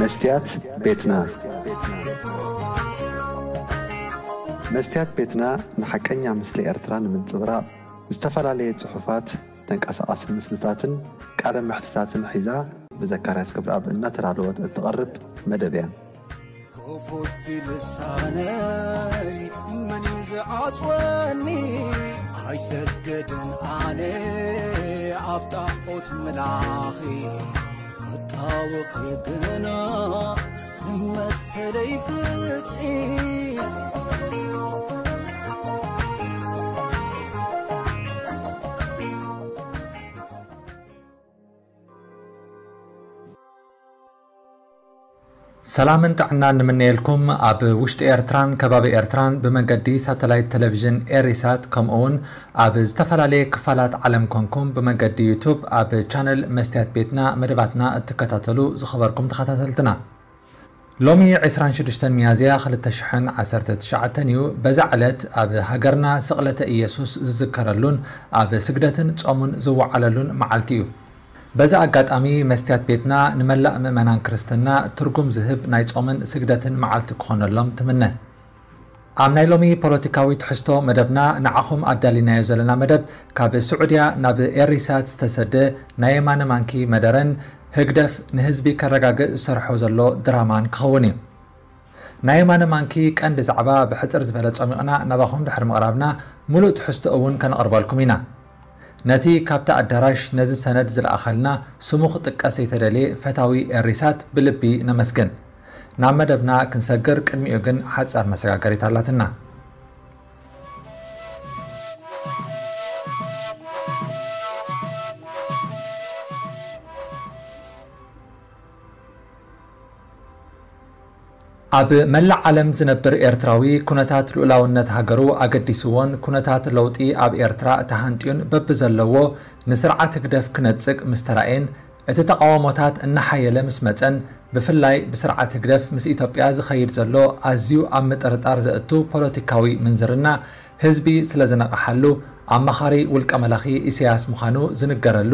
መስትያት ቤትና። መስትያት ቤትና ንሓቀኛ ምስሊ ኤርትራ ንምንጽብራቕ ዝተፈላለየ ጽሑፋት፣ ተንቀሳቓሲ ምስልታትን ቃለ መሕትታትን ሒዛ ብዘካርያስ ገብረኣብ እናተዳለወት እትቐርብ መደብ እያ። ክፉት ልሳነይ መን እዩ ዝዓጽወኒ? ኣይሰግድን ኣነ ኣብ ጣዖት ምላኺ፣ ክጣወኺ ግና መሰለይ ፍትሒ። ሰላምን ጥዕናን ንምነየልኩም። ኣብ ውሽጢ ኤርትራን ከባቢ ኤርትራን ብመገዲ ሳተላይት ቴሌቪዥን ኤሪሳት፣ ከምኡ እውን ኣብ ዝተፈላለየ ክፋላት ዓለም ኮንኩም ብመገዲ ዩቱብ ኣብ ቻነል መስትያት ቤትና መደባትና እትከታተሉ ዝኸበርኩም ተኸታተልትና፣ ሎሚ ዕስራን ሽዱሽተን ሚያዝያ ክልተ ሽሕን ዓሰርተ ትሽዓተን እዩ። በዛ ዕለት ኣብ ሃገርና ስቕለተ ኢየሱስ ዝዝከረሉን ኣብ ስግደትን ጾሙን ዝወዓለሉን መዓልቲ እዩ። በዚ ኣጋጣሚ መስትያት ቤትና ንመላእ ምእመናን ክርስትና ትርጉም ዝህብ ናይ ጾምን ስግደትን መዓልቲ ክኾነሎም ትምነ። ኣብ ናይ ሎሚ ፖለቲካዊ ትሕዝቶ መደብና ንዓኹም ኣዳሊናዮ ዘለና መደብ ካብ ስዑድያ ናብ ኤሪሳት ዝተሰደ ናይ የማነ ማንኪ መደረን ህግደፍ ንህዝቢ ከረጋግእ ዝሰርሖ ዘሎ ድራማን ክኸውን እዩ። ናይ የማነ ማንኪ ቀንዲ ዛዕባ ብሕጽር ዝበለ ጸሚቕና ናባኹም ድሕሪ ምቕራብና፣ ምሉእ ትሕዝቶ እውን ከነቕርበልኩም ኢና። ነቲ ካብቲ ኣዳራሽ ነዚ ሰነድ ዝለኣኸልና፣ ስሙ ክጥቀስ ዘይተደልየ ፈታዊ ኤሪሳት ብልቢ ነመስግን። ናብ መደብና ክንሰግር ቅድሚኡ ግን ሓጻር መሰጋገሪት ኣላትና። ኣብ መላእ ዓለም ዝነብር ኤርትራዊ፣ ኩነታት ልኡላውነት ሃገሩ ኣገዲስዎን ኩነታት ለውጢ ኣብ ኤርትራ ተሃንጥዩን በብዘለዎ ንስርዓት ህግደፍ ክነጽግ ምስ ተራእየን፣ እቲ ተቓውሞታት እናሓየለ ምስ መጸን፣ ብፍላይ ብስርዓት ህግደፍ ምስ ኢትዮጵያ ዝኸይድ ዘሎ ኣዝዩ ኣብ ምጥርጣር ዘእቱ ፖለቲካዊ ምንዝርና ህዝቢ ስለ ዝነቕሓሉ፣ ኣማኻሪ ውልቀ መላኺ ኢሳያስ ምዃኑ ዝንገረሉ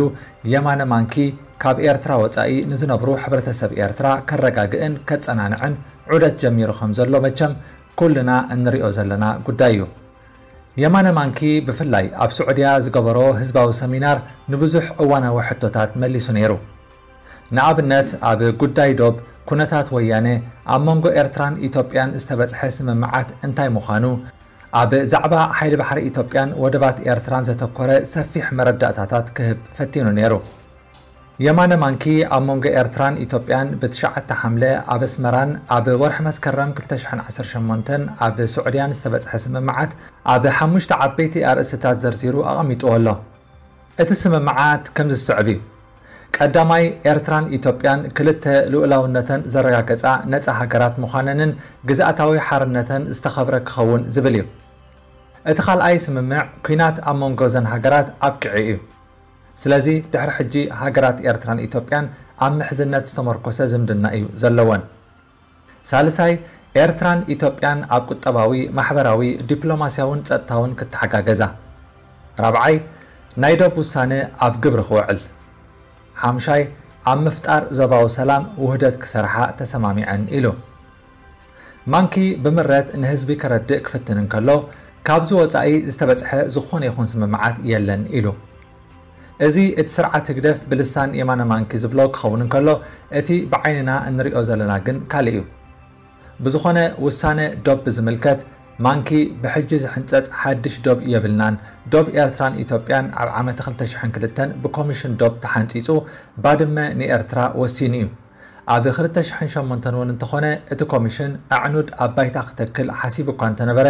የማነ ማንኪ፣ ካብ ኤርትራ ወጻኢ ንዝነብሩ ሕብረተሰብ ኤርትራ ከረጋግእን ከጸናንዕን ዑደት ጀሚሩ ከም ዘሎ መቸም ኩልና እንሪኦ ዘለና ጉዳይ እዩ። የማነ ማንኪ ብፍላይ ኣብ ስዑድያ ዝገበሮ ህዝባዊ ሰሚናር ንብዙሕ እዋናዊ ሕቶታት መሊሱ ነይሩ። ንኣብነት፣ ኣብ ጉዳይ ዶብ፣ ኩነታት ወያነ፣ ኣብ መንጎ ኤርትራን ኢትዮጵያን ዝተበጽሐ ስምምዓት እንታይ ምዃኑ፣ ኣብ ዛዕባ ሓይሊ ባሕሪ ኢትዮጵያን ወደባት ኤርትራን ዘተኮረ ሰፊሕ መረዳእታታት ክህብ ፈቲኑ ነይሩ። የማነ ማንኪ ኣብ መንጎ ኤርትራን ኢትዮጵያን ብትሽዓተ ሓምለ ኣብ ኣስመራን ኣብ ወርሒ መስከረም ክልተ ሽሕን ዓሰርተ ሸሞንተን ኣብ ስዑድያን ዝተበጽሐ ስምምዓት ኣብ ሓሙሽተ ዓበይቲ ኣርእስትታት ዘርዚሩ ኣቐሚጥዎ ኣሎ። እቲ ስምምዓት ከምዚ ዝስዕብ እዩ። ቀዳማይ፣ ኤርትራን ኢትዮጵያን ክልተ ልኡላውነተን ዘረጋገጻ ነጻ ሃገራት ምዃነንን ግዝኣታዊ ሓርነተን ዝተኸብረ ክኸውን ዝብል እዩ። እቲ ካልኣይ ስምምዕ፣ ኲናት ኣብ መንጎ እዘን ሃገራት ኣብቂዑ እዩ። ስለዚ ድሕሪ ሕጂ ሃገራት ኤርትራን ኢትዮጵያን ኣብ ምሕዝነት ዝተመርኮሰ ዝምድና እዩ ዘለወን። ሳልሳይ፣ ኤርትራን ኢትዮጵያን ኣብ ቁጠባዊ፣ ማሕበራዊ፣ ዲፕሎማስያውን ጸጥታውን ክተሓጋገዛ። ራብዓይ፣ ናይ ዶብ ውሳነ ኣብ ግብሪ ክውዕል። ሓምሻይ፣ ኣብ ምፍጣር ዞባዊ ሰላም ውህደት ክሰርሓ ተሰማሚዐን ኢሉ። ማንኪ ብምረት ንህዝቢ ከረድእ ክፍትን እንከሎ፣ ካብዚ ወጻኢ ዝተበጽሐ ዝኾነ ይኹን ስምምዓት የለን ኢሉ። እዚ እቲ ስርዓት ህግደፍ ብልሳን የማነ ማንኪ ዝብሎ ክኸውን እንከሎ፣ እቲ ብዓይንና እንሪኦ ዘለና ግን ካልእ እዩ። ብዝኾነ፣ ውሳነ ዶብ ብዝምልከት፣ ማንኪ ብሕጂ ዝሕንጸጽ ሓድሽ ዶብ የብልናን፣ ዶብ ኤርትራን ኢትዮጵያን ኣብ ዓመተ ክልተ ሽሕን ክልተን ብኮሚሽን ዶብ ተሓንጺጹ፣ ባድመ ንኤርትራ ወሲኑ እዩ። ኣብ ክልተ ሽሕን ሸሞንተን እውን እንተኾነ፣ እቲ ኮሚሽን ኣዕኑድ ኣብ ባይታ ክተክል ሓሲቡ እኳ እንተነበረ፣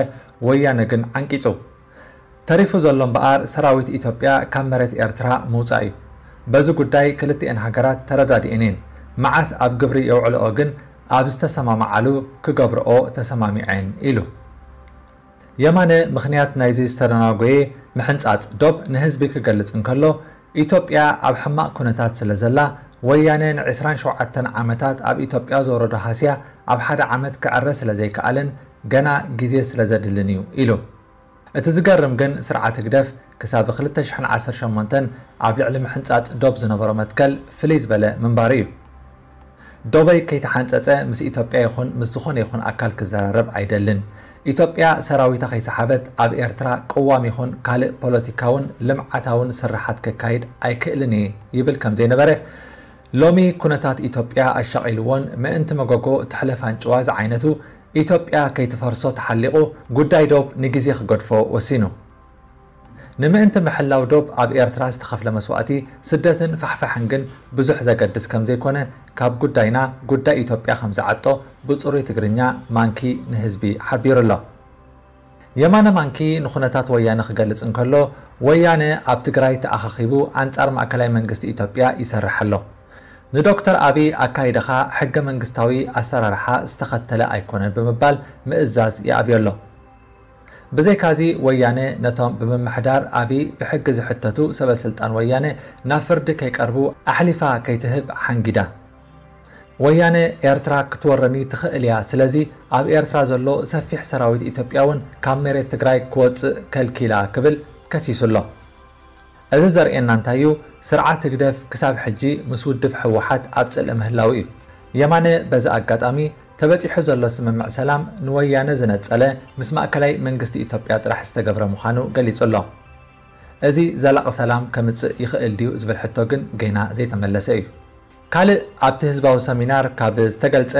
ወያነ ግን ዓንቂጹ። ተሪፉ ዘሎ እምበኣር፣ ሰራዊት ኢትዮጵያ ካብ መሬት ኤርትራ ምውጻእ እዩ። በዚ ጉዳይ ክልቲኤን ሃገራት ተረዳዲኤን እየን። መዓስ ኣብ ግብሪ የውዕልኦ ግን ኣብ ዝተሰማማዓሉ ክገብርኦ ተሰማሚዐን ኢሉ። የማነ ምኽንያት ናይዚ ዝተደናጎየ ምሕንጻጽ ዶብ ንህዝቢ ክገልጽ እንከሎ፣ ኢትዮጵያ ኣብ ሕማቕ ኩነታት ስለ ዘላ፣ ወያነ ንዕስራን ሸውዓተን ዓመታት ኣብ ኢትዮጵያ ዝወረዶ ሃስያ ኣብ ሓደ ዓመት ክዕረ ስለ ዘይከኣለን ገና ግዜ ስለ ዘድልን እዩ ኢሉ። እቲ ዝገርም ግን፣ ስርዓት ህግደፍ ክሳብ ክልተ ሽሕን ዓሰርተ ሸሞንተን ኣብ ልዕሊ ምሕንጻጽ ዶብ ዝነበሮ መትከል ፍልይ ዝበለ ምንባሩ እዩ። ዶበይ ከይተሓንጸጸ ምስ ኢትዮጵያ ይኹን ምስ ዝኾነ ይኹን ኣካል ክዘራረብ ኣይደልን። ኢትዮጵያ ሰራዊታ ከይሰሓበት ኣብ ኤርትራ ቅዋም ይኹን ካልእ ፖለቲካውን ልምዓታውን ስርሓት ከካይድ ኣይክእልን እየ ይብል ከም ዘይነበረ፣ ሎሚ ኩነታት ኢትዮጵያ ኣሻቒልዎን ምእንቲ መጎጎ ትሕለፍ ኣንጭዋ ዝዓይነቱ ኢትዮጵያ ከይትፈርሶ ተሓሊቑ ጉዳይ ዶብ ንግዜ ክገድፎ ወሲኑ። ንምእንቲ ምሕላው ዶብ ኣብ ኤርትራ ዝተኸፍለ መስዋእቲ፣ ስደትን ፋሕፋሕን ግን ብዙሕ ዘገድስ ከም ዘይኮነ ካብ ጉዳይና ጉዳይ ኢትዮጵያ ከም ዝዓጦ ብጽሩይ ትግርኛ ማንኪ ንህዝቢ ሓቢሩ ኣሎ። የማነ ማንኪ ንኹነታት ወያነ ክገልጽ እንከሎ፣ ወያነ ኣብ ትግራይ ተኣኻኺቡ ኣንጻር ማእከላይ መንግስቲ ኢትዮጵያ ይሰርሕ ኣሎ። ንዶክተር ኣቢ ኣካይዳኻ ሕገ መንግስታዊ ኣሰራርሓ ዝተኸተለ ኣይኮነን ብምባል ምእዛዝ ይኣብዮ ኣሎ። ብዘይካዚ ወያነ ነቶም ብምምሕዳር ኣቢ ብሕጊ ዝሕተቱ ሰበ ስልጣን ወያነ ናብ ፍርዲ ከይቀርቡ ኣሕሊፋ ከይትህብ ሓንጊዳ። ወያነ ኤርትራ ክትወረኒ ትኽእል እያ፣ ስለዚ ኣብ ኤርትራ ዘሎ ሰፊሕ ሰራዊት ኢትዮጵያ እውን ካብ መሬት ትግራይ ክወፅእ ከልኪላ ክብል ከሲሱ ኣሎ። እዚ ዘርእየና እንታይ እዩ? ስርዓት ህግደፍ ክሳብ ሕጂ ምስ ውድብ ህወሓት ኣብ ጽልኢ ምህላው እዩ። የማነ በዚ ኣጋጣሚ ተበጺሑ ዘሎ ስምምዕ ሰላም ንወያነ ዝነጸለ ምስ ማእከላይ መንግስቲ ኢትዮጵያ ጥራሕ ዝተገብረ ምዃኑ ገሊጹ ኣሎ። እዚ ዘላቒ ሰላም ከምጽእ ይኽእል ድዩ ዝብል ሕቶ ግን ገና ዘይተመለሰ እዩ። ካልእ ኣብቲ ህዝባዊ ሰሚናር ካብ ዝተገልጸ፣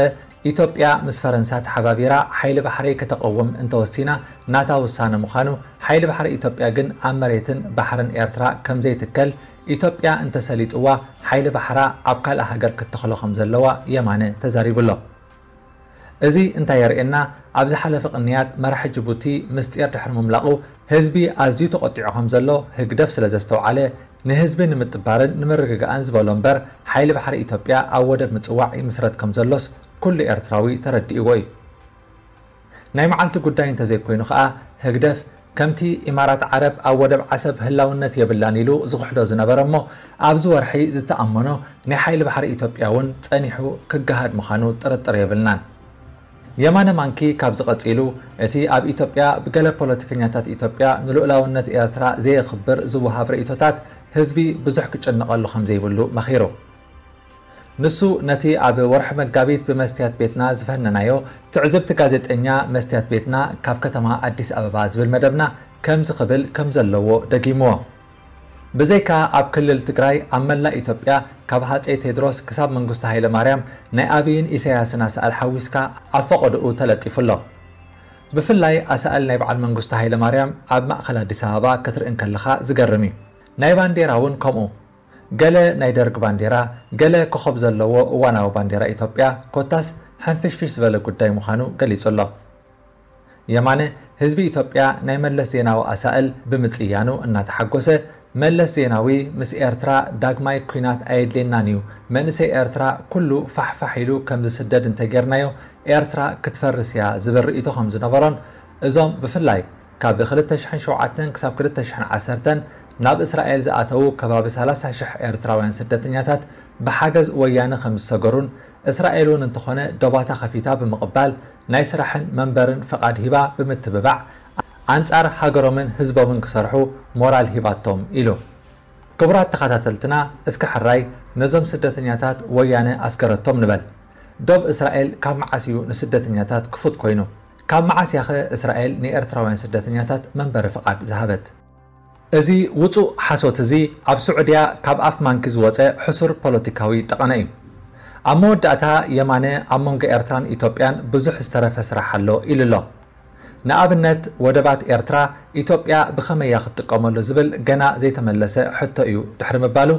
ኢትዮጵያ ምስ ፈረንሳ ተሓባቢራ ሓይሊ ባሕሪ ከተቐውም እንተወሲና ናታ ውሳነ ምዃኑ፣ ሓይሊ ባሕሪ ኢትዮጵያ ግን ኣብ መሬትን ባሕርን ኤርትራ ከም ዘይትከል፣ ኢትዮጵያ እንተሰሊጥዋ ሓይሊ ባሕራ ኣብ ካልእ ሃገር ክትተኽሎ ከም ዘለዋ የማነ ተዛሪቡ ኣሎ። እዚ እንታይ የርእየና? ኣብ ዝሓለፈ ቅንያት መራሒ ጅቡቲ ምስጢር ድሕሪ ምምላቑ ህዝቢ ኣዝዩ ተቖጢዑ ከም ዘሎ ህግደፍ ስለ ዘስተውዓለ፣ ንህዝቢ ንምጥባርን ንምርግጋእን ዝበሎ እምበር ሓይሊ ባሕሪ ኢትዮጵያ ኣብ ወደብ ምጽዋዕ ይምስረት ከም ዘሎስ ኩሉ ኤርትራዊ ተረዲእዎ እዩ። ናይ መዓልቲ ጉዳይ እንተዘይኮይኑ ከኣ ህግደፍ ከምቲ ኢማራት ዓረብ ኣብ ወደብ ዓሰብ ህላውነት የብላን ኢሉ ዝኽሕዶ ዝነበረ እሞ ኣብዚ ወርሒ ዝተኣመኖ ናይ ሓይሊ ባሕሪ ኢትዮጵያ እውን ጸኒሑ ክገሃድ ምዃኑ ጥርጥር የብልናን። የማነ ማንኪ ካብዚ ቀጺሉ፣ እቲ ኣብ ኢትዮጵያ ብገለ ፖለቲከኛታት ኢትዮጵያ ንልኡላውነት ኤርትራ ዘየኽብር ዝወሃብ ርእይቶታት ህዝቢ ብዙሕ ክጭነቐሉ ከም ዘይብሉ መኺሩ። ንሱ ነቲ ኣብ ወርሒ መጋቢት ብመስትያት ቤትና ዝፈነናዮ ትዕዝብቲ ጋዜጠኛ መስትያት ቤትና ካብ ከተማ ኣዲስ ኣበባ ዝብል መደብና ከምዚ ክብል ከም ዘለዎ ደጊምዎ። ብዘይካ ኣብ ክልል ትግራይ ኣብ መላእ ኢትዮጵያ ካብ ሃፀይ ቴድሮስ ክሳብ መንግስቱ ሃይለ ማርያም ናይ ኣብይን ኢሳያስን ኣሳእል ሓዊስካ ኣብ ፈቐድኡ ተለጢፉ ኣሎ። ብፍላይ ኣሳእል ናይ በዓል መንግስቱ ሃይለ ማርያም ኣብ ማእኸል ኣዲስ ኣበባ ክትርኢ እንከለኻ ዝገርም እዩ። ናይ ባንዴራ እውን ከምኡ። ገለ ናይ ደርግ ባንዴራ፣ ገለ ኮኸብ ዘለዎ እዋናዊ ባንዴራ ኢትዮጵያ፣ ኮታስ ሕንፍሽፍሽ ዝበለ ጉዳይ ምዃኑ ገሊጹ ኣሎ። የማነ፣ ህዝቢ ኢትዮጵያ ናይ መለስ ዜናዊ ኣሳእል ብምጽያኑ እናተሓጎሰ፣ መለስ ዜናዊ ምስ ኤርትራ ዳግማይ ኲናት ኣየድልየናን እዩ፣ መንእሰይ ኤርትራ ኩሉ ፋሕፋሕ ኢሉ ከም ዝስደድ እንተጌርናዮ ኤርትራ ክትፈርስ እያ ዝብል ርእይቶ ከም ዝነበሮን፣ እዞም ብፍላይ ካብ ክልተ ሽሕን ሸውዓተን ክሳብ ክልተ ሽሕን ዓሰርተን ናብ እስራኤል ዝኣተዉ ከባቢ ሰላሳ ሽሕ ኤርትራውያን ስደተኛታት ብሓገዝ ወያነ ከም ዝሰገሩን፣ እስራኤል እውን እንተኾነ ዶባታ ከፊታ ብምቕባል ናይ ስራሕን መንበርን ፍቓድ ሂባ ብምትብባዕ ኣንጻር ሃገሮምን ህዝቦምን ክሰርሑ ሞራል ሂባቶም ኢሉ። ክቡራት ተኸታተልትና፣ እስከ ሕራይ ነዞም ስደተኛታት ወያነ ኣስገረቶም ንበል። ዶብ እስራኤል ካብ መዓስ እዩ ንስደተኛታት ክፉት ኮይኑ? ካብ መዓስ ያኸ እስራኤል ንኤርትራውያን ስደተኛታት መንበሪ ፍቓድ ዝሃበት? እዚ ውጹእ ሓሶት እዚ ኣብ ስዑድያ ካብ ኣፍ ማንኪ ዝወጸ ሕሱር ፖለቲካዊ ጠቐነ እዩ። ኣብ መወዳእታ የማነ ኣብ መንጎ ኤርትራን ኢትዮጵያን ብዙሕ ዝተረፈ ስራሕ ኣሎ ኢሉ ኣሎ። ንኣብነት ወደባት ኤርትራ ኢትዮጵያ ብኸመይ እያ ክትጥቀመሉ ዝብል ገና ዘይተመለሰ ሕቶ እዩ ድሕሪ ምባሉ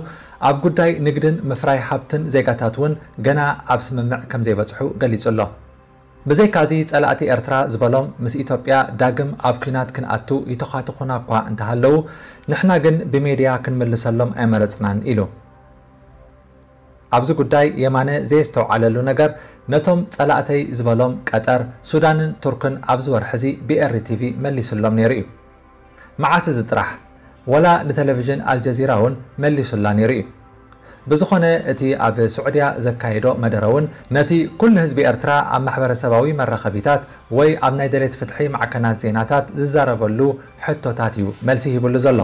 ኣብ ጉዳይ ንግድን ምፍራይ ሃብትን ዜጋታት እውን ገና ኣብ ስምምዕ ከም ዘይበጽሑ ገሊጹ ኣሎ። ብዘይካዚ ጸላእቲ ኤርትራ ዝበሎም ምስ ኢትዮጵያ ዳግም ኣብ ኲናት ክንኣቱ ይተዃትኹና እኳ እንተሃለዉ ንሕና ግን ብሜድያ ክንምልሰሎም ኣይመረጽናን ኢሉ። ኣብዚ ጉዳይ የማነ ዘየስተውዓለሉ ነገር ነቶም ጸላእተይ ዝበሎም ቀጠር፣ ሱዳንን ቱርክን ኣብዚ ወርሒ እዚ ብኤሪ ቲቪ መሊሱሎም ነይሩ እዩ። መዓስ እዚ ጥራሕ? ወላ ንቴሌቪዥን ኣልጀዚራ እውን መሊሱላ ነይሩ እዩ። ብዝኾነ እቲ ኣብ ስዑድያ ዘካየዶ መደረ እውን ነቲ ኩሉ ህዝቢ ኤርትራ ኣብ ማሕበረሰባዊ መራኸቢታት ወይ ኣብ ናይ ደሌት ፍትሒ ማዕከናት ዜናታት ዝዛረበሉ ሕቶታት እዩ መልሲ ሂብሉ ዘሎ።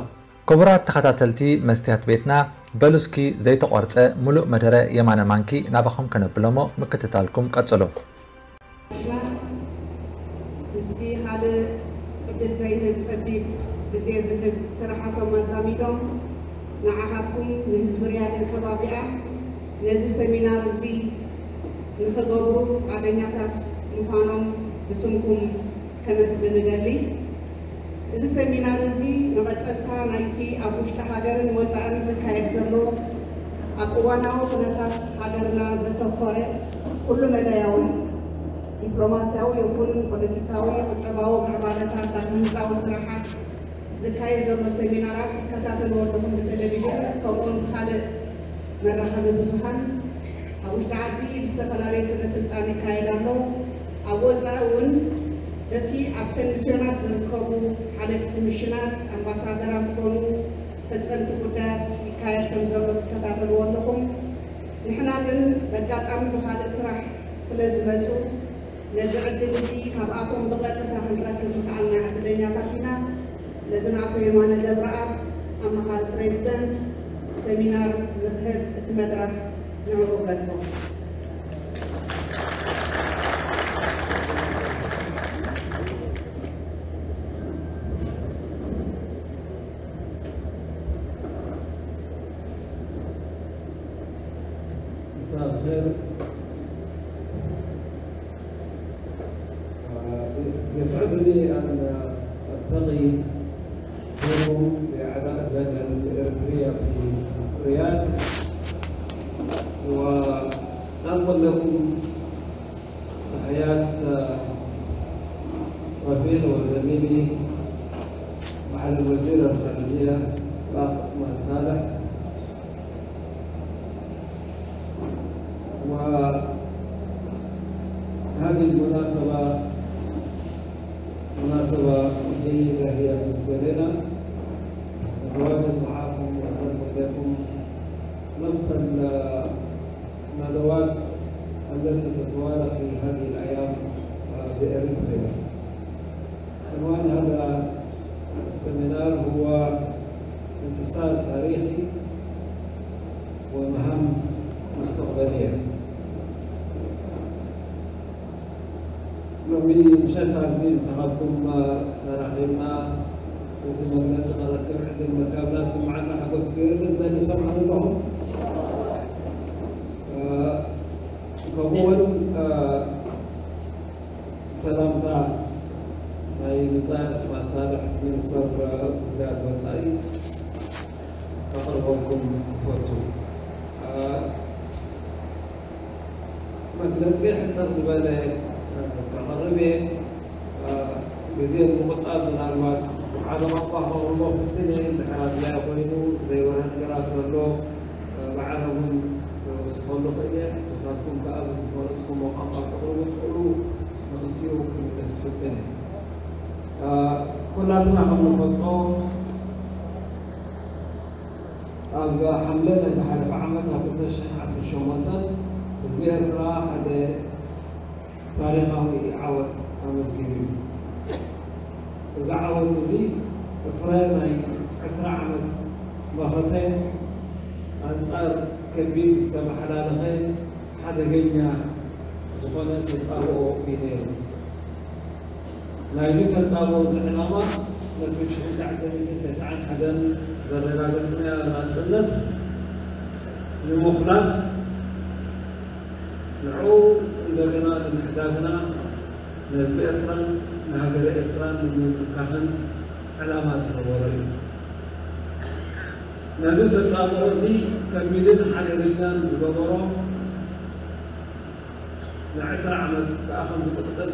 ክቡራት ተኸታተልቲ መስትያት ቤትና፣ በሉ እስኪ ዘይተቖርጸ ምሉእ መደረ የማነ ማንኪ ናባኹም ከነብሎሞ ምክትታልኩም ቀጽሉ። ምስቲ ካልእ ዕድል ዘይህብ ጸቢብ ግዜ ዝህብ ስራሓቶም ኣዛሚዶም ንዓኻትኩም ንህዝቢ ሪያድን ከባቢኣ ነዚ ሰሚናር እዚ ንኽገብሩ ፍቓደኛታት ምዃኖም ብስምኩም ከመስግን እደሊ። እዚ ሰሚናር እዚ መቐጸልታ ናይቲ ኣብ ውሽጢ ሃገርን ወጻእን ዝካየድ ዘሎ ኣብ እዋናዊ ኩነታት ሃገርና ዘተኮረ ኩሉ መዳያዊ ዲፕሎማስያዊ ይኹን ፖለቲካዊ ቁጠባዊ ምዕባለታት ዳግመ ህንጻዊ ስራሓት ዝካየድ ዘሎ ሰሚናራት ትከታተልዎ ኣለኹም ብቴሌቪዥን ከምኡውን ብኻልእ መራኸቢ ብዙሃን ኣብ ውሽጢ ዓዲ ብዝተፈላለየ ስነ ስልጣን ይካየድ ኣሎ። ኣብ ወፃኢ እውን በቲ ኣብተን ሚስዮናት ዝርከቡ ሓለፍቲ ሚሽናት ኣምባሳደራት ኮኑ ፈፀምቲ ጉዳያት ይካየድ ከም ዘሎ ትከታተልዎ ኣለኹም። ንሕና ግን በጋጣሚ ብኻልእ ስራሕ ስለ ዝመፁ ነዚ ዕድል እዚ ካብኣቶም ብቐጥታ ክንረክብ ምኽኣልና ዕድለኛታት ኢና። ነዚ ንኣቶ የማነ ገብረኣብ ኣማኻሪ ፕሬዚደንት ሰሚናር ንኽህብ እቲ መድረኽ ንዕኡ ገድፎ። مساء الخير. يسعدني أن ألتقي بكم بأعضاء الجالية الإريترية في الرياض، وأنقل لكم تحيات رفيقي وزميلي معالي الوزير الخارجية الأخ عثمان صالح. وهذه المناسبة مناسبة جيدة هي بالنسبة لنا، نتواجد معاكم وننقل لكم نفس الندوات التي تتوالى في هذه الأيام بإريتريا. عنوان هذا السيمينار هو انتصار تاريخي ومهام مستقبلية. ሎሚ ምሸት ኣብዚ ምሳኻትኩም ተራኺብና እዚ መግለፂ ከረክብ ዕድል ምርካብና ዝስምዓና ሓጎስ ክገልፅ ደሊ። ሰምዓኒ ኣለኹም። ከምኡ እውን ሰላምታ ናይ ብጻይ ዑስማን ሳልሕ ሚኒስተር ጉዳያት ወጻኢ ከቕርበልኩም እፈቱ። መግለጺ ሕጽር ዝበለ ከቕርብ እየ። ግዜ ንምቑጣብ ምናልባት ሓደ ቋንቋ ከቕርቦ ክፍትን እየ። እንድሕር ኣድላዪ ኮይኑ ዘይበርሀ ነገራት ዘሎ ብዓረብን ክወስኸሉ እኽእል እየ። ንሳትኩም ከኣ ብዝመረጽኩሞ ቋንቋ ክተቕርቡ ትኽእሉ ንኽልቲኡ ክምልስ ክፍትን እየ። ኩላትና ከም ንፈልጦ ኣብ ሓምለ ናይ ዝሓለፈ ዓመት ኣብ ክልተ ሽሕን ዓሰርተ ሸሞንተን ህዝቢ ኤርትራ ሓደ ታሪኻዊ ዓወት ኣመዝጊቡ እዩ። እዚ ዓወት እዚ ፍረ ናይ ዕስራ ዓመት መኸተ ኣንጻር ከቢድ ዝተመሓላለኸ ሓደገኛ ዝኾነ ተጻብኦ እዩ ነይሩ። ናይዚ ተጻብኦ እዚ ዕላማ ነቲ ብ ሽሕን ትሽዓተ ሚእትን ተስዓን ሓደን ዘረጋገጽናዮ ናጽነት ንምኹላፍ ንዕኡ እንደገና ንምሕዳግና ንህዝቢ ኤርትራን ንሃገረ ኤርትራን ንምምካኽን ዕላማ ዝነበሮ እዩ። ነዚ ተጻብኦ እዚ ከቢድን ሓደገኛን ዝገበሮ ንዕስራ ዓመት ከኣ ከም ዝቕጽል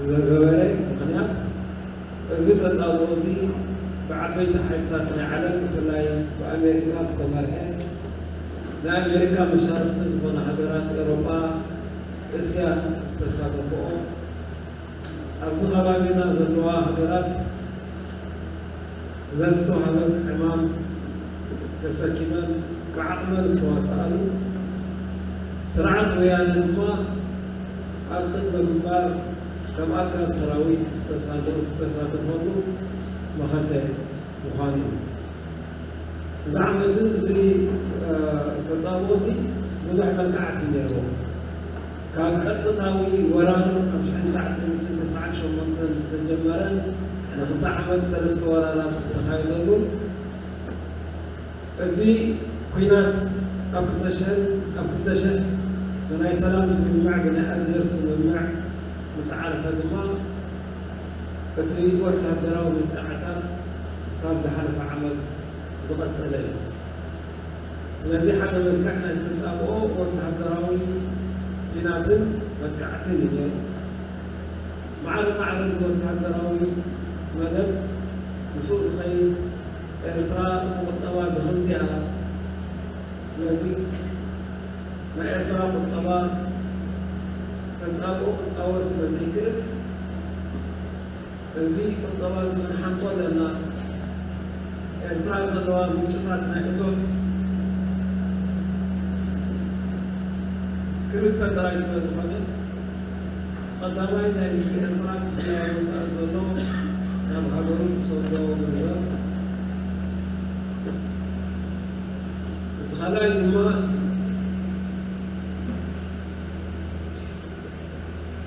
ዝገበረ ምኽንያት እዚ ተጻብኦ እዚ ብዓበይቲ ሓይልታት ናይ ዓለም ብፍላይ ብኣሜሪካ ዝተመርሐ ናይ ኣሜሪካ መሻርኽቲ ዝኾና ሃገራት ኤውሮጳ እስያ ዝተሳተፈኦ ኣብዚ ከባቢና ዘለዋ ሃገራት ዘዝተዋህበን ዕማም ተሰኪመን ብዓቕመን ዝተዋስኣሉ ስርዓት ወያነ ድማ ኣብ ቅድመ ግንባር ከም ኣካል ሰራዊት ዝተሳተፈሉ መኸተ ምዃኑ እዩ። እዚ ዓመትን እዚ ተጻብኦ እዚ ብዙሕ መልክዓት እዩ ነይርዎ። ካብ ቀጥታዊ ወራር ኣብ ሽሕን ትሽዓተ ሚእትን ተስዓን ሸሞንተን ዝተጀመረን ንክልተ ዓመት ሰለስተ ወራራት ዝተኻየደሉ፣ እቲ ኲናት ኣብ ክልተ ሽሕን ኣብ ክልተ ሽሕ ብናይ ሰላም ስምምዕ፣ ብናይ ኣልጀርስ ስምምዕ ምስ ዓረፈ ድማ፣ እቲ ወተሃደራዊ መጥቃዕታት ክሳብ ዝሓለፈ ዓመት ዝቐጸለ እዩ። ስለዚ ሓደ መልክዕ ናይ ተጻብኦ ወተሃደራዊ ኲናትን መጥቃዕትን እዩ ነይሩ። ማዕረ ማዕረ እዚ ወተሃደራዊ መደብ ምስኡ ዝኸይድ፣ ኤርትራ ብቁጠባ ድኽምቲ እያ። ስለዚ ናይ ኤርትራ ቁጠባ ተጻብኦ ክጻወር ስለ ዘይክእል፣ እዚ ቁጠባ እዚ ክንሓንቆ ኣለና። ኤርትራ ዘለዋ ምንጭታት ናይ እቶት ክልተ ጥራይ ስለ ዝኾነ፣ ቀዳማይ ናይ ህዝቢ ኤርትራ ክፍላ ወጻኢ ዘሎ ናብ ሃገሩ ዝሰዶ ገንዘብ፣ እቲ ካልኣይ ድማ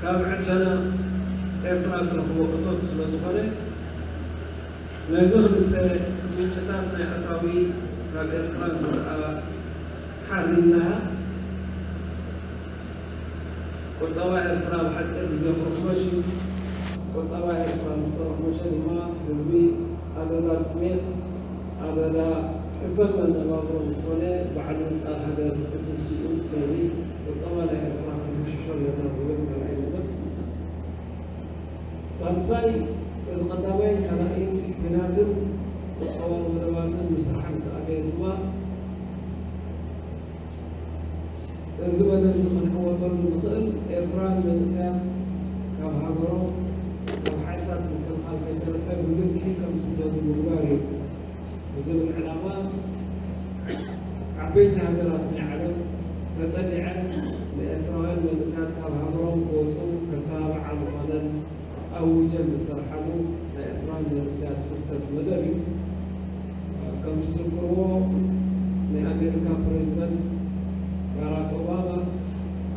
ካብ ዕደና ኤርትራ ዝረኽቦ እቶት ስለ ዝኾነ፣ ነዚ ክልተ ምንጭታት ናይ ኣታዊ ካብ ኤርትራ ዝረኣ ሓሪምናያ፣ ቁጠባ ኤርትራ ኣብ ሓጺር ግዜ ክርኮሽ እዩ። ቁጠባ ኤርትራ ምስ ተረኮሸ ድማ ህዝቢ ኣደዳ ጥሜት፣ ኣደዳ ሕሰብ መነባብሮ ዝኾነ ባዕሉ ኣንጻር ሃገር ክትስኡ። ስለዚ ቁጠባ ናይ ኤርትራ ክንሕሽሾ ኣለና ዝብል ካልኣይ መደብ። ሳልሳይ፣ እዚ ቀዳማይ ካልኣይን ኲናትን ቁጠባዊ መደባትን ምስራሕ ምስ ኣበየ ድማ፣ እዚ መደብ እዚ ክንዕወተሉ ንኽእል፣ ኤርትራውያን መንእሰያት ካብ ሃገሮም፣ ካብ ሓይልታት ምክልኻል ከይተረፈ ብብዝሒ ከም ዝስደዱ ምግባር እዩ ብዝብል ዕላማ፣ ዓበይቲ ሃገራት ናይ ዓለም ተጸሊዐን ንኤርትራውያን መንእሰያት ካብ ሃገሮም ክወጹ ከተባብዓ ምዃነን ኣዊጀን ዝሰርሓሉ ናይ ኤርትራውያን መንእሰያት ፍልሰት መደብ እዩ። ከም ትዝክርዎ፣ ናይ ኣሜሪካ ፕሬዚደንት ባራክ ኦባማ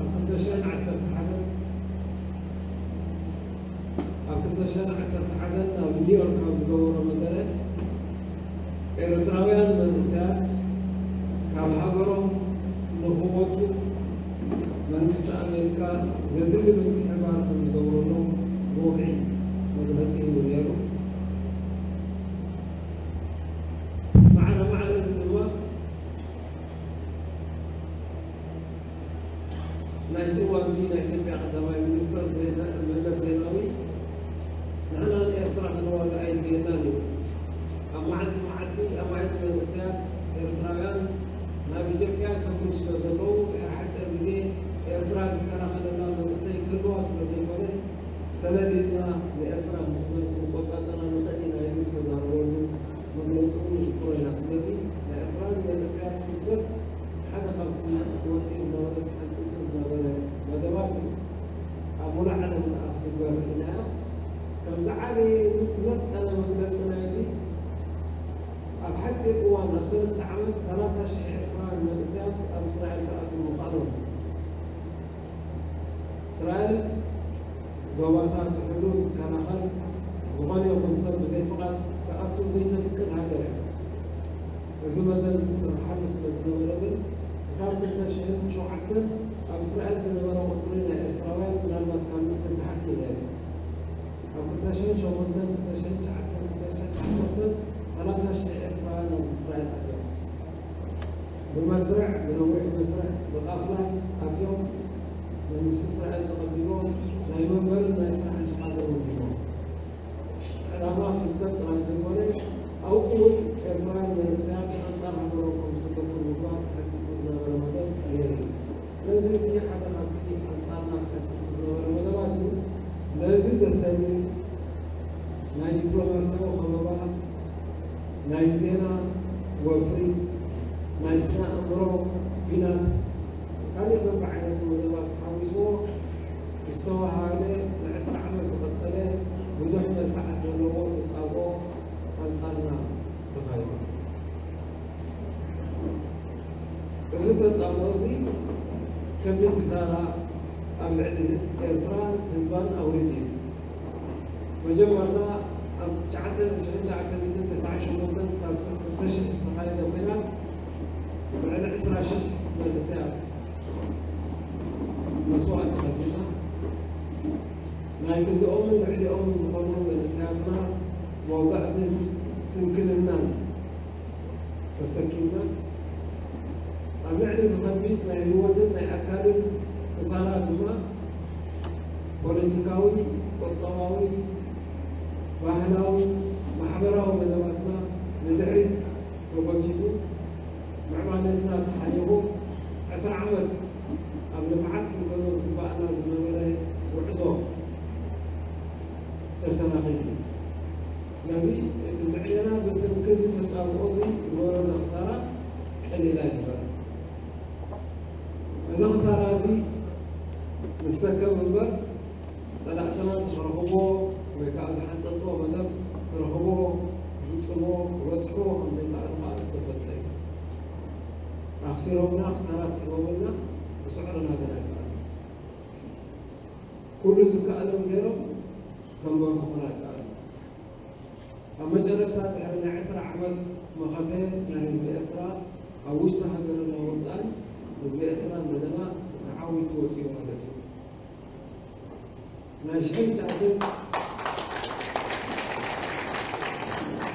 ኣብ ክልተ ሽሕን ዓሰርተ ሓደን፣ ኣብ ክልተ ሽሕን ዓሰርተ ሓደን ኣብ ኒውዮርክ ኣብ ዝገበሮ መደረ፣ ኤርትራውያን መንእሰያት ካብ ሃገሮም ንኽወጹ መንግስቲ ኣሜሪካ ዘድሊ ምትሕብባር ከም ዝገብረሎም ብወግዒ መግለጺ ሂቡ ነይሩ። ማዕረ ማዕረ እዚ ድማ፣ ናይቲ እዋን እዚ ናይ ኢትዮጵያ ቀዳማይ ሚኒስትር ዜና-፣ መለስ ዜናዊ፣ "ንሕና ንኤርትራ ክንዋጋእ ኣየድልየናን እዩ። ኣብ መዓልቲ መዓልቲ ኣማኢት መንእሰያት ኤርትራውያን ናብ ኢትዮጵያ ይሰፍሩ ስለ ዘለዉ፣ ድሕሪ ሓጺር ግዜ ኤርትራ ዝከላኸለላ መንእሰይ ክህልዋ ስለ ዘይኮነ፣ ሰለሊጥና ንኤርትራ ክንቆጻጸራ ንኽእል ኢና" ኢሉ ዝተዛረበሉ መግለጺ እውን ንዝክሮ ኢና። ስለዚ ናይ ኤርትራውያን መንእሰያት ፍልሰት ሓደ ካብቲ ወፂኡ ዝነበረ ተሓንፂፁ ዝነበረ መደባት እዩ። ኣብ ሙሉእ ዓለም ከዓ ክትግበር ክኢላ እያ። ከም ዝዓበየ ዝመፀነ መግለፂ ናይዚ፣ ኣብ ሓፂር እዋን፣ ኣብ ሰለስተ ዓመት ሰላሳ ሽሕ ኤርትራውያን መንእሰያት ኣብ እስራኤል ክኣትዉ ምኽኣሎም። እስራኤል ዶባታ ትሕሉ፣ ትከላኸል፣ ዝኾነ ይኹን ሰብ ብዘይ ፍቓድ ክኣቱ ዘይተፍቅድ ሃገር እያ። እዚ መደብ እዚ ዝስርሓሉ ስለ ዝነበረ ግን፣ ክሳብ ክልተ ሽሕን ሸውዓተን ኣብ እስራኤል ዝነበረ ቁጽሪ ናይ ኤርትራውያን ምናልባት ካብ ሚእቲ ንታሕቲ እዩ ነይሩ። ኣብ ክልተ ሽሕን ሸሞንተን፣ ክልተ ሽሕን ትሽዓተን፣ ክልተ ሽሕን ዓሰርተን፣ ሰላሳ ሽሕ ኤርትራውያን ኣብ እስራኤል ኣትዮም። ብመስርዕ፣ ብነዊሕ መስርዕ፣ ብቃፍላ ኣትዮም፣ መንግስቲ እስራኤል ተቐቢልዎም፣ ናይ መንበርን ናይ ስራሕን ፍቓድ እውን ሂቦም። ዕላማ ፍልሰት ጥራይ ዘይኮነ፣ ኣብኡ እውን ኤርትራውያን መንእሰያት ኣንጻር ሃገሮም ከም ዝስለፉ ንምግባር ተሓንጺጹ ዝነበረ መደብ ነይሩ እዩ። ስለዚ እዚ ሓደ ካብቲ ኣንጻርና ተሓንጺጹ ዝነበረ መደባት እዩ። ነዚ ተሰንዩ ናይ ዲፕሎማስያዊ ከበባ፣ ናይ ዜና ወፍሪ፣ ናይ ስነ ኣእምሮ ኲናት፣ ካልእ በብዓይነቱ መደባት ተሓዊስዎ ዝተወሃበ ንዕስራ ዓመት ዝቐጸለ ብዙሕ መልክዓት ዘለዎ ተጻብኦ ኣንጻርና ተኻይዱ። እዚ ተጻብኦ እዚ ከቢድ ክሳራ ኣብ ልዕሊ ኤርትራን ህዝባን ኣውሪዱ እዩ። መጀመርታ ኣብ ትሽዓተ ሽሕን ትሽዓተ ሚእትን ተስዓን ሸሞንተን ክሳብ ክልተ ሽሕ ዝተኻየደ ኲናት ልዕሊ ዕስራ ሽሕ መንእሰያት መስዋእቲ ከፊልና፣ ናይ ክንድኦምን ልዕሊኦምን ዝኾኑ መንእሰያትና መውጋእትን ስንክልናን ተሰኪምና፣ ኣብ ልዕሊ ዝኸቢድ ናይ ህይወትን ናይ ኣካልን ክሳራ ድማ ፖለቲካዊ፣ ቁጠባዊ፣ ባህላዊ፣ ማሕበራዊ መደባትና ንድሕሪት ተጎቲቱ፣ ምዕባለትና ተሓኒቑ፣ ዕስራ ዓመት ኣብ ልምዓት ክንከዶ ዝግባኣና ዝነበረ ጉዕዞ ተሰናኺሉ። ስለዚ እቲ ምዕሌና ብሰንኪ እዚ ተጻብኦ እዚ ዝወረደ ክሳራ ቀሊል ኣይነበረን። እዚ ክሳራ እዚ ንሰከም እምበር፣ ጸላእትና ዝረኽብዎ ወይ ከዓ ዝሓንጸጽዎ መደብ ክረኽብዎ፣ ክፍጽምዎ፣ ክበጽሕዎ ከም ዘይከኣሉ ከዓ ዝተፈልጠ እዩ። ኣኽሲሮምና፣ ክሳራ ስዒቦምልና፣ ክስዕሩና ግን ኣይከኣሉን። ኩሉ ዝከኣሎም ገይሮም ከንበርክኹና ኣይከኣሉን። ኣብ መጨረስታ ድሕሪ ናይ ዕስራ ዓመት መኸተ ናይ ህዝቢ ኤርትራ ኣብ ውሽጢ ሃገርን ኣብ ወጻእን ህዝቢ ኤርትራ እንደገና ተዓዊቱ ወጺኡ ማለት እዩ። ናይ ሽሕን ትሽዓተን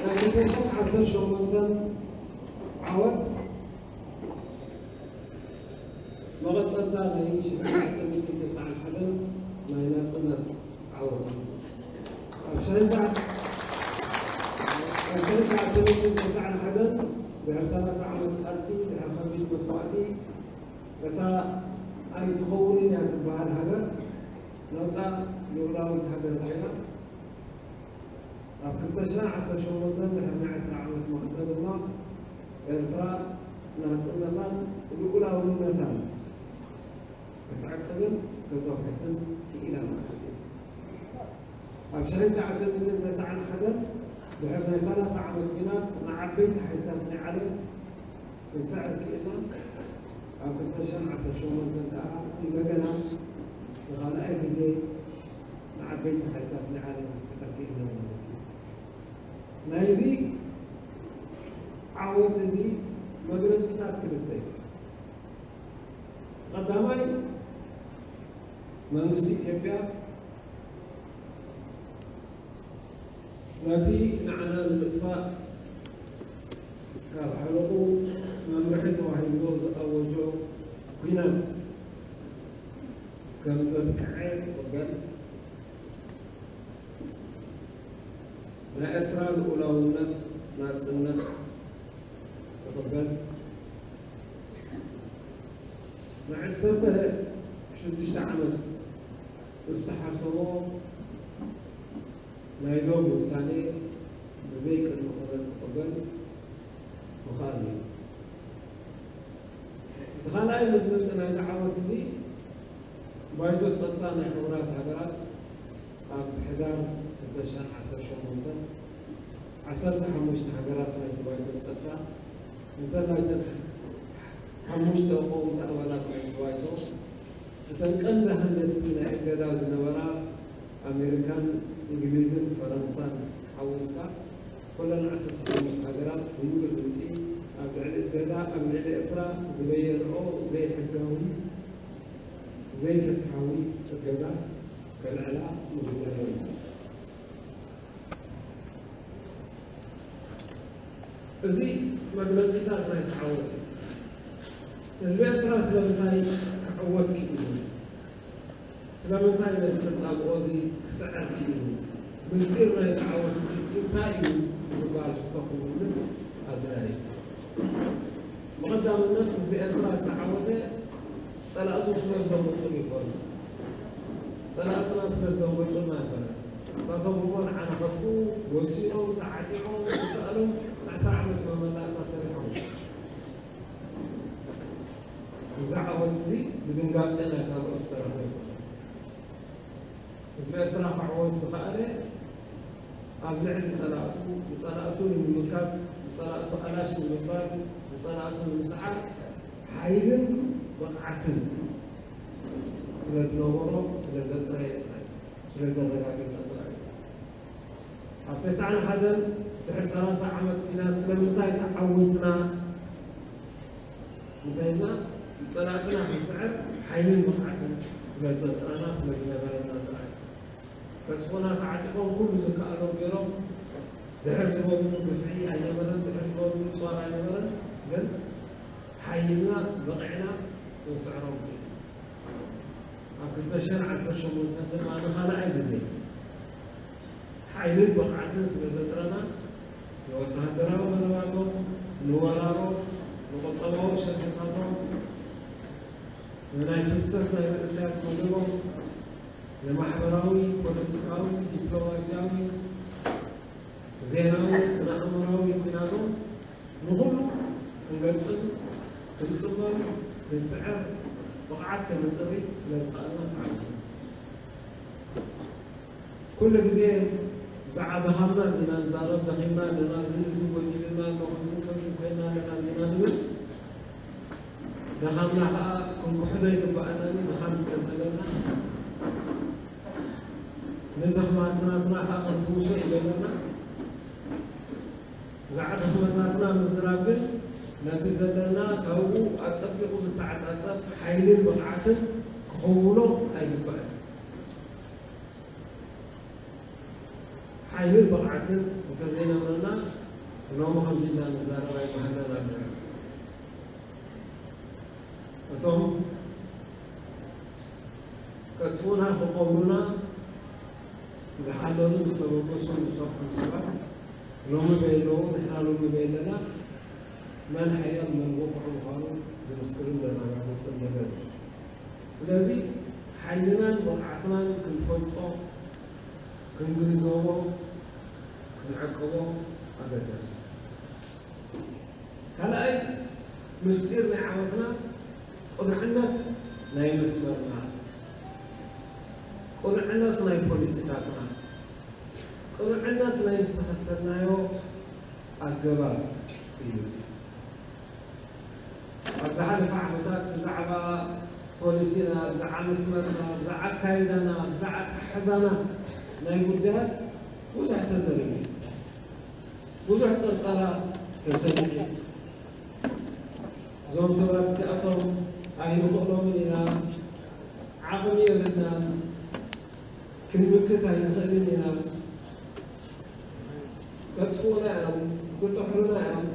ናይ ክልተ ሽሕን ዓሰርተ ሸሞንተን ዓወት መቐጸልታ ናይ ሽሕን ትሽዓተ ሚእትን ተስዓን ሓደን ናይ ናጽነት ዓወት እዩ። ኣብ ሽሕን ትሽዓተ ኣብ ሽሕን ትሽዓተ ሚእትን ተስዓን ሓደን ድሕሪ ሰላሳ ዓመት ቃልሲ፣ ድሕሪ ከቢድ መስዋእቲ፣ እታ ኣይትኸውንን እያ ትበሃል ሃገር ናጻ ልኡላዊት ሃገር ኮይና፣ ኣብ ክልተ ሽሕን ዓሰርተ ሸሞንተን ድሕሪ ናይ ዕስራ ዓመት መኸተ ድማ ኤርትራ ናጽነታን ልኡላውነታን ክትዕቅብን ከተውሕስን ክኢላ ማለት እዩ። ኣብ ሽሕን ትሽዓተ ሚእትን ተስዓን ሓደን ድሕሪ ናይ ሰላሳ ዓመት ኲናት ንዓበይቲ ሓይልታት ናይ ዓለም ክንስዕር ክኢልና፣ ኣብ ክልተ ሽሕን ዓሰርተ ሸሞንተን ከኣ እንደገና ንኻልኣይ ግዜ ንዓበይቲ ሓይልታት ናይ ዓለም ክንስዕር ክኢልና ማለት እዩ። ናይዚ ዓወት እዚ መግለጺታት ክልተ እዩ። ቀዳማይ፣ መንግስቲ ኢትዮጵያ ነቲ ንዓና ንምጥፋእ ካብ ሓለቑ መምርሒ ተባሂልዎ ዝኣወጆ ኲናት ከም ዘብቅዐ ክቕበል፣ ናይ ኤርትራ ልኡላውነት ናጽነት ክቕበል፣ ንዓሰርተ ሽዱሽተ ዓመት ዝተሓሰቦ ናይ ዶብ ውሳኔ ብዘይ ቅድመ ኩነት ክቕበል ምኽኣል እዩ። እቲ ካልኣይ መግለጺ ናይዚ ዓወት እዚ፣ ባይቶ ጸጥታ ናይ ሕቡራት ሃገራት ኣብ ሕዳር ክልተ ሽሕን ዓሰርተ ሸሞንተን፣ ዓሰርተ ሓሙሽተ ሃገራት ናይቲ ባይቶ ጸጥታ፣ እንተላይ እተን ሓሙሽተ ቀወምቲ ኣባላት ናይቲ ባይቶ፣ እተን ቀንዲ ሃንደስቲ ናይ እገዳ ዝነበራ ኣሜሪካን እንግሊዝን ፈረንሳን ሓዊስካ፣ ኩለን ዓሰርተ ሓሙሽተ ሃገራት ብምሉእ ድምጺ ኣብ ልዕሊ እገዳ ኣብ ልዕሊ ኤርትራ ዝበየንኦ ዘይሕጋዊ፣ ዘይፍትሓዊ እገዳ ከልዕላ ምጉዳለን እዩ። እዚ መግለጺታት ናይቲ ዓወት እዩ። ህዝቢ ኤርትራ ስለምንታይ ክዕወት ክኢሉ? ስለምንታይ ነዚ ተጻብኦ እዚ ክስዕር ክኢሉ? ምስጢር ናይዚ ዓወት እዚ እንታይ እዩ? ንዝበሃል ሕቶ ክምልስ ኣድላዪ እዩ። ብቐዳምነት ህዝቢ ኤርትራ ዝተዓወተ ጸላእቱ ስለ ዝደንገጹሉ ይኾኑ። ጸላእትና ስለ ዝደንገጹልና ኣይኮነን። ንሳቶም እሞ ንዓና ከጥፍኡ ወሲኖም፣ ተዓጢቖም፣ ዝከኣሎም ንዓሰርተ ዓመት መመላእታ ሰሪሖም። እዚ ዓወት እዚ ብድንጋጸ ናይ ካልኦት ዝተረኽበ ኣይኮነን። ህዝቢ ኤርትራ ክዕወት ዝኸኣለ ኣብ ልዕሊ ጸላእቱ፣ ንጸላእቱ ንምምካት ጸላእቱ ኣላሽ ንምባል፣ ንጸላእቱ ንምስዓር ሓይልን ብቕዓትን ስለ ዝነበሮ፣ ስለ ዘጥረየ ጥራይ፣ ስለ ዘረጋገጸ ጥራይ። ኣብ ተስዓን ሓደን ድሕሪ ሰላሳ ዓመት ኲናት ስለምንታይ ተዓዊትና እንተኢልና፣ ንጸላእትና ክንስዕር ሓይልን ብቕዓትን ስለ ዘጥረና፣ ስለ ዝነበረና ጥራይ። ከጥፉና ተዓጢቖም ኩሉ ዝከኣሎም ገይሮም፣ ድሕር ዝበሉ ግፍዒ ኣይነበረን፣ ድሕር ዝበሉ ጾር ኣይነበረን። ግን ሓይልና በቒዕና ክንስዕሮም ክኢልና። ኣብ ክልተ ሽሕን ዓሰርተ ሸሞንተን ድማ ንኻልኣይ ግዜ ሓይልን ብቕዓትን ስለ ዘጥረና፣ ንወተሃደራዊ መደባቶም፣ ንወራሮም፣ ንቁጠባዊ ሸርሕታቶም፣ ንናይ ፍልሰት ናይ መንእሰያት መደቦም፣ ንማሕበራዊ፣ ፖለቲካዊ፣ ዲፕሎማስያዊ፣ ዜናዊ፣ ስነ-ኣእምሮኣዊ ኲናቶም ንኹሉ ክንገጥም፣ ክንጽመም፣ ክንስዕር፣ ብቕዓት ከነጥሪ ስለ ዝኸኣልና ተዓዊትና። ኩሉ ግዜ ብዛዕባ ድኻምና እንዲና ንዛረብ፣ ደኺምና ኣለና፣ እዚ ንዚ ጎዲሉና ኣሎ፣ ከምዚ ከምዚ ኮይና ኣለና እንዲና ንብል። ድኻምና ኸኣ ክንክሕዶ ኣይግባኣናን እዩ፣ ድኻም ስለ ዘለና። ንድኽመትናትና ኸኣ ክንፍውሶ እዩ ዘለና። ብዛዕባ ድኽመታትና ምዝራብ ግን ነቲ ዘለና ካብኡ ኣጸቢቑ ዝተዓጻጸፍ ሓይልን ብቕዓትን ክኸውሎ ኣይግባእን። ሓይልን ብቕዓትን እንተዘይነበረና፣ ሎሚ ከምዚ ኢልና ንዛረብ ኣይምሃለናን ነይርና። እቶም ከጥፉና፣ ክቐብሩና ዝሓለሉ፣ ዝተበገሱ፣ ዝሰርሑ ሰባት ሎሚ በየለዉ፣ ንሕና ሎሚ በየለና፣ መን ሓያል መን ብቑዕ ምዃኑ ዝምስክርን ዘረጋግጽን ነገር እዩ። ስለዚ ሓይልናን ብቕዓትናን ክንፈልጦ፣ ክንግንዘቦ፣ ክንዕቅቦ ኣገዳሲ እዩ። ካልኣይ ምስጢር ናይ ዓወትና ቅኑዕነት ናይ መስመርና፣ ቅኑዕነት ናይ ፖሊሲታትና፣ ቅኑዕነት ናይ ዝተኸተልናዮ ኣገባብ እዩ። ኣብ ዝሓለፈ ዓመታት ብዛዕባ ፖሊሲና፣ ብዛዕባ መስመርና፣ ብዛዕባ ኣካይዳና፣ ብዛዕባ ኣተሓሕዛና ናይ ጉዳያት ብዙሕ ተዘሪቡ፣ ብዙሕ ጥርጠራ ተሰሚዑ። እዞም ሰባት እዚኣቶም ኣይንኽእሎምን ኢና፣ ዓቕሚ የብልናን፣ ክንምክት ኣይንኽእልን ኢና፣ ከጥፍኡና እዮም፣ ክጥሕሉና እዮም፣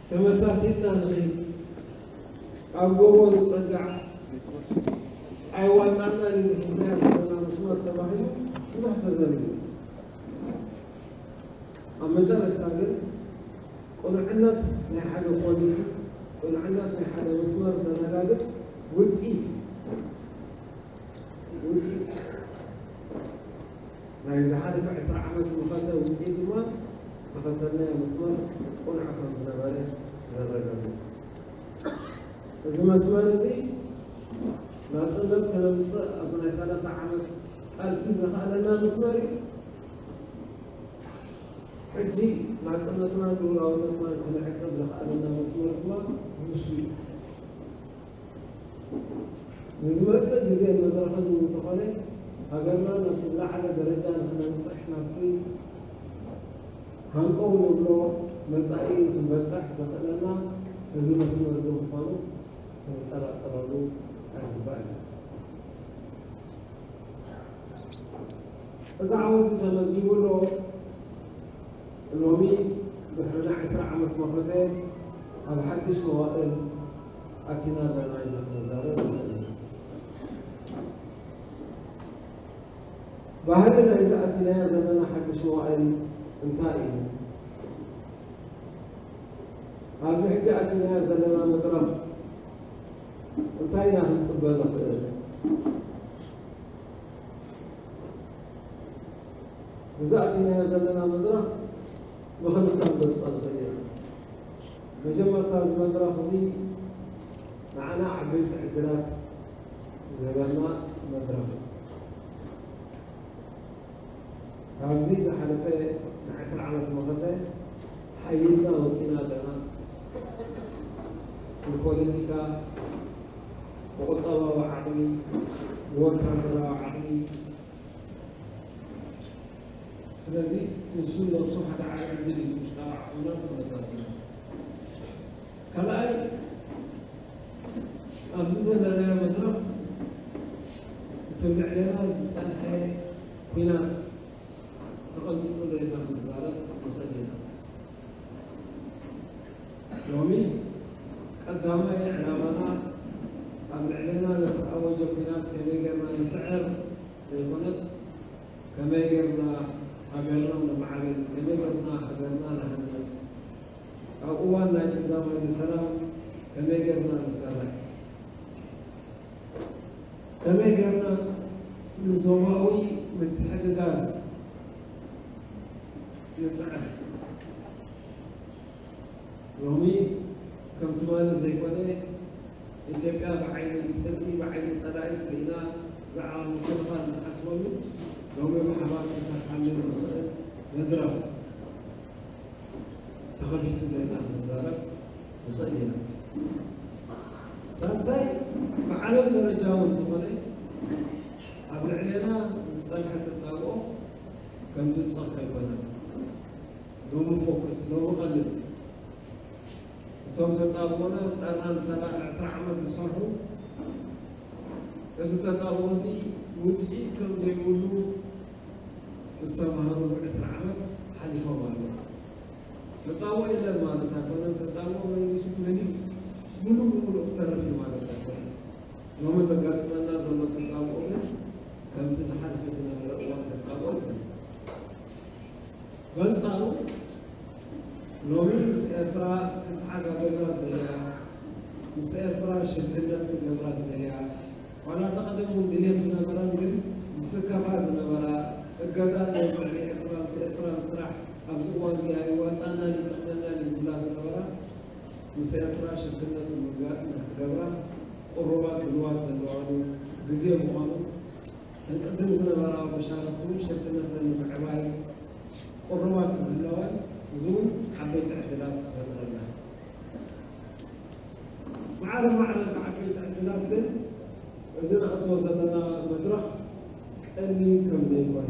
ተመሳሲልና ንኺድ፣ ኣብ ጎቦ ንጸጋዕ፣ ኣይዋጻናን እዩ ዝሕዝና ዘለና መስመር ተባሂሉ ብዙሕ ተዘሪቡ። ኣብ መጨረሽታ ግን ቅኑዕነት ናይ ሓደ ፖሊሲ፣ ቅኑዕነት ናይ ሓደ መስመር ዘረጋግጽ ውጽኢት፣ ውጽኢት ናይ ዝሓለፈ ዕስራ ዓመት መኸተ ውጽኢት ድማ ዝተኸተልናዮ መስመር ቅኑዕ ከም ዝነበረ ዘረጋግጽ። እዚ መስመር እዚ ናጽነት ከነምጽእ ኣብቲ ናይ ሰላሳ ዓመት ቃልሲ ዘኽኣለና መስመር እዩ። ሕጂ ናጽነትናን ልኡላውነትናን ከነዕቅብ ዘኽኣለና መስመር ድማ ንሱ እዩ። ንዝመጽእ ግዜን መድረኽን እውን እንተኾነ፣ ሃገርና ናብቲ ዝለዓለ ደረጃ ንኽነብጽሕ ናብቲ ሃንቀው ንብሎ መጻኢ ንኽንበጽሕ ዘኽእለና እዚ መስመር እዚ ምዃኑ ክንጠራጠረሉ ኣይግባእን። እዚ ዓወት ተመዝጊቡ ኣሎ። ሎሚ ድሕሪ ናይ ዕስራ ዓመት መኸተ ኣብ ሓድሽ መዋእል ኣቲና ኣለና ኢልና ክንዛረብ ንኽእል ኢና። ባህሪ ናይዚ ኣቲናዮ ዘለና ሓድሽ መዋእል እንታይ እዩ? ኣብዚ ሕጂ ኣቲናዮ ዘለና መድረኽ እንታይ ኢና ክንጽበ ንኽእል? እዚ ኣቲናዮ ዘለና መድረኽ ብኽልተ ክንገልጾ ንኽእል ኢና። መጀመርታ፣ እዚ መድረኽ እዚ ንዓና ዓበይቲ ዕድላት ዝህበና መድረኽ እዩ። ካብዚ ዝሓለፈ ናይ ዕስራ ዓመት መኸተ ሓይልና ወፂና ኣለና። ብፖለቲካ፣ ብቁጠባዊ ዓቕሚ፣ ብወታደራዊ ዓቕሚ። ስለዚ ንሱ ነብሱ ሓደ ዓቢ ዕድል እዩ፣ ውሽጣዊ ዓቕምና ክነታትና። ካልኣይ፣ ኣብዚ ዘለናዮ መድረኽ እቲ ልዕሌና ዝጸንሐ ኲናት ተቐንጢጡ ዶ ኢልና ክንዛረብ ንኽእል ኢና። ሎሚ ቀዳማይ ዕላማና ኣብ ልዕሌና ንዝተኣወጀ ኲናት ከመይ ጌርና ንስዕር ዘይኮነስ፣ ከመይ ጌርና ሃገርና ነማዕብል፣ ከመይ ጌርና ሃገርና ንሃንጽ፣ ኣብ እዋን ናይ ተዛማዲ ሰላም ከመይ ጌርና ንሰርሕ፣ ከመይ ጌርና ንዞባዊ ምትሕግጋዝ ንጽዕር። ሎሚ ከም ትማሊ ዘይኮነ፣ ኢትዮጵያ ብዓይኒ ጽልኢ፣ ብዓይኒ ጸላኢ ርኢና ብዓቕሊ ምክልኻል ንሓስበሉ፣ ሎሚ ብሓባር ክንሰርሓሉ ንኽእል መድረኽ ተኸፊቱ ዶ ኢልና ክንዛረብ ንኽእል ኢና። ሳልሳይ፣ ብዓለም ደረጃ እውን እንተኾነ ኣብ ልዕሌና ዝጸንሐ ተጻብኦ ከምቲ ዝጸንሐ ኣይኮነን። ሎሚ ፎከስ፣ ሎሚ ቀልብ። እቶም ተጻብኦና ኣንጻርና ንሰላ-፣ ዕስራ ዓመት ዝሰርሑ፣ እዚ ተጻብኦ እዚ ውጽኢት ከም ዘይብሉ ዝተማህሩ ዕስራ ዓመት ሓሊፎም ኣለዉ። ተጻብኦ የለን ማለት ኣይኮነን። ተጻብኦ መሊሱ መሊኡ ምሉእ ብምሉእ ክተርፍ እዩ ማለት ኣይኮነን። ሎሚ ዘጋጥመና ዘሎ ተጻብኦ ግን ከምቲ ዝሓለፈ ዝነበረ እዋን ተጻብኦ ኣይኮነን። በንጻሩ፣ ሎሚ ምስ ኤርትራ ክትሓጋገዛ ዝደልያ፣ ምስ ኤርትራ ሽርክነት ክገብራ ዝደልያ፣ ዋላ እቲ ቀደም እውን ድልየት ዝነበረን ግን ዝስከፋ ዝነበራ፣ እገዳ ናይ ልዕሊ ኤርትራ፣ ምስ ኤርትራ ምስራሕ ኣብዚ እዋን እዚ ኣይዋጻናን ይጠቕመናን እዩ ዝብላ ዝነበራ፣ ምስ ኤርትራ ሽርክነት ንምግባር ንክትገብራ ቅሩባት ድልዋት ዘለዋሉ ግዜ ምዃኑ፣ እተን ቅድም ዝነበራ መሻርኽቲ እውን ሽርክነተን ንምዕባይ ቅሩባት ምህላወን፣ እዚ እውን ዓበይቲ ዕድላት ይፈጥረልና። ማዕረ ማዕረ እቲ ዓበይቲ ዕድላት ግን፣ እዚ ንኣትዎ ዘለና መድረኽ ቀሊል ከም ዘይኮነ፣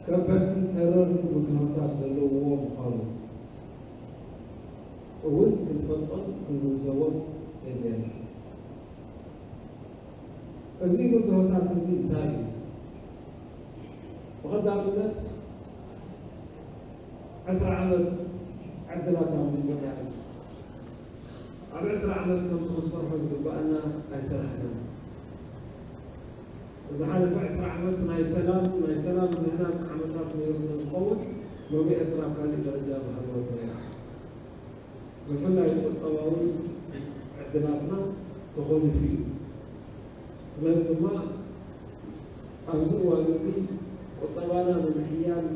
ከበድቲ ተረርቲ ብድሆታት ዘለውዎ ምዃኑ እውን ክንፈልጦን ክንግንዘቦን የድልየና። እዚ ብድሆታት እዚ እንታይ እዩ? ብቐዳምነት፣ ዕስራ ዓመት ዕድላት ኣምሊጡና እዩ። ኣብ ዕስራ ዓመት ከምቲ ክንሰርሖ ዝግባኣና ኣይሰራሕናን። ዝሓለፈ ዕስራ ዓመት ናይ ሰላም፣ ናይ ሰላም ምህናጽ ዓመታት ነይሩ እንተዝኸውን፣ ሎሚ ኤርትራ ኣብ ካሊእ ደረጃ ምሃለወት ነይራ። ብፍላይ ቁጠባዊ ዕድላትና ተኾሊፉ እዩ። ስለዚ ድማ ኣብዚ እዋን እዚ ቁጠባና ንምሕያል፣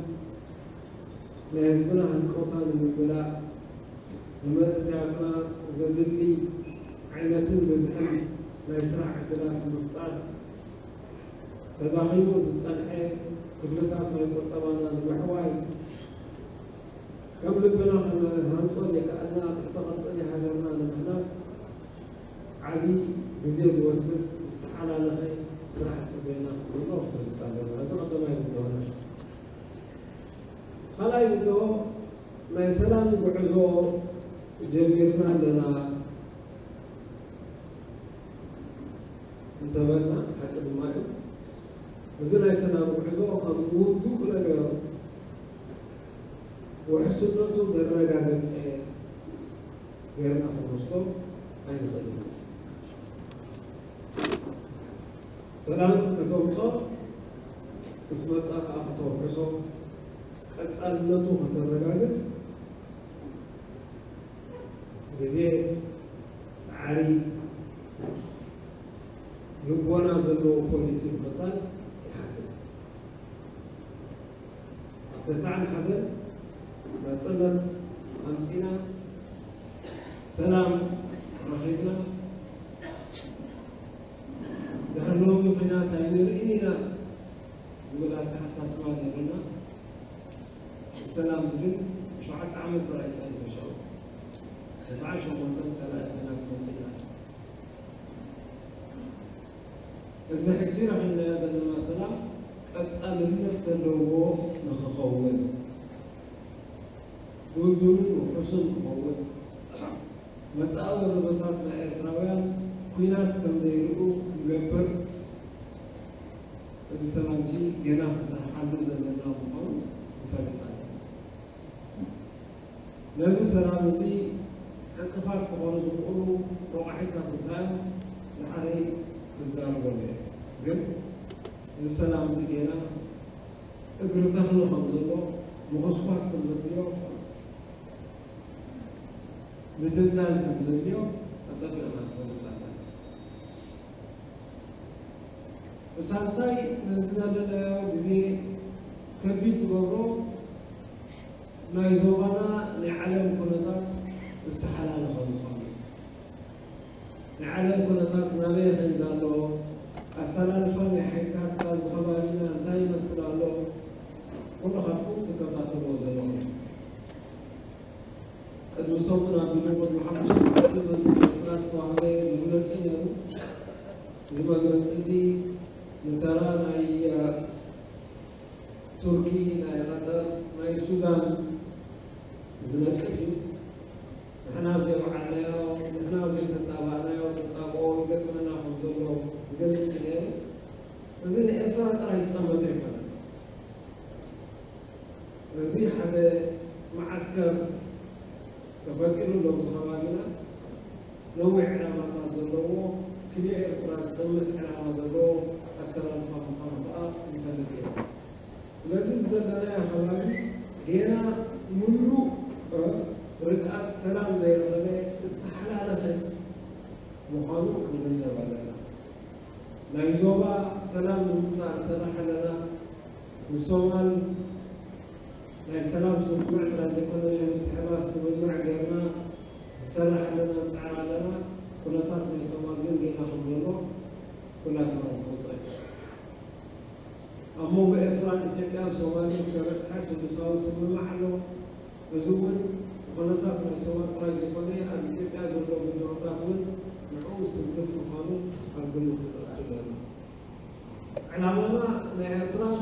ናይ ህዝብና ህንቀውታ ንምምላእ፣ ንመንእሰያትና ዘድሊ ዓይነትን ብዝሕን ናይ ስራሕ ዕድላት ንምፍጣር፣ ተዳኺሙ ዝጸንሐ ክፍልታት ናይ ቁጠባና ንምሕዋይ፣ ከም ልብና ክንሃንጾ ዘይከኣልና ትሕተ ቅርጺ ናይ ሃገርና ንምህናጽ ዓቢ ግዜ ዝወስድ ዝተሓላለኸ ስራሕ ይጽበየና ክንብሎ ንፈልጥ ኣለና። እዚ ቀዳማይ ብድሆና። ካልኣይ ብድሆ፣ ናይ ሰላም ጉዕዞ ጀሚርና ኣለና እንተበልና ሓቂ ድማ እዩ። እዚ ናይ ሰላም ጉዕዞ ከም ውዱእ ነገር ውሕስነቱ ዘረጋገጸ ጌርና ክንወስዶ ኣይንኽእልን። ሰላም ከተምጾ ምስ መጻ ከኣ ከተውሕሶ፣ ቀጻልነቱ ከተረጋግጽ ግዜ፣ ጻዕሪ፣ ልቦና ዘለዎ ፖሊሲ ምኽታል ይሓትት። ኣብ ተስዓን ሓደን ናጽነት ኣምጺና፣ ሰላም ረኺብና፣ ድሕሪ ሎሚ ኲናት ኣይንርእን ኢና ዝብል ኣተሓሳስባ ነይሩና። ሰላም ዝብል ሸውዓተ ዓመት ጥራይ ጸኒሑ፣ ሽዑ ተስዓን ሸሞንተን ካልኣይ ኣተና ክንወጽእ ኢና። እዚ ሕጂ ረኺብናዮ ዘለና ሰላም ቀጻልነት ዘለዎ ንኽኸውን፣ ድልዱልን ውሑስን ክኸውን፣ መጻኢ ወለዶታት ናይ ኤርትራውያን ኲናት ከም ዘይርእዩ ክገብር፣ እዚ ሰላም እዚ ጌና ክንሰርሓሉ ዘለና ምዃኑ ንፈልጥ ኣለና። ነዚ ሰላም እዚ ዕንቅፋት ክኾኑ ዝኽእሉ ረቋሒታት እንታይ እዮም? ንሓደይ ክዛረበሉ እየ። ግን እዚ ሰላም እዚ ጌና እግሪ ተኽሊ ከም ዘሎ፣ ምኹስኳስ ከም ዘድልዮ፣ ምድልዳል ከም ዘድልዮ ኣጸቢቕና ንፈልጥ ኣለና። ብሳልሳይ፣ ነዚ ዘለናዮ ግዜ ከቢድ ዝገብሮ፣ ናይ ዞባና ናይ ዓለም ኩነታት ዝተሓላለኸ ምዃኑ እዩ። ናይ ዓለም ኩነታት ናበይ ይኸይድ ኣሎ? ኣሰላልፋ ናይ ሓይልታት ኣብዚ ከባቢና እንታይ ይመስል ኣሎ? ኩልኻትኩም ትከታተልዎ ዘለኹም። ቅድሚ ሰሙን ኣቢሉ፣ ቅድሚ ሓሙሽተ መዓልቲ መንግስቲ ኤርትራ ዝተዋህበ መግለጺ ነይሩ። እዚ መግለጺ እዚ ንተራ ናይ ቱርኪ፣ ናይ ቀጠር፣ ናይ ሱዳን ዝነቅፍ እዩ። ንሕና ዘይወዓልናዮ፣ ንሕና ዘይተጻባእናዮ ተጻብኦ ይገጥመና ከም ዘሎ ዝገልጽ እዩ ነይሩ። እዚ ንኤርትራ ጥራይ ዝጠመተ ኣይኮነን። እዚ ሓደ መዓስከር ተፈጢሩ ኣሎ ኣብዚ ከባቢና። ነዊሕ ዕላማታት ዘለዎ፣ ክልኤ ኤርትራ ዝጠምት ዕላማ ዘለዎ ኣሰላልፋ ምዃኑ ከኣ ንፈልጥ ኢና። ስለዚ፣ እዚ ዘለናዮ ከባቢ ጌና ምሉእ፣ እ፣ ርግኣት ሰላም ዘይረኸበ፣ ዝተሓላለኸ ምዃኑ ክንግንዘብ ኣለና። ናይ ዞባ ሰላም ንምምጻእ ንሰርሕ ኣለና። ምስ ሶማል ናይ ሰላም ስምምዕ ጥራይ ዘይኮነ፣ ናይ ምትሕብባር ስምምዕ ጌርና ንሰርሕ ኣለና፣ ንጽዕር ኣለና። ኩነታት ናይ ሶማል ግን ጌና ከም ዘሎ ኩላትና ንፈልጦ ኢና። ኣብ መንጎ ኤርትራን ኢትዮጵያን ሶማልን ዝተበጽሐ ስሉሳዊ ስምምዕ ኣሎ። እዚ እውን ንኩነታት ናይ ሶማል ጥራይ ዘይኮነ፣ ኣብ ኢትዮጵያ ዘሎ ብድሆታት እውን ንዕኡ ዝትንክፍ ምዃኑ ኣብ ግምት ክነእቱ ኣለና። ዕላማና ናይ ኤርትራን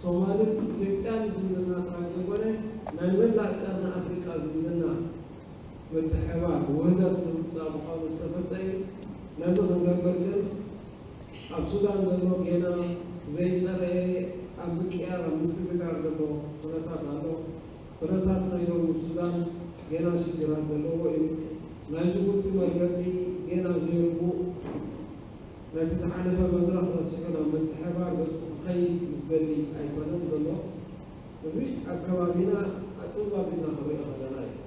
ሶማልን ኢትዮጵያን ዝምድና ጥራይ ዘይኮነ፣ ናይ መላእ ቀርኒ ኣፍሪቃ ዝምድና ምትሕብባር፣ ውህደት ንምምጻእ ምዃኑ ዝተፈልጠ እዩ። ነዚ ክንገብር ግን ኣብ ሱዳን ዘሎ ጌና ዘይጸረየ፣ ኣብ ምቅያር፣ ኣብ ምስግጋር ዘሎ ኩነታት ኣሎ። ኩነታት ናይ ደቡብ ሱዳን ጌና ሽግራት ዘለዎ እዩ። ናይ ጅቡቲ መርገጺ ጌና ዘይርጉእ፣ ነቲ ዝሓለፈ መድረኽ ረሲዑ ናብ ምትሕብባር ገጹ ክኸይድ ዝደሊ ኣይኮነን ዘሎ። እዚ ኣብ ከባቢና ኣጸባቢና ክንሪኦ ከለና እዩ።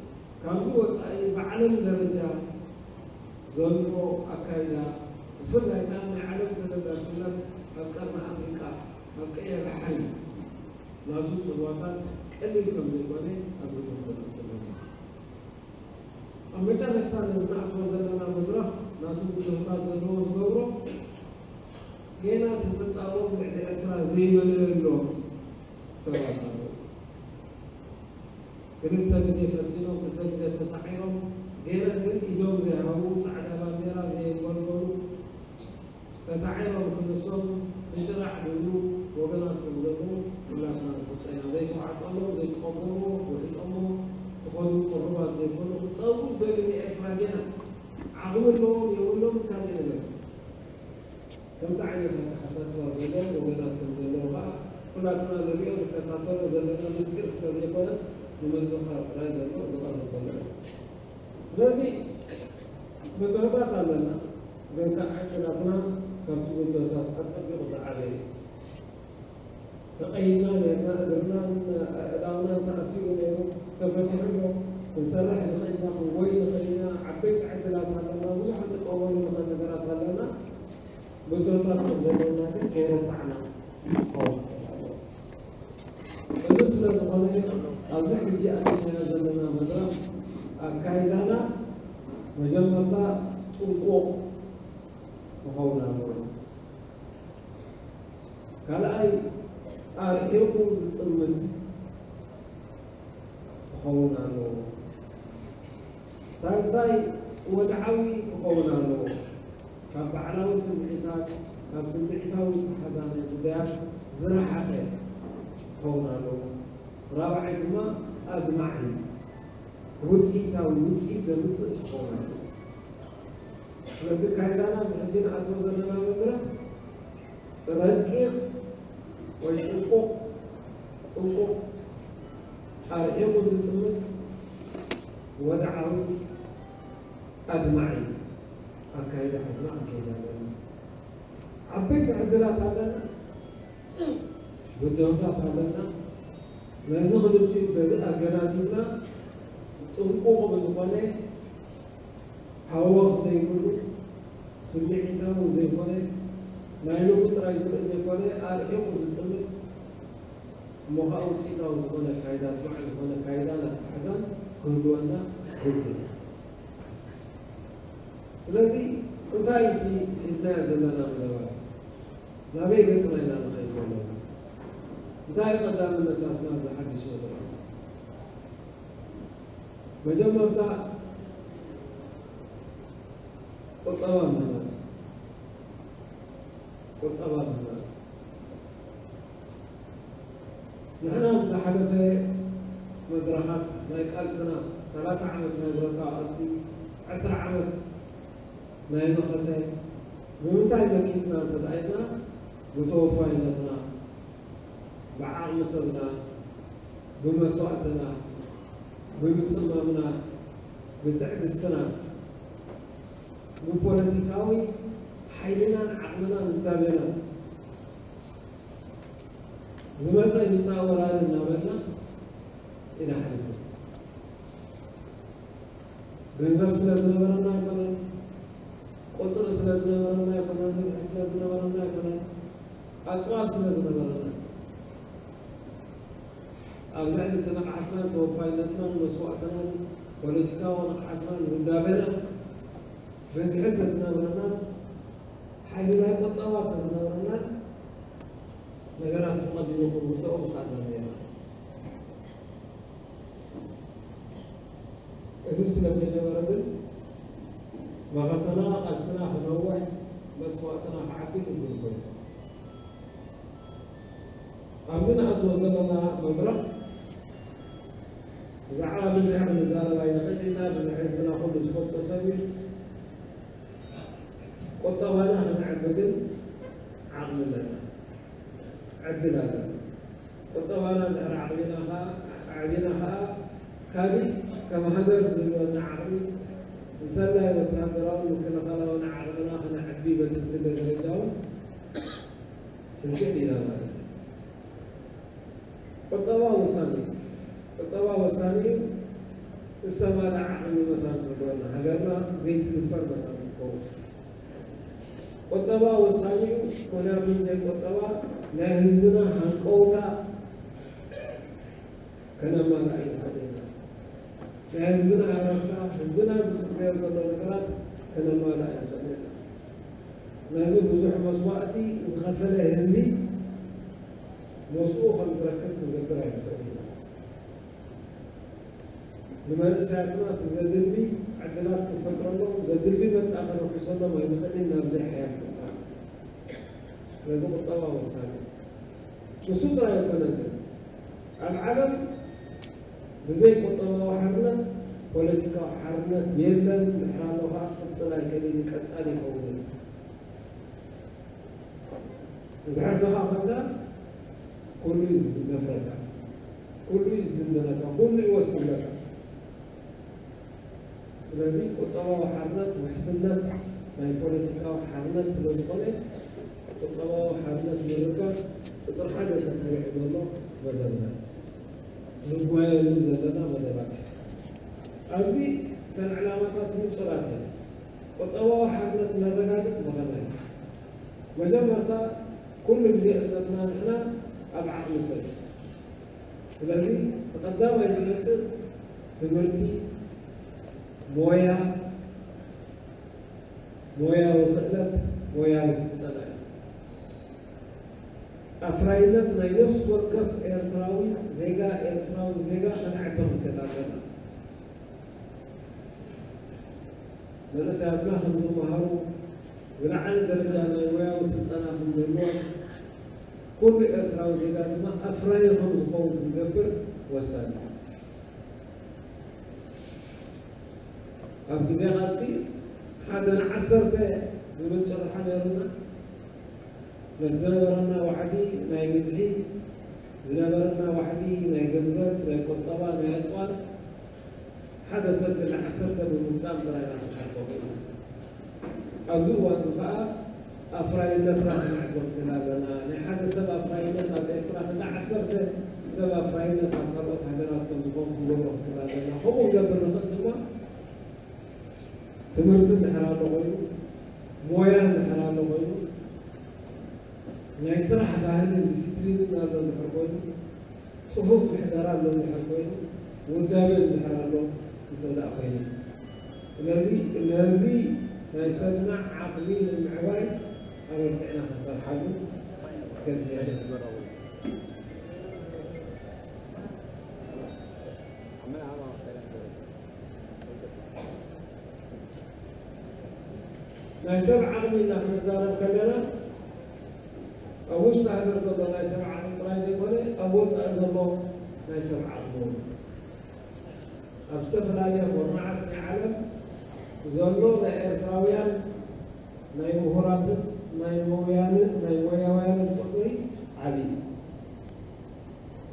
ካብዚ ወጻኢ ብዓለም ደረጃ ዘሎ ኣካይዳ፣ ብፍላይ ከኣ ናይ ዓለም ተገዳስነት ኣብ ቀርኒ ኣፍሪቃ፣ ኣብ ቀይሕ ባሕሪ ናቱ ጽልዋታት ቀሊል ከም ዘይኮነ ኣብ ግምት ከነእቱ ኣለና። ኣብ መጨረሽታ ነዚ ንኣትዎ ዘለና መድረኽ ናቱ ብድሆታት ዘለዎ ዝገብሮ፣ ጌና እቲ ተጻብኦም ልዕሊ ኤርትራ ዘይመለየሎም ሰባት ኣለዉ። ክልተ ግዜ ፈቲኖም፣ ክልተ ግዜ ተሳዒሮም፣ ጌና ግን ኢዶም ዘይሃቡ፣ ጻዕዳ ባንዴራ ዘየንበልበሉ፣ ተሳዒሮም ክንሶም ብጭራዕ ዝብሉ ወገናት ከም ዘለዉ ኩላትና ንፈልጦ ኢና። ዘይተዋዕጠሎም፣ ዘይተቐበልዎ፣ ውሒጦሞ ክኸዱ ቅሩባት ዘይኮኑ፣ ክጸብኡ ዝደልዩ ንኤርትራ ጌና ዓቕሚ ኣለዎም የብሎም ካልእ ነገር። ከምዚ ዓይነት ኣተሓሳስባ ዘለዎም ወገናት ከም ዘለዉ ከኣ ኩላትና ንሪኦ ንከታተሎ ዘለና ምስጢር ስለ ዘይኮነስ፣ ንምዝኽኻር ጥራይ ዘሎ ዝቐርብ ዘሎ እዩ። ስለዚ ብድሆታት ኣለና፣ ግን ከኣ ዕድላትና ካብቲ ብድሆታት ኣጸቢቑ ዝዓበየ እዩ። ተቐይድና ኔርና፣ እግርናን ኣእዳውናን ተኣሲሩ ኔሩ፣ ተፈቲሑ ኣሎ። ክንሰርሕ ንኽእል ኢና፣ ክንጎይ ንኽእል ኢና፣ ዓበይቲ ዕድላት ኣለና፣ ብዙሕ ክንጥቀመሉ ንኽእል ነገራት ኣለና። ብድሆታት ከም ዘለና ግን ከይረሳዕና ክኸውን ይኽእል ኣለዎ። እዚ ስለ ዝኾነ፣ ኣብዚ ሕጂ ኣቲናዮ ዘለና መድረኽ ኣካይዳና መጀመርታ ጥንቁቕ ክኸውን ኣለዎ። ካልኣይ፣ ኣርሒቑ ዝጥምት ክኸውን ኣለዎ። ሳልሳይ ወድዓዊ ክኸውን ኣለዎ። ካብ ባዕላዊ ስምዒታት፣ ካብ ስምዒታዊ ተሓዛናይ ጉዳያት ዝረሓቐ ክኸውን ኣለዎ። ራብዓይ ድማ ኣድማዒ፣ ውፅኢታዊ፣ ውፅኢት ዘምፅእ ክኸውን ኣለዎ። ስለዚ ካይዳና ኣብዚ ሕጂ ንኣትዎ ዘለና መድረኽ ረቂቕ ወይ ጥንቁቕ፣ ጥንቁቕ፣ ኣርሒቑ ዝጥምት፣ ወድዓዊ፣ ኣድማዒ ኣካይዳ ሒዝና ክንከይድ ኣለና። ዓበይቲ ዕድላት ኣለና፣ ብድሆታት ኣለና። ነዚ ክልቲኡ ገ-፣ ኣገናዚብና ጥንቁቕ ብዝኾነ ሃወኽ ዘይብሉ፣ ስምዒታዊ ዘይኮነ፣ ናይ ሎሚ ጥራይ ዝርኢ ዘይኮነ፣ ኣርሒቑ ዝጥምት፣ እሞ ኸዓ ውፅኢታዊ ዝኾነ ካይዳ፣ ኣድማዒ ዝኾነ ካይዳን ኣተሓሕዛን ክህልወና ግቡእ እዩ። ስለዚ እንታይ እቲ ሒዝናዮ ዘለና መደባት? ናበይ ገፅና ኢና ንኸይድ ዘለና? እንታይ እዩ ቀዳምነታትና ኣብዚ ሓድሽ መድረኽ? መጀመርታ ቁጠባ ምህናፅ፣ ቁጠባ ምህናፅ። ንሕና ኣብ ዝሓለፈ መድረኻት ናይ ቃልስና፣ ሰላሳ ዓመት ናይ ብረታዊ ቃልሲ፣ ዕስራ ዓመት ናይ መኸተ፣ ብምንታይ መኪትና እንተደኣ ኢልና፣ ብተወፋይነትና፣ ብዓቕሚ ሰብና፣ ብመስዋእትና፣ ብምጽማምና፣ ብትዕግስትና፣ ብፖለቲካዊ ሓይልናን ዓቕምናን ውዳቤናን፣ ዝመጸ ይምጻእ ወራሪ እናበልና ኢና ሓሊፍና። ገንዘብ ስለ ዝነበረና ኣይኮነን፣ ቁጽሪ ስለ ዝነበረና ኣይኮነን፣ ብዝሒ ስለ ዝነበረና ኣይኮነን፣ ኣጽዋር ስለ ዝነበረና። ኣብ ልዕሊ እቲ ንቕሓትናን ተወፋይነትናን መስዋእትናን ፖለቲካዊ ንቕሓትናን ውዳቤናን ብዝሒ እንተዝነበረናን ሓይሊ ናይ ቁጠባ እንተዝነበረናን ነገራት ብቐሊሉ ክንውድኦ ምኽኣልና ነይርና። እዚ ስለ ዘይነበረ ግን መኸተና፣ ቃልስና ክነውሕ፣ መስዋእትና ክዓቢ ግድን ኮይኑ። ኣብዚ ንኣትዎ ዘለና መድረኽ ብዛዕባ ብዝሒ ክንዛረብ ኣይንኽእል ኢና። ብዝሒ ህዝብና ኩሉ ዝፈልጦ ሰብ እዩ። ቁጠባና ክነዕቢ ግን ዓቕሚ ኣለና፣ ዕድል ኣለና። ቁጠባና እንድሕር ኣዕቢና ኸዓ፣ ኣዕቢና ኸዓ ካሊእ ከም ሃገር ዝህልወና ዓቕሚ፣ እንተላይ ወታደራውን ምክልኻላውን ዓቕምና ክነዕቢ በቲ ዝድለ ደረጃ እውን ክንክእል ኢና ማለት እዩ። ቁጠባ ወሳኒ እዩ። ቁጠባ ወሳኒ እዩ። ዝተማልአ ዓቕሚ መታን ክህልወና፣ ሃገርና ዘይትድፈር መታን ክትከውን። ቁጠባ ወሳኒ እዩ። ምኽንያቱ ብዘይ ቁጠባ ናይ ህዝብና ሃንቀውታ ከነማልእ ኣይንኽእልን ኢና። ናይ ህዝብና ሃረርታ፣ ህዝብና ዝፅበዮ ዘሎ ነገራት ከነማልእ ኣይንኽእልን ኢና። ነዚ ብዙሕ መስዋእቲ ዝኸፈለ ህዝቢ ሞስኡ ከም ዝረክብ ክንገብር ኣይንኽእልን ኢና። ንመንእሰያትና እቲ ዘድሊ ዕድላት ክንፈጥረሎም፣ ዘድሊ መጻኢ ከነውሕሰሎም ኣይንኽእልን ኢና፣ ብዘይ ሓያል ቁጠባ። ስለዚ ቁጠባ ወሳኒ እዩ። ንሱ ጥራይ ኣይኮነን ግን፣ ኣብ ዓለም ብዘይ ቁጠባዊ ሓርነት ፖለቲካዊ ሓርነት የለን፣ ድሕር ኣሎ ኸዓ ክቕጽል ኣይክእልን እዩ፣ ቀጻሊ ይኸውን እዩ። እንድሕር ተኻፈልካ፣ ኩሉ እዩ ዝደፍረካ፣ ኩሉ እዩ ዝድንደነካ፣ ኩሉ እዩ ወስድለካ። ስለዚ ቁጠባዊ ሓርነት ውሕስነት ናይ ፖለቲካዊ ሓርነት ስለ ዝኾነ፣ ቁጠባዊ ሓርነት ንምርካብ ቁጽሪ ሓደ ተሰሪዑ ዘሎ መደብና፣ ንጓየሉ ዘለና መደባት እዩ። ኣብዚ እተን ዕላማታት ንጹራት እየን። ቁጠባዊ ሓርነት ነረጋግጽ ብኸመይ? መጀመርታ፣ ኩሉ ግዜ እምነትና ንሕና ኣብ ዓቕሚ ሰብ እዩ። ስለዚ፣ እቲ ቀዳማይ ዝመጽእ ትምህርቲ፣ ሞያ፣ ሞያዊ ክእለት፣ ሞያዊ ስልጠና እዩ። ኣፍራይነት ናይ ነፍሲ ወከፍ ኤርትራዊ ዜጋ፣ ኤርትራዊ ዜጋ ከነዕቢ ክንክእል ኣለና። መንእሰያትና ከም ዝመሃሩ፣ ዝለዓለ ደረጃ ናይ ሞያዊ ስልጠና ከም ዝህልዎ፣ ኩሉ ኤርትራዊ ዜጋ ድማ ኣፍራዪ ከም ዝኸውን ክንገብር ወሳኒ እዩ። ኣብ ግዜ ቃልሲ ሓደ ንዓሰርተ ዝብል ጭርሖ ነይሩና። ነቲ ዝነበረና ዋሕዲ ናይ ብዝሒ፣ ዝነበረና ዋሕዲ ናይ ገንዘብ፣ ናይ ቁጠባ፣ ናይ ኣጽዋር፣ ሓደ ሰብ ግን ንዓሰርተ ብምግጣም ጥራይ ኢና ክንሓልፎ ክኢልና። ኣብዚ እዋን እዚ ከኣ ኣፍራይነትና ክነዕቢ ክንክእል ኣለና። ናይ ሓደ ሰብ ኣፍራይነት ኣብ ኤርትራ፣ ክንዲ ዓሰርተ ሰብ ኣፍራይነት ኣብ ካልኦት ሃገራት ከም ዝኾን ክንገብሮ ክንክእል ኣለና። ከምኡ ክንገብር ንኽእል ድማ ትምህርቲ እንድሕር ኣሎ ኮይኑ፣ ሞያ እንድሕር ኣሎ ኮይኑ፣ ናይ ስራሕ ባህልን ዲሲፕሊንን ኣሎ እንድሕር ኮይኑ፣ ጽፉፍ ምሕደራ ኣሎ እንድሕር ኮይኑ፣ ውዳበ እንድሕር ኣሎ እንተ ደኣ ኮይኑ። ስለዚ ነዚ ናይ ሰብና ዓቕሚ ንምዕባይ ኣበርቲዕና ክንሰርሓሉ ከድልየና። ናይ ሰብ ዓቕሚ ኢልና ክንዛረብ ከለና፣ ኣብ ውሽጢ ሃገር ዘሎ ናይ ሰብ ዓቕሚ ጥራይ ዘይኮነ፣ ኣብ ወጻኢ ዘሎ ናይ ሰብ ዓቕሚ እውን። ኣብ ዝተፈላለያ ኩርናዓት ናይ ዓለም ዘሎ ናይ ኤርትራውያን ናይ ምሁራትን ናይ ሞያንን ናይ ሞያውያንን ቁጽሪ ዓቢ እዩ።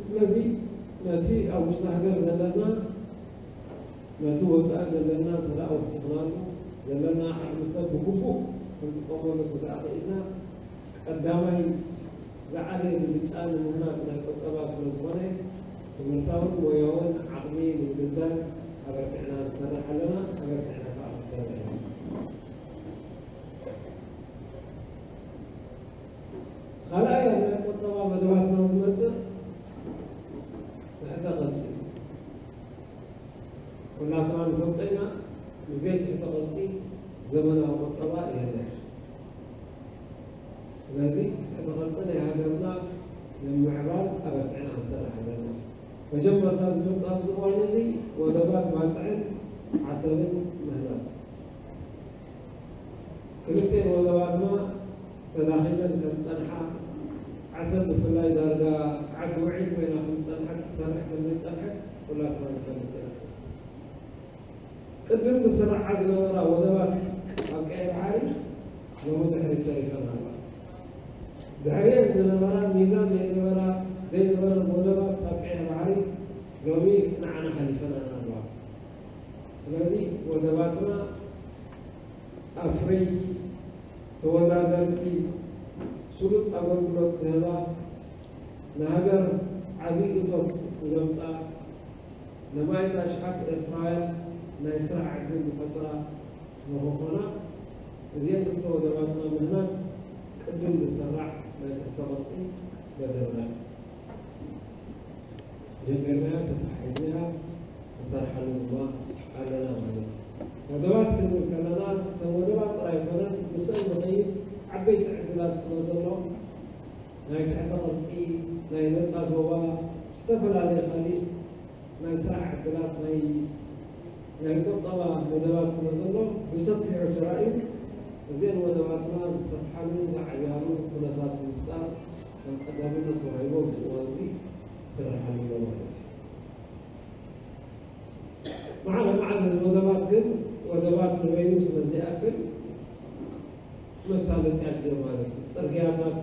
ስለዚ ነቲ ኣብ ውሽጢ ሃገር ዘለና፣ ነቲ ወጻኢ ዘለና እንተ ደኣ ወሲኽናሉ፣ ዘለና ዓቕሚ ሰብ ብግቡእ ክንጥቀመሉ እንተ ደኣ ኽኢልና፣ ቀዳማይ ዝዓበየ ብልጫ ንምህናጽ ናይ ቁጠባ ስለ ዝኾነ፣ ትምህርታውን ሞያውን ዓቕሚ ንምድልዳል ኣበርቲዕና ንሰርሕ ኣለና፣ ኣበርቲዕና ከኣ ክንሰርሕ ኢና። ካልኣይ ኣብ ናይ ቁጠባ መደባትና ዝመጽእ ትሕተ ቅርጺ። ኩላትና ንፈልጦ ኢና፣ ብዘይ ትሕተ ቅርጺ ዘመናዊ ቁጠባ የለን። ስለዚ ትሕተ ቅርጺ ናይ ሃገርና ንምምዕባል ኣበርቲዕና ክንሰርሕ ኣለና። መጀመርታ ዝመጽእ ኣብዚ እዋን እዚ ወደባት ባጽዕን ዓሰብን ምህናጽ። ክልቲኤን ወደባትና ተዳኺመን ከም ዝጸንሓ፣ ዓሰብ ብፍላይ ዳርጋ ዓዲ ውዒል ኮይና ከም ዝጸንሐት፣ ክትሰርሕ ከም ዘይጸንሐት ኩላትና ንፈልጥ ኢና። ቅድም ዝስርዓ ዝነበራ ወደባት ኣብ ቀይሕ ባሕሪ ሎሚ ድሕሪት ተሪፈን ኣለዋ። ድሕሪአን ዝነበራ ሚዛን ዘይነበራ፣ ዘይነበረን ወደባት ኣብ ቀይሕ ባሕሪ ሎሚ ንዓና ሓሊፈናና ኣለዋ። ስለዚ ወደባትና ኣፍረይቲ፣ ተወዳደርቲ፣ ስሉጥ ኣገልግሎት ዝህባ፣ ንሃገር ዓቢ እቶት ዘምጽኣ፣ ነማኢት ኣሽሓት ኤርትራውያን ናይ ስራሕ ዕድል ዝፈጥራ ንኽኾና፣ እዚአን ክልተ ወደባትና ምህናጽ ቅድም ዝስራዕ ናይ ትሕተ ቅርጺ መደብና እዩ። ጀሚርናያ፣ ተተሓሒዝናያ፣ ንሰርሓሉ ድማ ኣለና ማለት እዩ። ወደባት ክንብል ከለና፣ እተን ወደባት ጥራይ ኣይኮነን፣ ምስአን ዝኸይድ ዓበይቲ ዕድላት ስለ ዘሎ፣ ናይ ትሕተ ቅርጺ፣ ናይ ነጻ ዞባ፣ ዝተፈላለየ ካሊእ ናይ ስራሕ ዕድላት፣ ናይ፣ ናይ ቁጠባ መደባት ስለ ዘሎ፣ ብሰፊሑ ተራእዩ፣ እዘን ወደባትና ዝሰርሓሉ፣ ዝዓብያሉ ኩነታት ንምፍጣር ከም ቀዳምነት ተዋሂቡ ኣብዚ እዋን እዚ ይስርሓሉ ኣሎ ማለት እዩ። መዓለ መዓለ እዚ ወደባት ግን፣ ወደባት ንበይኑ ስለ ዘይኣክል፣ መሳለጥያ ድዮ ማለት እዩ። ጽርግያታት፣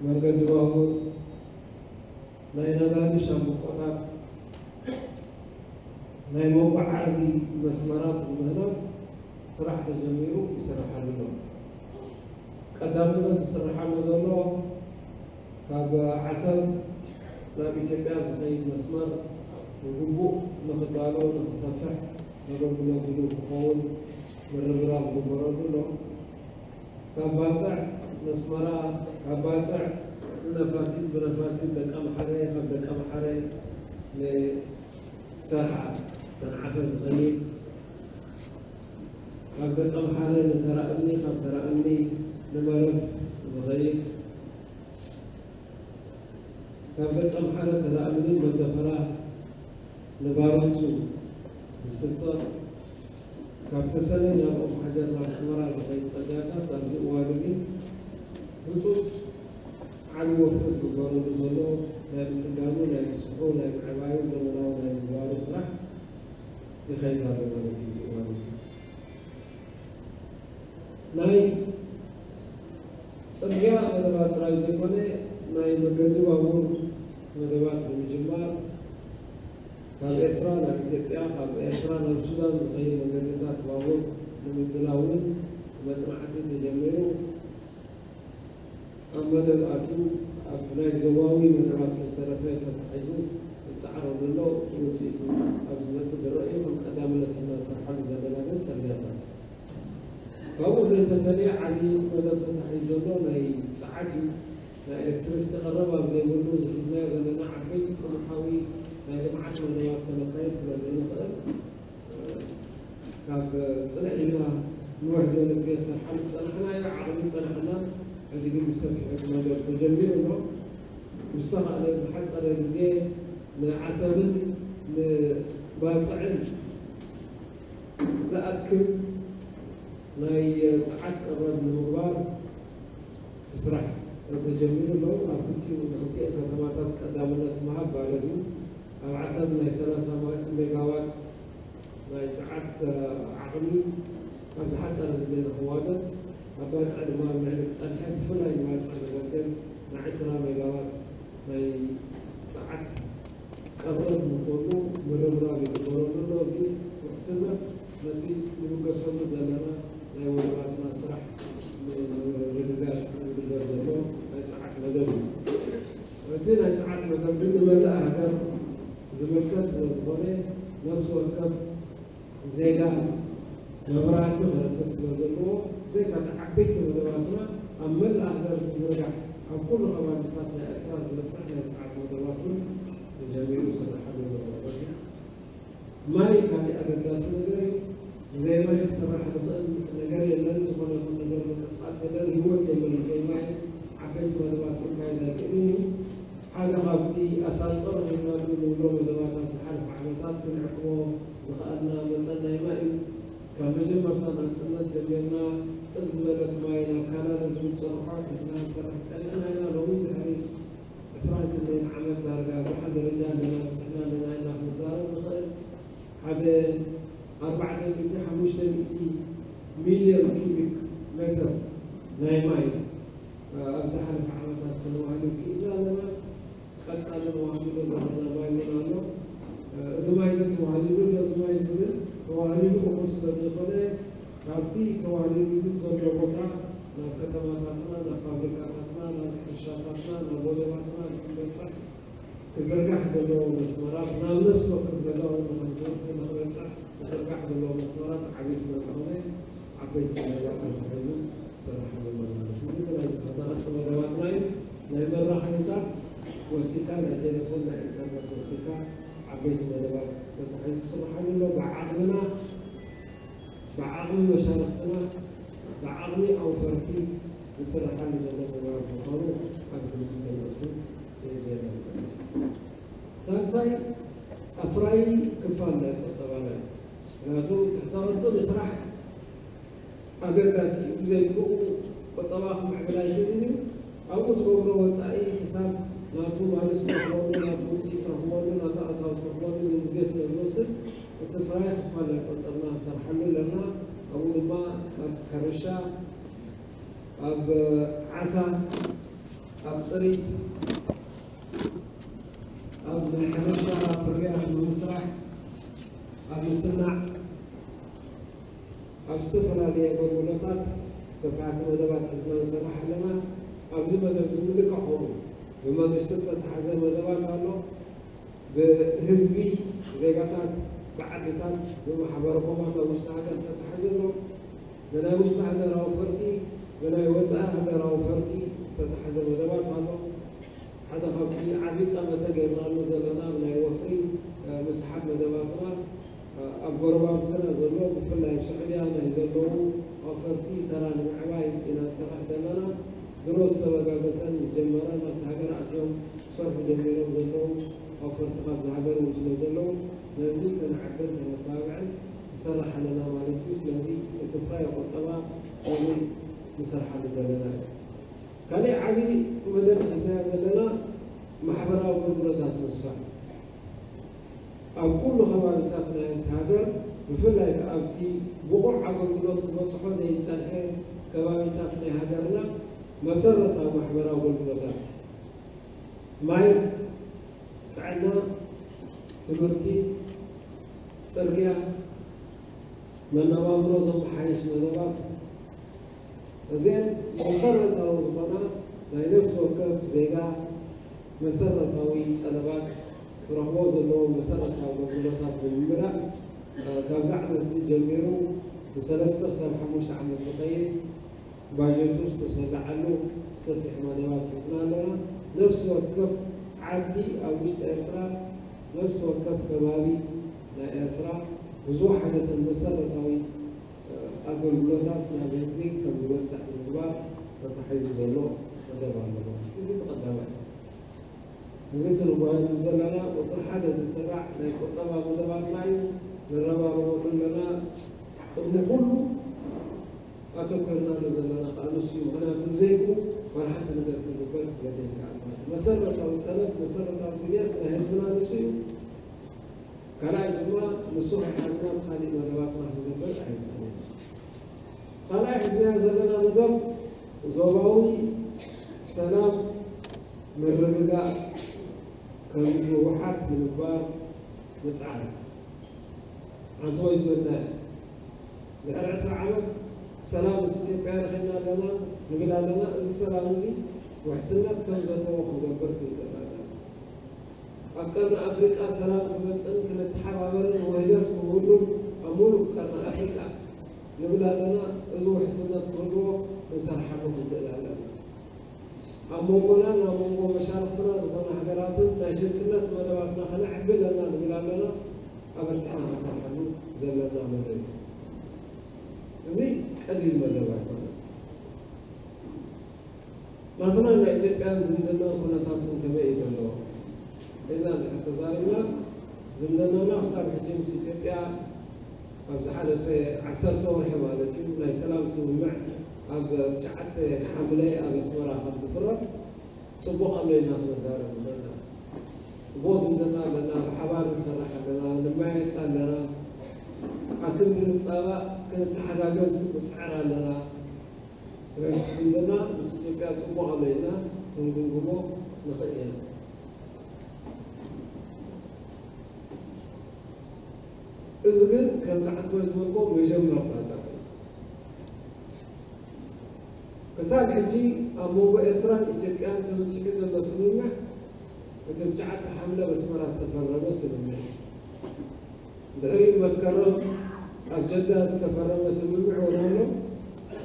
መንገዲ ባቡር፣ ናይ ነዳዲ ሻምብቆታት፣ ናይ መጓዓዚ መስመራት ንምህናጽ ስራሕ ተጀሚሩ ይስርሓሉ ኣሎ። ቀዳምነት ዝስርሓሉ ዘሎ ካብ ዓሰብ ናብ ኢትዮጵያ ዝኸይድ መስመር ብግቡእ ንኽዳሎ፣ ንኽሰፍሕ፣ ነገልግሎት ድሉው ክኸውን ምርብራብ ይግበረሉ ኣሎ። ካብ ባጽዕ ነስመራ፣ ካብ ባጽዕ ንነፋሲት፣ ብነፋሲት ደቀምሓረ፣ ካብ ደቀምሓረ ንሰርሓ፣ ሰንዓፈ ዝኸይድ፣ ካብ ደቀምሓረ ንተራእምኒ፣ ካብ ተራእምኒ ንመረብ ዝኸይድ፣ ካብ ደቀምሓረ ተላኣምኒ መደፈራ ንባሮቱ ዝስጠር፣ ካብ ተሰነይ ናብ ኦም ሓጀር ናብ ሑመራ ዝኸይድ ጽርግያታት ኣብዚ እዋን እዚ ህጹጽ ዓቢ ወፍሪ ዝግበረሉ ዘሎ ናይ ምጽጋኑ፣ ናይ ምስፍሑ፣ ናይ ምዕባዩ፣ ዘመናዊ ናይ ምግባሩ ስራሕ ይኸይድ ኣሎ ማለት እዩ። እዚ እዋን እዚ ናይ ጽርግያ መደባት ጥራይ ዘይኮነ፣ ናይ መገዲ ባቡር መደባት ንምጅማር፣ ካብ ኤርትራ ናብ ኢትዮጵያ፣ ካብ ኤርትራ ናብ ሱዳን ዝኸይድ መገድታት ባቡር ንምድላው እውን መጽናዕቲ ተጀሚሩ ኣብ መደብ ኣትዩ፣ ኣብ ናይ ዞባዊ መደባት ከይተረፈ ተታሒዙ ይጸዓሮ ዘሎ ውጽኢቱ ኣብ ዝመጽእ ዝረአ እዩ። ከም ቀዳምነት ኢና ንሰርሓሉ ዘለና ግን ጽርግያታት። ካብኡ ዘይተፈልየ ዓቢ መደብ ተታሒዙ ዘሎ ናይ ጸዓት እዩ። ናይ ኤሌክትሪክስቲ ቀረብ ኣብ ዘይብሉ፣ ዝሒዝናዮ ዘለና ዓበይቲ ጥሙሓዊ ናይ ልምዓት መደባት ከነካይድ ስለ ዘይንኽእል፣ ካብ ጽንዕ ኢልና ንውሕ ዝበለ ግዜ ዝሰርሓሉ ዝጸናሕናዮ ዓቕሚ ዝጸናሕና፣ ሕዚ ግን ብሰፊሑ እቲ መደብ ተጀሚሩ ኣሎ። ብዝተኻእለ ዝሓጸረ ግዜ ንዓሰብን ንባጽዕን ዝኣክል ናይ ጸዓት ቀረብ ንምግባር እቲ ስራሕ ተጀሚሩ ኣሎ። ኣብ ክልቲኡ፣ ንክልቲኤን ከተማታት ቀዳምነት ምሃብ ማለት እዩ። ኣብ ዓሰብ ናይ ሰላሳ ሜጋዋት ናይ ጸዓት ዓቕሚ ኣብ ዝሓጸረ ግዜ ንኽዋደድ፣ ኣብ ባጽዕ ድማ ኣብ ልዕሊ ክጸንሐ፣ ብፍላይ ንባጽዕ ዘገልግል ናይ ዕስራ ሜጋዋት ናይ ጸዓት ቀረብ ንኽህሉ ምርብራብ ይግበረሉ ኣሎ። እዚ ውሕስነት ነቲ ንብገሰሉ ዘለና ናይ ወደባትና ስራሕ ንምርግጋጽ ዝግበር ዘሎ ናይ ጸዓት መደብ እዩ። እቲ ናይ ጸዓት መደብ ግን ንመላእ ሃገር ዝምልከት ስለ ዝኾነ፣ ነፍሲ ወከፍ ዜጋ መብራህቲ ክረክብ ስለ ዘለዎ፣ ብዘይካ እቲ ዓበይቲ መደባትና፣ ኣብ መላእ ሃገር ዝዝርጋሕ፣ ኣብ ኩሉ ከባቢታት ናይ ኤርትራ ዝበጽሕ ናይ ጸዓት መደባት እውን ተጀሚሩ ይስርሓሉ ኣሎ ማለት እዩ። ማይ ካሊእ ኣገዳሲ ነገር እዩ። ብዘይ ማይ ክስራሕ ዝኽእል ነገር የለን። ዝኾነ ይኹን ነገር ምንቅስቓስ የለን። ህይወት የለን። ብዘይ ማይ ዓበይቲ መደባት ክንካየድ ኣይክእልን እዩ። ሓደ ካብቲ ኣሳልጦ ረኺብናሉ ንብሎ መደባታት ዝሓለፈ ዓመታት ክንዕቅቦ ዝኸኣልና መጠን ናይ ማይ እዩ። ካብ መጀመርታ ናጽነት ጀሚርና ጽብ ዝበለት ማይ ናብ ካናዳ ዝብል ጸርሖ ሒዝና ንሰርሕ ጸኒሕና ኢና። ሎሚ ድሕሪ ዕስራን ክንደይን ዓመት ዳርጋ ኣብ ደሓን ደረጃ ኣለና፣ በጺሕና ኣለና ኢልና ክንዛረብ ንኽእል። ሓደ ኣርባዕተ ሚእቲ፣ ሓሙሽተ ሚእቲ ሚልዮን ኪዩቢክ ሜትር ናይ ማይ ኣብ ዝሓለፈ ዓመታት ከነዋህልል ክኢልና ኣለና። ቀጻሊ ተዋህሊሉ ዘለና ማይ እውን ኣሎ። እዚ ማይ እዚ ተዋህሊሉ ኣሎ፣ እዚ ማይ እዚ ግን ተዋህሊሉ እኹል ስለ ዘይኮነ፣ ካብቲ ተዋህሊሉ ዘሎ ቦታ ናብ ከተማታትና፣ ናብ ፋብሪካታትና፣ ናብ ሕርሻታትና፣ ናብ ወደባትና ንክንበጽሕ ክዝርጋሕ ዘለዎ መስመራት፣ ናብ ነፍሲ ወከፍ ገዛ እውን ንክንዝርግ፣ ንክበጽሕ ክዝርጋሕ ዘለዎ መስመራት ዓብዪ ስለ ዝኾነ፣ ዓበይቲ መደባት ተታሒዙ ይሰርሓሉ ኣሎ ማለት እዩ። እዚ ናይ ተኸታተልቲ መደባትና እዩ። ናይ መራኸቢታት ወሲካ፣ ናይ ቴሌፎን፣ ናይ ኢንተርነት ወሲካ፣ ዓበይቲ መደባት ተታሒዙ ይስርሓሉ ኣሎ። ብዓቕምና፣ ብዓቕሚ መሻርኽትና፣ ብዓቕሚ ኣውፈርቲ ዝስርሓሉ ዘሎ ተግባር ምዃኑ ኣብ ግምት ከነእቱ የድልየና። ሳልሳይ ኣፍራዪ ክፋል ናይ ቁጠባና እዩ። ምኽንያቱ ትሕተ ቅርጺ ምስራሕ ኣገዳሲ እዩ። ብዘይ ብኡ ቁጠባ ክምዕብል ኣይኽእልን እዩ። ኣብኡ ትገብሮ ወጻኢ ክሳብ ናቱ ባልስ ትረኽበሉ፣ ናቱ ውጽኢት ትረኽበሉ፣ ናቱ ኣታዊ ትረኽበሉ ግዜ ስለ ዝወስድ፣ እቲ ፍራይ ክፋል ናይ ቁጠባና ንሰርሓሉ ኣለና። ኣብኡ ድማ ኣብ ሕርሻ፣ ኣብ ዓሳ፣ ኣብ ጥሪት፣ ኣብ ናይ ሕርሻ ፍርያት ንምስራሕ፣ ኣብ ምስናዕ፣ ኣብ ዝተፈላለየ ኣገልግሎታት ሰፋሕቲ መደባት ሒዝና ንሰርሕ ኣለና። ኣብዚ መደብ እዚ ምልክዕ ከምኡ ብመንግስቲ ዝተታሕዘ መደባት ኣሎ። ብህዝቢ፣ ዜጋታት፣ ብዓድታት፣ ብማሕበረ ኮማት ኣብ ውሽጢ ሃገር ዝተታሕዘ ኣሎ። ብናይ ውሽጢ ሃገር ኣውፈርቲ፣ ብናይ ወጻኢ ሃገር ኣውፈርቲ ዝተታሕዘ መደባት ኣሎ። ሓደ ካብቲ ዓቢ ጠመተ ጌርናሉ ዘለና ኣብ ናይ ወፍሪ፣ እ፣ ምስሓብ መደባትና፣ እ፣ ኣብ ጎረባብትና ዘሎ፣ ብፍላይ ኣብ ስዑድያ ናይ ዘለዉ ኣውፈርቲ ተራ ንምዕባይ ኢና ንሰርሕ ዘለና። ድሮ ዝተበጋገሰን ዝጀመረን ኣብቲ ሃገር ኣትዮም ክሰርሑ ጀሚሮም ዘለዉ ኣውፈርቲ ካብዚ ሃገር እውን ስለ ዘለዉ ነዚ ከነዕብር ከነተባብዕን ንሰርሕ ኣለና ማለት እዩ። ስለዚ እቲ ጥራይ ቁጠባ ነዚ ንሰርሓሉ ዘለና እዩ። ካሊእ ዓብዪ መደብ ሒዝናዮ ዘለና ማሕበራዊ ኣገልግሎታት ምስፋሕ ኣብ ኩሉ ከባቢታት ናይ ሓንቲ ሃገር ብፍላይ ከኣ ኣብቲ ብቑዕ ኣገልግሎት ክበጽሖ ዘይጸንሐ ከባቢታት ናይ ሃገርና መሰረታዊ ማሕበራዊ ኣገልግሎታት ማይ፣ ጥዕና፣ ትምህርቲ፣ ጽርግያ፣ መነባብሮ ዘመሓይሽ መደባት እዚአን መሰረታዊ ዝኾና ናይ ነፍሲ ወከፍ ዜጋ መሰረታዊ ጠለባት ክረኽቦ ዘለዎ መሰረታዊ ኣገልግሎታት ብምምላእ ካብዚ ዓመት እዚ ጀሚሩ ንሰለስተ ክሳብ ሓሙሽተ ዓመት ዝኸይድ ባጀቱ ዝተሰላዓሉ ሰፊሕ መደባት ሒዝና ኣለና። ነፍሲ ወከፍ ዓዲ ኣብ ውሽጢ ኤርትራ፣ ነፍሲ ወከፍ ከባቢ ናይ ኤርትራ ብዝወሓደተን መሰረታዊ ኣገልግሎታት ናብ ህዝቢ ከም ዝበጽሕ ንምግባር ተታሒዙ ዘሎ መደብ ኣሎ። እዚ እቲ ቀዳማይ። እዚ ትርጓሜ ዘለና ቁጽሪ ሓደ ዝስራዕ ናይ ቁጠባ መደባትና እዩ። ንረባረበሉ ኣለና። ቅድሚ ኩሉ ኣተኮርናሉ ዘለና ከዓ ንሱ እዩ። ምኽንያቱ ብዘይብኡ ዋላ ሓንቲ ነገር ክንግበር ስለ ዘይከኣል ማለት እዩ። መሰረታዊ ጸገም፣ መሰረታዊ ድልየት ናይ ህዝብና ንሱ እዩ። ካልኣይ ድማ ንሱ ከይሓዝና እቲ ካሊእ መደባትና ክንገብር ኣይንኽእልን። ካልኣይ ሒዝናዮ ዘለና መደብ ዞባዊ ሰላም ምርግጋእ ከም ዝውሓስ ንምግባር ምጽዓር። ሓንቲ ወይ ዝበልና ድሕሪ ዕስራ ዓመት ሰላም ምስ ኢትዮጵያ ረኺብና ኣለና ንብል ኣለና። እዚ ሰላም እዚ ውሕስነት ከም ዘለዎ ክንገብር ክንክእል ኣለና። ኣብ ቀርኒ ኣፍሪቃ ሰላም ክመጽእን ክንተሓባበርን ውህደት ክህሉን ኣብ ሙሉእ ቀርኒ ኣፍሪቃ ንብል ኣለና። እዚ ውሕስነት ክህልዎ ክንሰርሓሉ ክንክእል ኣለና። ኣብ መንጎናን ኣብ መንጎ መሻርኽትና ዝኾና ሃገራትን ናይ ሽርክነት መደባትና ከነዕቢ ኣለና ንብል ኣለና። ኣበርቲዕና ክንሰርሓሉ ዘለና መደብ እዩ። እዚ ቀሊል መደብ ኣይኮነን። ናትናን ናይ ኢትዮጵያን ዝምድናን ኩነታትን ከመይ እዩ ዘሎ ኢልና እንድሕር ተዛሪብና፣ ዝምድናና ክሳብ ሕጂ ምስ ኢትዮጵያ ኣብ ዝሓለፈ ዓሰርተ ወርሒ ማለት እዩ ናይ ሰላም ስምምዕ ኣብ ትሽዓተ ሓምለ ኣብ ኣስመራ ከም ዝፍረም ጽቡቕ ኣሎ ኢልና ክነዛረብ ንኽእል ኢና። ጽቡቕ ዝምድና ኣለና፣ ብሓባር ንሰርሕ ኣለና፣ ንመያየጥ ኣለና፣ ኣክንዲ ንጻባእ ክንተሓጋገዝ ንጽዕር ኣለና። ስለዚ ዝምድና ምስ ኢትዮጵያ ጽቡቕ ኣሎ ኢልና ክንግምግሞ ንኽእል ኢና። እዚ ግን ከምቲ ዓንተወይ ዝበልኮ መጀመርታ ጥራሕ እዩ። ክሳብ ሕጂ ኣብ መንጎ ኤርትራን ኢትዮጵያን ተበጺሑ ዘሎ ስምምዕ እቲ ብትሽዓተ ሓምለ ኣብ ኣስመራ ዝተፈረመ ስምምዕ እዩ። ድሕሪኡ መስከረም ኣብ ጀዳ ዝተፈረመ ስምምዕ እውን ኣሎ።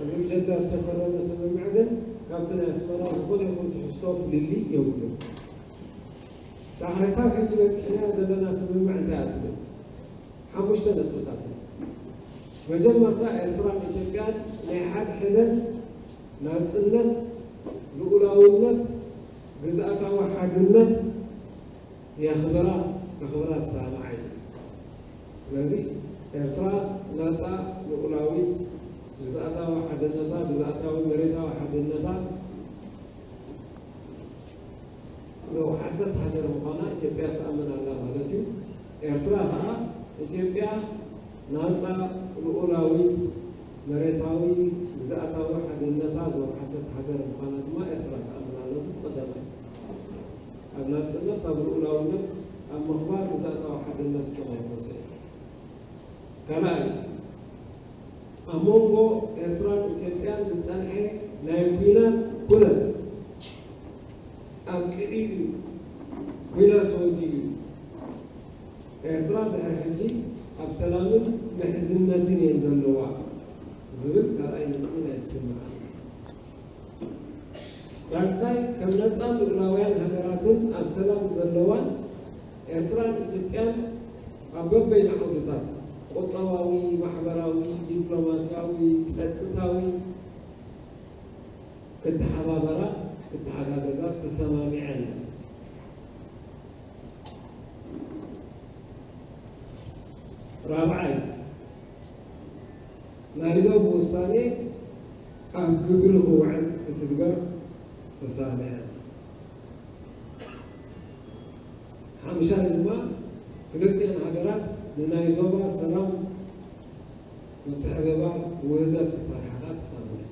እዚ ብጀዳ ዝተፈረመ ስምምዕ ግን ካብቲ ናይ ኣስመራ ዝኾነ ይኹን ትሕዝቶ ፍልልይ የብሉን። ዳሕሪ ሳብ ሕጂ በፂሕና ዘለና ስምምዕ እንታይ ኣትብል ሓሙሽተ ነጥብታት እዩ። መጀመርታ ኤርትራን ኢትዮጵያን ናይ ሓድሕደን ናፅነት፣ ልኡላውነት፣ ግዝኣታዊ ሓድነት የኽብራ፣ ከኽብራ ዝሰማማዓ እዩ። ስለዚ ኤርትራ ናፃ፣ ልኡላዊት፣ ግዝኣታዊ ሓድነታ፣ ግዝኣታዊ መሬታዊ ሓድነታ ዘውሓሰት ሃገር ምዃና ኢትዮጵያ ትኣምን ኣላ ማለት እዩ። ኤርትራ ኸዓ ኢትዮጵያ ናፃ፣ ልኡላዊት፣ መሬታዊ፣ ግዝኣታዊ ሓድነታ ዘውሓሰት ሃገር ምዃና ድማ ኤርትራ ትኣምን ኣላ። እዚ ቀዳማይ። ኣብ ናፅነት፣ ኣብ ልኡላውነት፣ ኣብ ምኽባር ግዝኣታዊ ሓድነት ዝተመርኮሰ እዩ። ካልኣይ፣ ኣብ መንጎ ኤርትራን ኢትዮጵያን ዝጸንሐ ናይ ኲናት ኩነት ኣብቂዑ እዩ። ኲናት ተወዲኡ እዩ። ኤርትራ ድሕሪ ሕጂ ኣብ ሰላምን ምሕዝነትን እየን ዘለዋ ዝብል ካልኣይ ነጥቢ ናይ ስምምዕ። ሳልሳይ፣ ከም ነጻን ልኡላውያን ሃገራትን ኣብ ሰላም ዘለዋን ኤርትራን ኢትዮጵያን ኣብ በበይኑ ዓውድታት፣ ቁጠባዊ፣ ማሕበራዊ፣ ዲፕሎማስያዊ፣ ጸጥታዊ፣ ክተሓባበራ፣ ክተሓጋገዛ ተሰማሚዐን። ራብዓይ፣ ናይ ዶብ ውሳኔ ኣብ ግብሪ ክውዕል ክትግበር ተሰማሚዐን። ሓምሻይ ድማ፣ ክልቲኤን ሃገራት ንናይ ዞባ ሰላም፣ ምትሕብባር፣ ውህደት ክሰርሓ ተሰማሚዐን።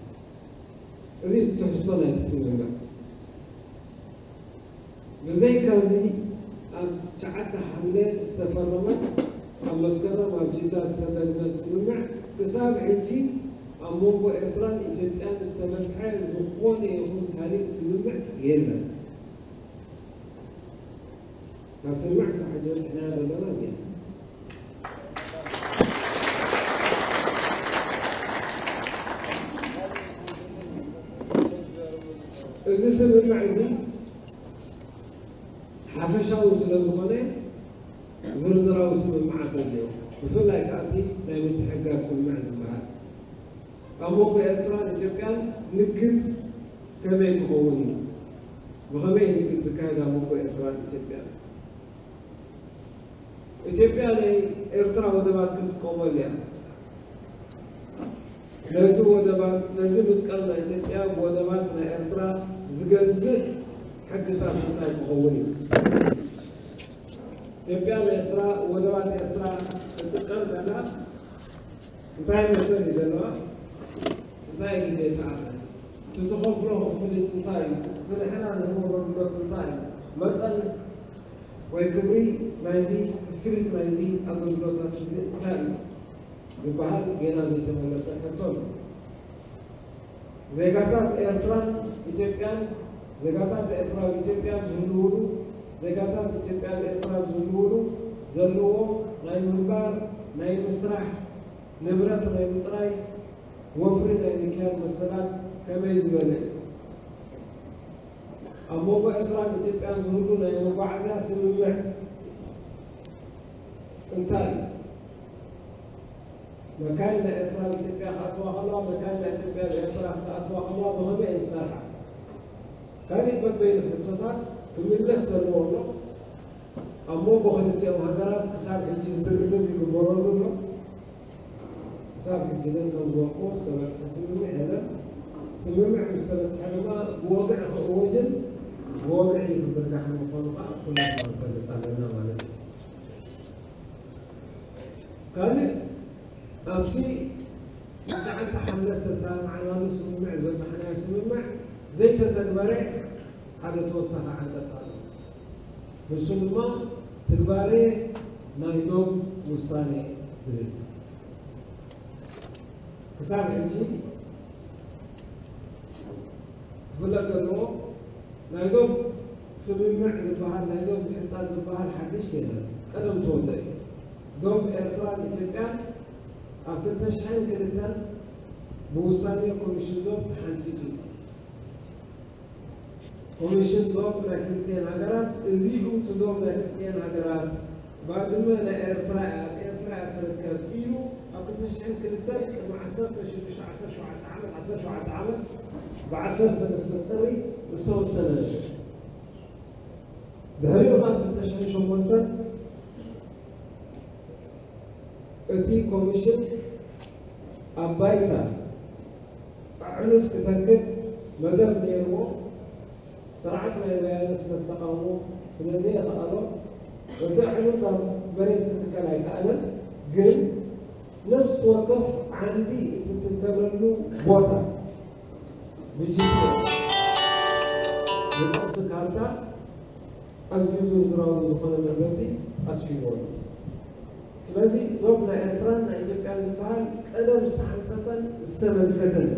እዚ ትሕዝቶ ናይቲ ስምምዕ። ብዘይካዚ፣ ኣብ ትሽዓተ ሓምለ ዝተፈረመት፣ ኣብ መስከረም ኣብ ጅዳ ዝተደግመት ስምምዕ፣ ክሳብ ሕጂ ኣብ መንጎ ኤርትራን ኢትዮጵያን ዝተበጽሐ ዝኾነ ይኹን ካልእ ስምምዕ የለን። እታ ስምምዕ ክሳብ ሕጂ በጺሕናያ ዘለና እዚኣ። እዚ ስምምዕ እዚ ሓፈሻዊ ስለ ዝኾነ ዝርዝራዊ ስምምዓት ኣለዎ። ብፍላይ ከኣ እቲ ናይ ምትሕግጋዝ ስምምዕ ዝበሃል ኣብ መንጎ ኤርትራን ኢትዮጵያን ንግድ ከመይ ክኸውን እዩ? ብኸመይ እዩ ንግድ ዝካየድ ኣብ መንጎ ኤርትራን ኢትዮጵያን? ኢትዮጵያ ናይ ኤርትራ ወደባት ክትጥቀመሉ እያ። ነዚ ወደባት፣ ነዚ ምጥቃም ናይ ኢትዮጵያ ብወደባት ናይ ኤርትራ ዝገዝእ ሕግታት ምጽኣይ ክኸውን እዩ። ኢትዮጵያ ንኤርትራ፣ ወደባት ኤርትራ ክትጥቀም ከላ እንታይ መሰል እዩ ዘለዋ? እንታይ እዩ ግዴታ? እቲ ትኸፍሎ ክፍሊት እንታይ እዩ? እቲ ንሕና ንህቦ ኣገልግሎት እንታይ እዩ? መጠን ወይ ክብሪ ናይዚ ክፍሊት ናይዚ ኣገልግሎታት እዚ እንታይ እዩ? ዝበሃል ጌና ዘይተመለሰ ሕቶ ኣሎ። ዜጋታት ኤርትራን ኢትዮጵያን፣ ዜጋታት ኤርትራ ኣብ ኢትዮጵያ ዝህልውሉ፣ ዜጋታት ኢትዮጵያ ኣብ ኤርትራ ዝህልውሉ ዘለዎም ናይ ምንባር፣ ናይ ምስራሕ፣ ንብረት ናይ ምጥራይ፣ ወፍሪ ናይ ምክያድ መሰላት ከመይ ዝበለ እዩ? ኣብ መንጎ ኤርትራን ኢትዮጵያን ዝህሉ ናይ መጓዓዝያ ስምምዕ እንታይ እዩ? መካይን ናይ ኤርትራ ኣብ ኢትዮጵያ ክኣትዋ ከለዋ፣ መካይን ናይ ኢትዮጵያ ኣብ ኤርትራ ክኣትዋ ከለዋ ብኸመይ እየን ዝሰርሓ? ካልእ በበይኑ ሕቶታት ክምለስ ዘለዎ ኣሎ። ኣብ መንጎ ክልቲኦም ሃገራት ክሳብ ሕጂ ዝርርብ ይግበረሉ ኣሎ። ክሳብ ሕጂ ግን ከም ዝበልኩዎ ዝተበጽሐ ስምምዕ የለን። ስምምዕ ምስ ተበጽሐ ድማ ብወግዒ ክእወጅን ብወግዒ ክዝርጋሕን ምዃኑ ከኣ ኩላትና ንፈልጥ ኣለና ማለት እዩ። ካልእ ኣብቲ ትሽዓተ ሓምለ ዝተሰማማዕናሉ ስምምዕ ዝበጻሕናዮ ስምምዕ ዘይተተግበረ ሓደ ተወሳኺ ዓንቀጽ ኣሎ። ንሱ ድማ ትግባሬ ናይ ዶብ ውሳኔ ዝብል። ክሳብ ሕጂ ክፍለጥ ዘለዎ ናይ ዶብ ስምምዕ ዝበሃል፣ ናይ ዶብ ምሕጻጽ ዝበሃል ሓድሽ የለን። ቀደም ተወልደ እዩ። ዶብ ኤርትራን ኢትዮጵያን ኣብ ክልተ ሽሕን ክልተን ብውሳኔ ኮሚሽን ዶብ ተሓንጺጹ እዩ። ኮሚሽን ዶብ ናይ ክልቲኤን ሃገራት፣ እዚ እዩ እቲ ዶብ ናይ ክልቲኤን ሃገራት፣ ባድመ ናይ ኤርትራ እያ፣ ኣብ ኤርትራ እያ ትርከብ ኢሉ ኣብ ክልተ ሽሕን ክልተን ቅድሚ ዓሰርተ ሽዱሽተ፣ ዓሰርተ ሸውዓተ ዓመት፣ ዓሰርተ ሸውዓተ ዓመት ብዓሰርተ ሰለስተ ጥሪ ዝተወሰነ ነይሩ። ድሕሪኡ ኸኣ ክልተ ሽሕን ሸሞንተን እቲ ኮሚሽን ኣብ ባይታ ኣዕኑድ ክተክእ መደብ ነይርዎ። ስርዓት ናይ ወያነ ስለ ዝተቓወሞ፣ ስለ ዘየኽኣሎ፣ እቲ ኣዕኑድ ናብ መሬት ክትከል ኣይከኣለን። ግን ነፍሲ ወከፍ ዓንዲ እትትከለሉ ቦታ ብጂፒኤስ ብቅርሲ ካርታ ኣዝዩ ዝርዝራዊ ዝኾነ መገዲ ኣስፊርዎ ኣሎ። ስለዚ ዶብ ናይ ኤርትራን ናይ ኢትዮጵያን ዝበሃል ቀደም ዝተሓንጸጸን ዝተመልከተን፣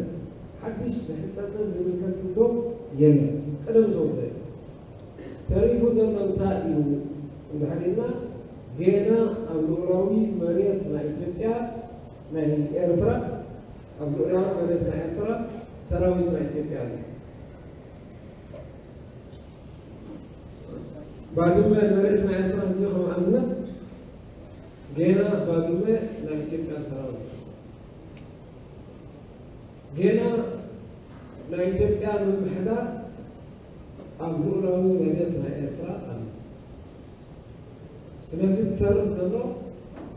ሓድሽ ዝሕጸጽን ዝምልከትን ዶብ የለን። ቀደም ተወልደ እዩ። ተሪፉ ዘሎ እንታይ እዩ እንድሕር ኢልና፣ ጌና ኣብ ልኡላዊ መሬት ናይ ኢትዮጵያ፣ ናይ ኤርትራ፣ ኣብ ልኡላዊ መሬት ናይ ኤርትራ ሰራዊት ናይ ኢትዮጵያ ኣሎ። ባድመ መሬት ናይ ኤርትራ እንድዩ፣ ከም ኣብነት ጌና ባድመ ናይ ኢትዮጵያ ሰራዊት። ጌና ናይ ኢትዮጵያ ምምሕዳር ኣብ ልኡላዊ መሬት ናይ ኤርትራ ኣሎ። ስለዚ ዝተርፍ ዘሎ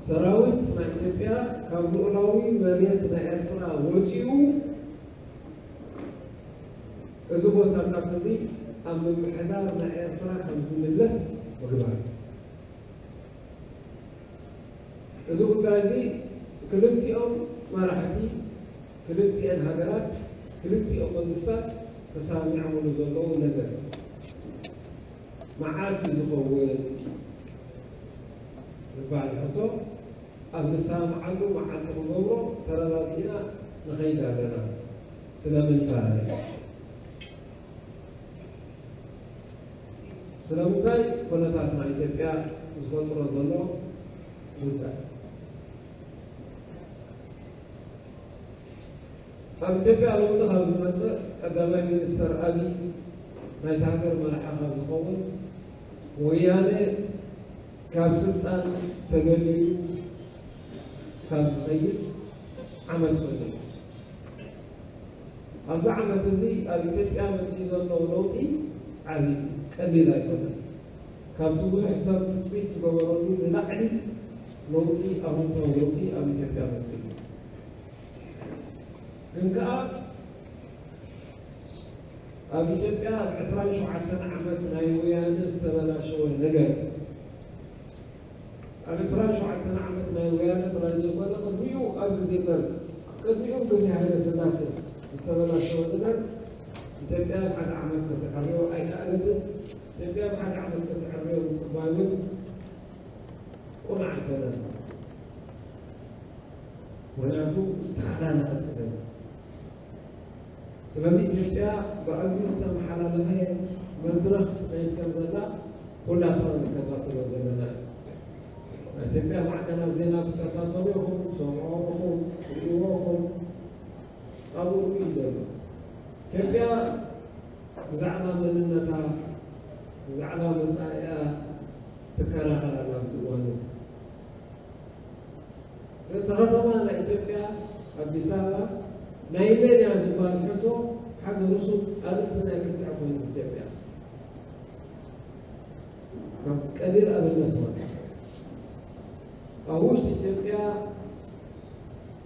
ሰራዊት ናይ ኢትዮጵያ ካብ ልኡላዊ መሬት ናይ ኤርትራ ወፂኡ እዚ ቦታታት እዚ ኣብ ምምሕዳር ናይ ኤርትራ ከም ዝምለስ ምግባር። እዚ ጉዳይ እዚ ክልቲኦም መራሕቲ ክልቲኤን ሃገራት ክልቲኦም መንግስታት ተሳሚዖምሉ ዘለዉ ነገር እዩ። መዓስ እዩ ዝኸውን ዝበሃል ሕቶ ኣብ ንሰማምዓሉ መዓልቲ ክንገብሮ ተረዳዲእና ንኸይድ ኣለና። ስለምንታይ? ስለምንታይ? ኩነታት ናይ ኢትዮጵያ ዝፈጥሮ ዘሎ ጉዳይ። ኣብ ኢትዮጵያ ለውጢ ካብ ዝመፅእ ቀዳማይ ሚኒስተር ኣብይ ናይታ ሃገር መራሒ ካብ ዝኸውን ወያነ ካብ ስልጣን ተገሊሉ ካብ ዝኸይድ ዓመት ኮይኑ። ኣብዚ ዓመት እዚ ኣብ ኢትዮጵያ መፂኡ ዘሎ ለውጢ ዓብዪ ቀሊል ኣይኮነን። ካብቲ ብዙሕ ሰብ ትፅቢት ዝገበረሉ ንላዕሊ ለውጢ፣ ኣወንታዊ ለውጢ ኣብ ኢትዮጵያ መፂኡ። ግን ከኣ ኣብ ኢትዮጵያ ኣብ ዕስራን ሸውዓተን ዓመት ናይ ወያነ ዝተበላሸወ ነገር ኣብ ዕስራን ሸውዓተን ዓመት ናይ ወያነ ጥራይ ዘይኮነ ቅድሚኡ ኣብ ግዜ ደርግ ቅድሚኡ ግዜ ሃይለ ስላሴ ዝተበላሸወ ነገር ኢትዮጵያ ኣብ ሓደ ዓመት ከተዕርዮ ኣይከኣለትን። ኢትዮጵያ ኣብ ሓደ ዓመት ከተዕርዮ ምፅባይ እውን ቁኑዕ ኣይኮነን። ምክንያቱ ዝተሓላለኸ ፀገም። ስለዚ ኢትዮጵያ ብኣዝዩ ዝተመሓላለኸ መድረኽ ትኸይድ ከም ዘላ ኩላትና ንከታተሎ ዘለና እዩ። ናይ ኢትዮጵያ ማዕከናት ዜና ትከታተሉ ኢኹም፣ ትሰምዑ ኢኹም፣ ትርእይዎ ኢኹም። ኣብኡ እዩ ዘሎ። ኢትዮጵያ ብዛዕባ መንነታ፣ ብዛዕባ መጻኢኣ ትከራኸር ኣላ ኣብዚ እዋን እዚ። ርእሰ ከተማ ናይ ኢትዮጵያ ኣዲስ ኣበባ ናይ መን እያ ዝበሃል ሕቶ ሓደ ርሱን ኣርእስቲ ናይ ክትዕ ኮይኑ ኢትዮጵያ። ከም ቀሊል ኣብነት ማለት ኣብ ውሽጢ ኢትዮጵያ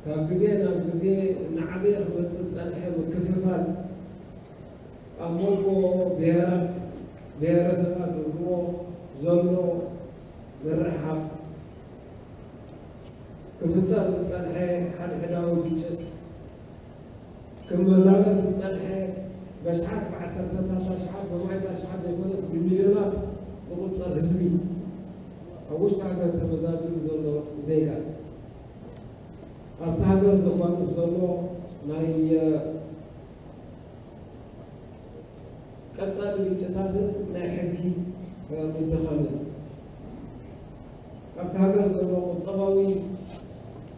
ካብ ግዜ ናብ ግዜ እናዓበየ ክመፅእ ዝፀንሐ ምክፍፋል ኣብ መንጎ ብሄራት፣ ብሄረሰባት ዝብልዎ ዘሎ ምርሕሓቕ፣ ክፍጠር ዝጸንሐ ሓድሕዳዊ ግጭት፣ ክመዛበል ዝጸንሐ በሽሓት ብዓሰርተታት ኣሽሓት ብማእት ኣሽሓት ዘይኮነስ ብሚልዮናት ዝቑጸር ህዝቢ፣ ኣብ ውሽጢ ሃገር ተመዛቢሉ ዘሎ ዜጋ፣ ኣብቲ ሃገር ዘጓንፍ ዘሎ ናይ ቀጻሊ ግጭታትን ናይ ሕጊ ምድኻምን ኣብቲ ሃገር ዘሎ ቁጠባዊ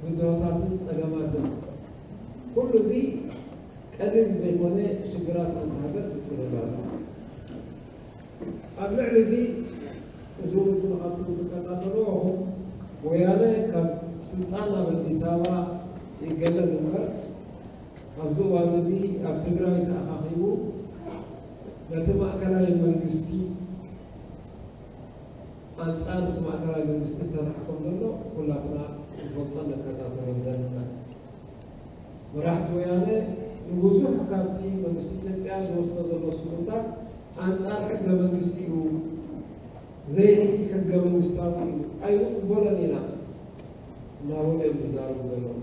ብድሆታትን ጸገማትን ኩሉ እዚ ቀሊል ዘይኮነ ሽግራት ሓንቲ ሃገር ይፍልል ኣሎ። ኣብ ልዕሊ እዚ እዚ ውድብ ንኻትኩም ትከታተልዎ ኢኹም። ወያነ ካብ ስልጣን ኣብ ኣዲስ ኣበባ ይገለል እምበር ኣብዚ እዋን እዚ ኣብ ትግራይ ተኣኻኺቡ ነቲ ማእከላይ መንግስቲ ኣንጻር እቲ ማእከላይ መንግስቲ ይሰርሕ ከም ዘሎ ኩላትና ንፈልጦን ንከታተሎን ዘለና። መራሕቲ ወያነ ንብዙሕ ካብቲ መንግስቲ ኢትዮጵያ ዝወስዶ ዘሎ ስጉምታት ኣንጻር ሕገ መንግስቲ እዩ፣ ዘይሕገ መንግስታዊ እዩ፣ ኣይንቕበሎን ኢና እናበሉ እዮም ዝዛረቡ ዘለዉ።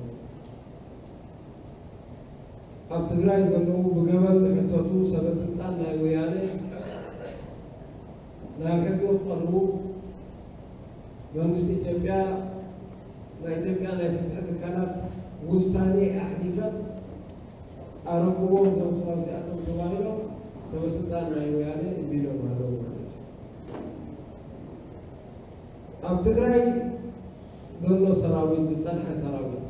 ኣብ ትግራይ ዘለዉ ብገበን ዝሕተቱ ሰበ ስልጣን ናይ ወያነ ናብ ሕጊ ክቐርቡ መንግስቲ ኢትዮጵያ ናይ ኢትዮጵያ ናይ ፍትሒ ትካላት ውሳኔ ኣሕሊፈን ኣረክብዎም እዞም ሰባት እዚኣቶም ተባሂሎም ሰበ ስልጣን ናይ ወያነ እምቢ ኢሎም ኣለዉ ማለት እዩ። ኣብ ትግራይ ዘሎ ሰራዊት ዝጸንሐ ሰራዊት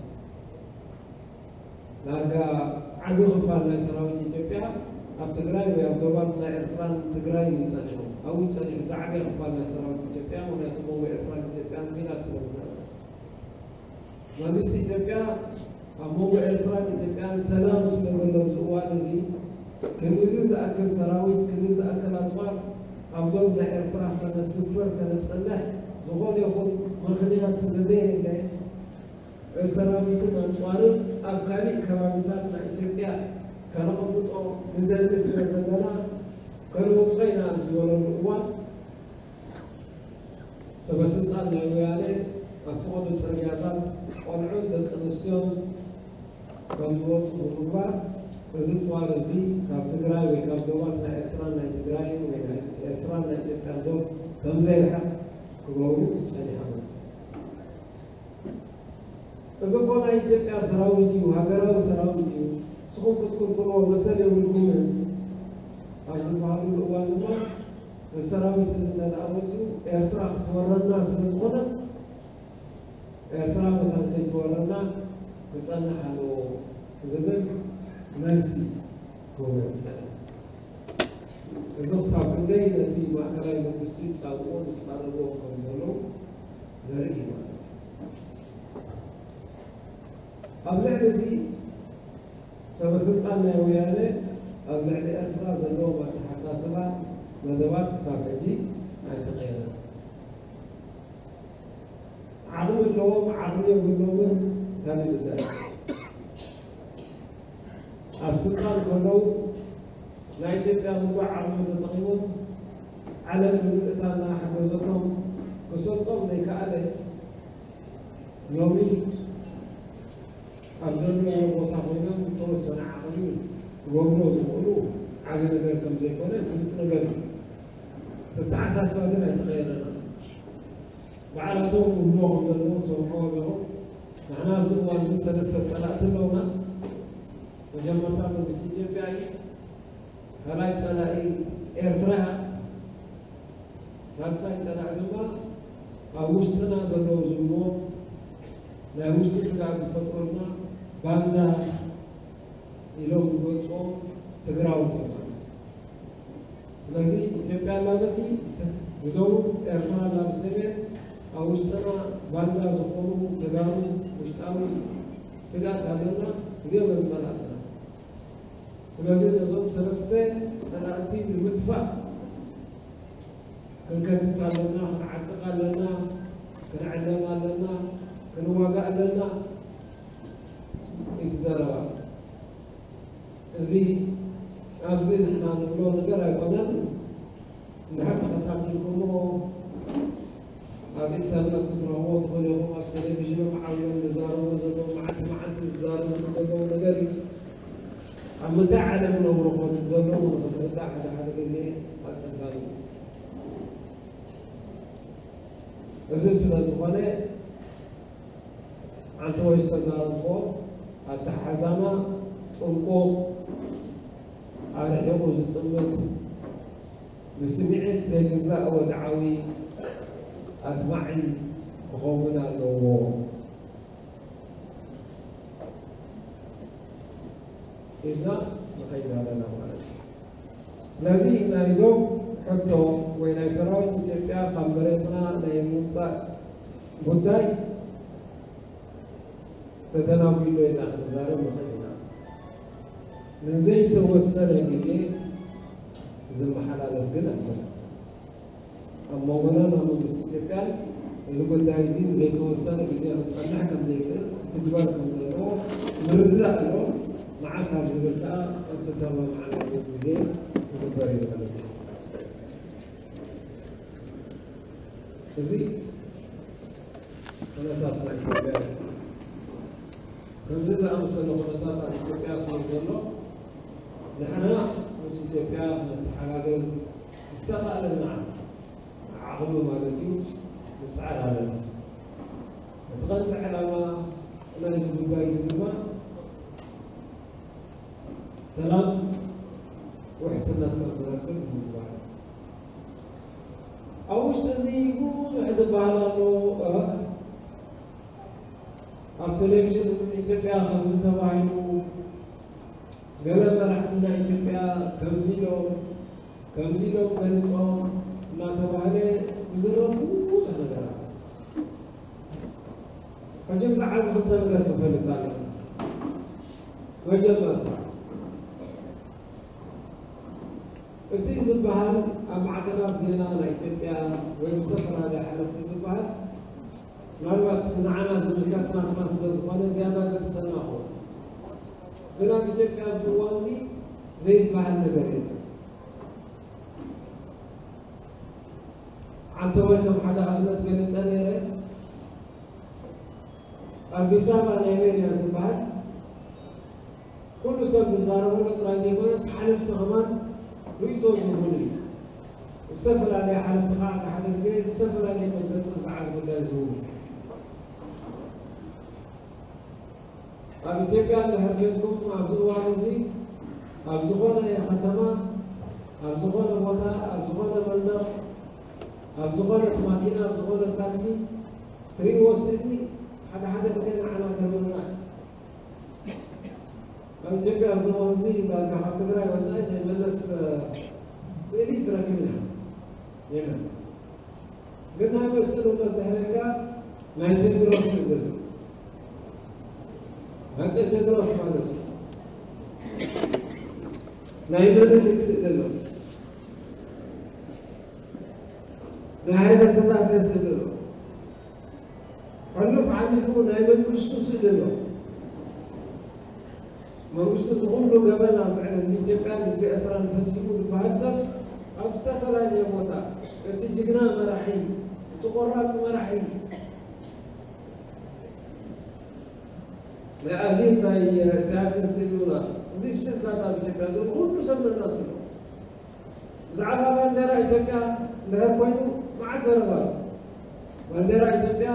ዳርጋ ዓቢ ክፋል ናይ ሰራዊት ኢትዮጵያ ኣብ ትግራይ ወይ ኣብ ዶባት ናይ ኤርትራን ትግራይን እዩ ጸኒሑ። ኣብኡ እዩ ጸኒሑ። ዝዓበየ ክፋል ናይ ሰራዊት ኢትዮጵያ፣ ምኽንያቱ መንጎ ኤርትራን ኢትዮጵያን ኲናት ስለ ዝነበረ። መንግስቲ ኢትዮጵያ ኣብ መንጎ ኤርትራን ኢትዮጵያን ሰላም ዝተገለሉ እዋን እዚ ክንድዚ ዝኣክል ሰራዊት፣ ክንድዚ ዝኣክል ኣፅዋር ኣብ ዶብ ናይ ኤርትራ ከነስፍር፣ ከነፅንሕ ዝኾነ ይኹን ምኽንያት ስለዘየለ፣ ሰራዊትን ኣፅዋርን ኣብ ካሊእ ከባቢታት ናይ ኢትዮጵያ ከነቐምጦ ንደሊ ስለ ዘለና፣ ከነውፅኦ ኢና ኣብ ዝበለሉ እዋን፣ ሰበስልጣን ናይ ወያነ ኣብ ፈቐዶ ጽርግያታት ቆልዑን ደቂ ኣንስትዮን ከም ዝወጹ ብምግባር፣ እዚ ጽዋር እዚ ካብ ትግራይ ወይ ካብ ዶባት ናይ ኤርትራን ናይ ትግራይን ወይ ናይ ኤርትራን ናይ ኢትዮጵያን ዶብ ከም ዘይርሕቕ ክገብሩ ጸኒሖም። እዚ እኮ ናይ ኢትዮጵያ ሰራዊት እዩ፣ ሃገራዊ ሰራዊት እዩ፣ ንስኹም ክትክልክልዎ መሰል የብልኩምን ኣብ ዝበሃሉሉ እዋን ድማ፣ እዚ ሰራዊት እዚ እንተ ደኣ መጺኡ ኤርትራ ክትወረና ስለ ዝኾነት፣ ኤርትራ መታን ከይትወረና ክጸንሕ ኣለዎ ዝብል መልሲ ክህቡ እዮም ጸኒሖም። እዚ ክሳብ ክንደይ ነቲ ማእከላይ መንግስቲ ጻውኦ ዝጻረርዎ ከም ዘለዉ ዘርኢ እዩ ማለት እዩ። ኣብ ልዕሊ እዚ ሰበ ስልጣን ናይ ወያነ ኣብ ልዕሊ ኤርትራ ዘለዎም ኣተሓሳስባ መደባት ክሳብ ሕጂ ኣይተቐየረን። ዓቕሚ ኣለዎም ዓቕሚ የብሎምን ካልእ ጉዳይ። ኣብ ስልጣን ከለዉ ናይ ኢትዮጵያ ምሉእ ዓቕሚ ተጠቒሞም ዓለም ብምልእታ እናሓገዘቶም ክሰልጦም ዘይከኣለ ሎሚ ኣብ ዘለውዎ ቦታ ኮይኖም ዝተወሰነ ዓቕሚ ክገብርዎ ዝኽእሉ ዓቢ ነገር ከም ዘይኮነ ፍሉጥ ነገር እዩ። እቲ ኣተሓሳስባ ግን ኣይተቐየረን ኣሎ። ባዕላቶም ክብልዎ ከም ዘለዎም ትሰምዕዎ ኣለኹም። ንሕና ኣብዚ እዋን እዚ ሰለስተ ጸላእቲ ኣለውና። መጀመርታ መንግስቲ ኢትዮጵያ እዩ። ካልኣይ ጸላኢ ኤርትራ እያ። ሳልሳይ ጸላኢ ድማ ኣብ ውሽጥና ዘለዉ ዝብልዎ ናይ ውሽጢ ስግኣት ዝፈጥሩልና ባንዳ ኢሎም ዝገልጽዎም ትግራዎት እዮም ማለት እዩ። ስለዚ ኢትዮጵያ ኣላ በቲ ብደቡብ፣ ኤርትራ ኣላ ብሰሜን፣ ኣብ ውሽጥና ባንዳ ዝኾኑ ተጋሩ ውሽጣዊ ስግኣት ኣለና፣ እዚኦም እዮም ጸላእትና። ስለዚ ነዞም ሰለስተ ጸላእቲ ንምጥፋእ ክንከትት ኣለና፣ ክንዓጥቕ ኣለና፣ ክንዕለም ኣለና፣ ክንዋጋእ ኣለና እዩ እቲ ዘረባ። እዚ ኣብዚ ንሕና ንብሎ ነገር ኣይኮነን። እንድሕር ተኸታቲልኩሞ ኣብ ኢንተርነት ክትረኽቦ ትኽእሉ ኢኹም። ኣብ ቴሌቪዥኖም ዓብዮም ዝዛረቡ ዘለዉ፣ መዓልቲ መዓልቲ ዝዛረቡ ዘለዉ ነገር እዩ። ኣብ ምንታይ ዓለም ነብሩ ኮን ዘለዉ ንኽትርዳእ ሓደ ሓደ ግዜ ኣጸጋሚ እዩ። እዚ ስለ ዝኾነ ኣንተ ወይ ዝተዛረብኮ ኣተሓሕዛና ጥንቁቕ፣ ኣርሒቑ ዝጥምት፣ ብስምዒት ዘይግዛእ ወድዓዊ ኣድማዒ ክኸውን ኣለዎ ኢልና ንኸይድ ኣለና ማለት እዩ። ስለዚ ናይ ዶብ ሕቶ ወይ ናይ ሰራዊት ኢትዮጵያ ካብ መሬትና ናይ ምውፃእ ጉዳይ ተተናጒሎ ኢልና ክንዛረብ ንኽእል ኢና። ንዘይተወሰነ ግዜ ዝመሓላለፍ ግን ኣይኮነን። ኣብ መንጎና ናብ መንግስቲ ኢትዮጵያን እዚ ጉዳይ እዚ ንዘይተወሰነ ግዜ ክፀንሕ ከም ዘይክእል ክትግበር ከም ዘለዎ ምርድዳእ ኣሎ። መዓስ ኣብ ዝብል ከዓ እተሰማምዓሉ ግዜ ክግበር እዩ ማለት እዩ። እዚ ኩነታት ናይ ኢትዮጵያ እዩ። ከምዚ ዝኣመሰለ ኩነታት ኣብ ኢትዮጵያ ስለ ዘሎ ንሕና ምስ ኢትዮጵያ ክንተሓጋገዝ ዝተኻእለና ዓቕሚ ማለት እዩ ንፅዓር ኣለና። እቲ ቀንዲ ዕላማ ናይዚ ጉዳይ እዚ ድማ ሰላም ውሕስነት ከም ዝረክብ ንምግባር። ኣብ ውሽጢ እዚ ብዙሕ ዝበሃል ኣሎ። ኣብ ቴሌቪዥን ኢትዮጵያ ከምዚ ተባሂሉ፣ ገለ መራሕቲ ናይ ኢትዮጵያ ከምዚ ኢሎም፣ ከምዚ ኢሎም ገሊጾም እናተባህለ ዝዝረብ ብዙሕ ነገር ኣሎ። ሕጂ ብዛዕባ እዚ ክልተ ነገር ክፈልጥ ኣለና። መጀመርታ እቲ ዝበሃል ኣብ ማዕከናት ዜና ናይ ኢትዮጵያ ወይ ዝተፈላለያ ሓለፍቲ ዝበሃል፣ ምናልባት እቲ ንዓና ዝምልከት ናትና ስለ ዝኾነ ዝያዳ ገድሰና ክኸውን። ግን ኣብ ኢትዮጵያ ኣብዚ እዋን እዚ ዘይበሃል ነገር የለን። ዓንተወይ ከም ሓደ ኣብነት ገሊጸ ነይረ። ኣዲስ ኣበባ ናይ መን እያ ዝበሃል ኩሉ ሰብ ዝዛረበሉ ጥራይ ዘይኮነስ ሓለፍቲ ከማን ርእይቶ ዝህቡሉ እዩ። ዝተፈላለየ ሓለፍቲ ከዓ ሓደ ሓደ ግዜ ዝተፈላለየ መግለፂ ብዛዕባ እዚ ጉዳይ ዝህቡ። ኣብ ኢትዮጵያ እንድሕር ኬድኩም ኣብዚ እዋን እዚ ኣብ ዝኾነ ከተማ፣ ኣብ ዝኾነ ቦታ፣ ኣብ ዝኾነ መንደቕ፣ ኣብ ዝኾነት ማኪና፣ ኣብ ዝኾነ ታክሲ ትርእይዎ ስእሊ ሓደ ሓደ ግዜ ንዓና ገርመና። ኣብ ኢትዮጵያ ኣብዚ እዋን እዚ ዳርጋ ካብ ትግራይ ወፃኢ ናይ መለስ ስእሊ ትረክብ ኢና የለን። ግን ናይ መሰል እምነት ድሕረካ ናይ ቴድሮስ ስእሊ ኣሎ። ሃፀይ ቴድሮስ ማለት እዩ። ናይ ምኒልክ ስእሊ ኣሎ። ናይ ሃይለ ስላሴ ስእሊ ኣሎ። ሕሉፍ ሓሊፉ ናይ መንግስቱ ስእሊ ኣሎ። መንግስቱ ዝኹሉ ገበን ኣብ ልዕሊ ህዝቢ ኢትዮጵያን ህዝቢ ኤርትራን ፈጺሙ ዝበሃል ሰብ ኣብ ዝተፈላለየ ቦታ እቲ ጅግና መራሒ፣ እቲ ቆራፅ መራሒ፣ ናይ ኣብይን ናይ ኢሳያስን ስእሊ እውን ኣሎ። እዚ ስእልታት ኣብ ኢትዮጵያ ዘሎ ኩሉ ሰብ ነናቱ ኣሎ። ብዛዕባ ባንዴራ ኢትዮጵያ እንድሕር ኮይኑ መዓት ዘረባ ኣሎ። ባንዴራ ኢትዮጵያ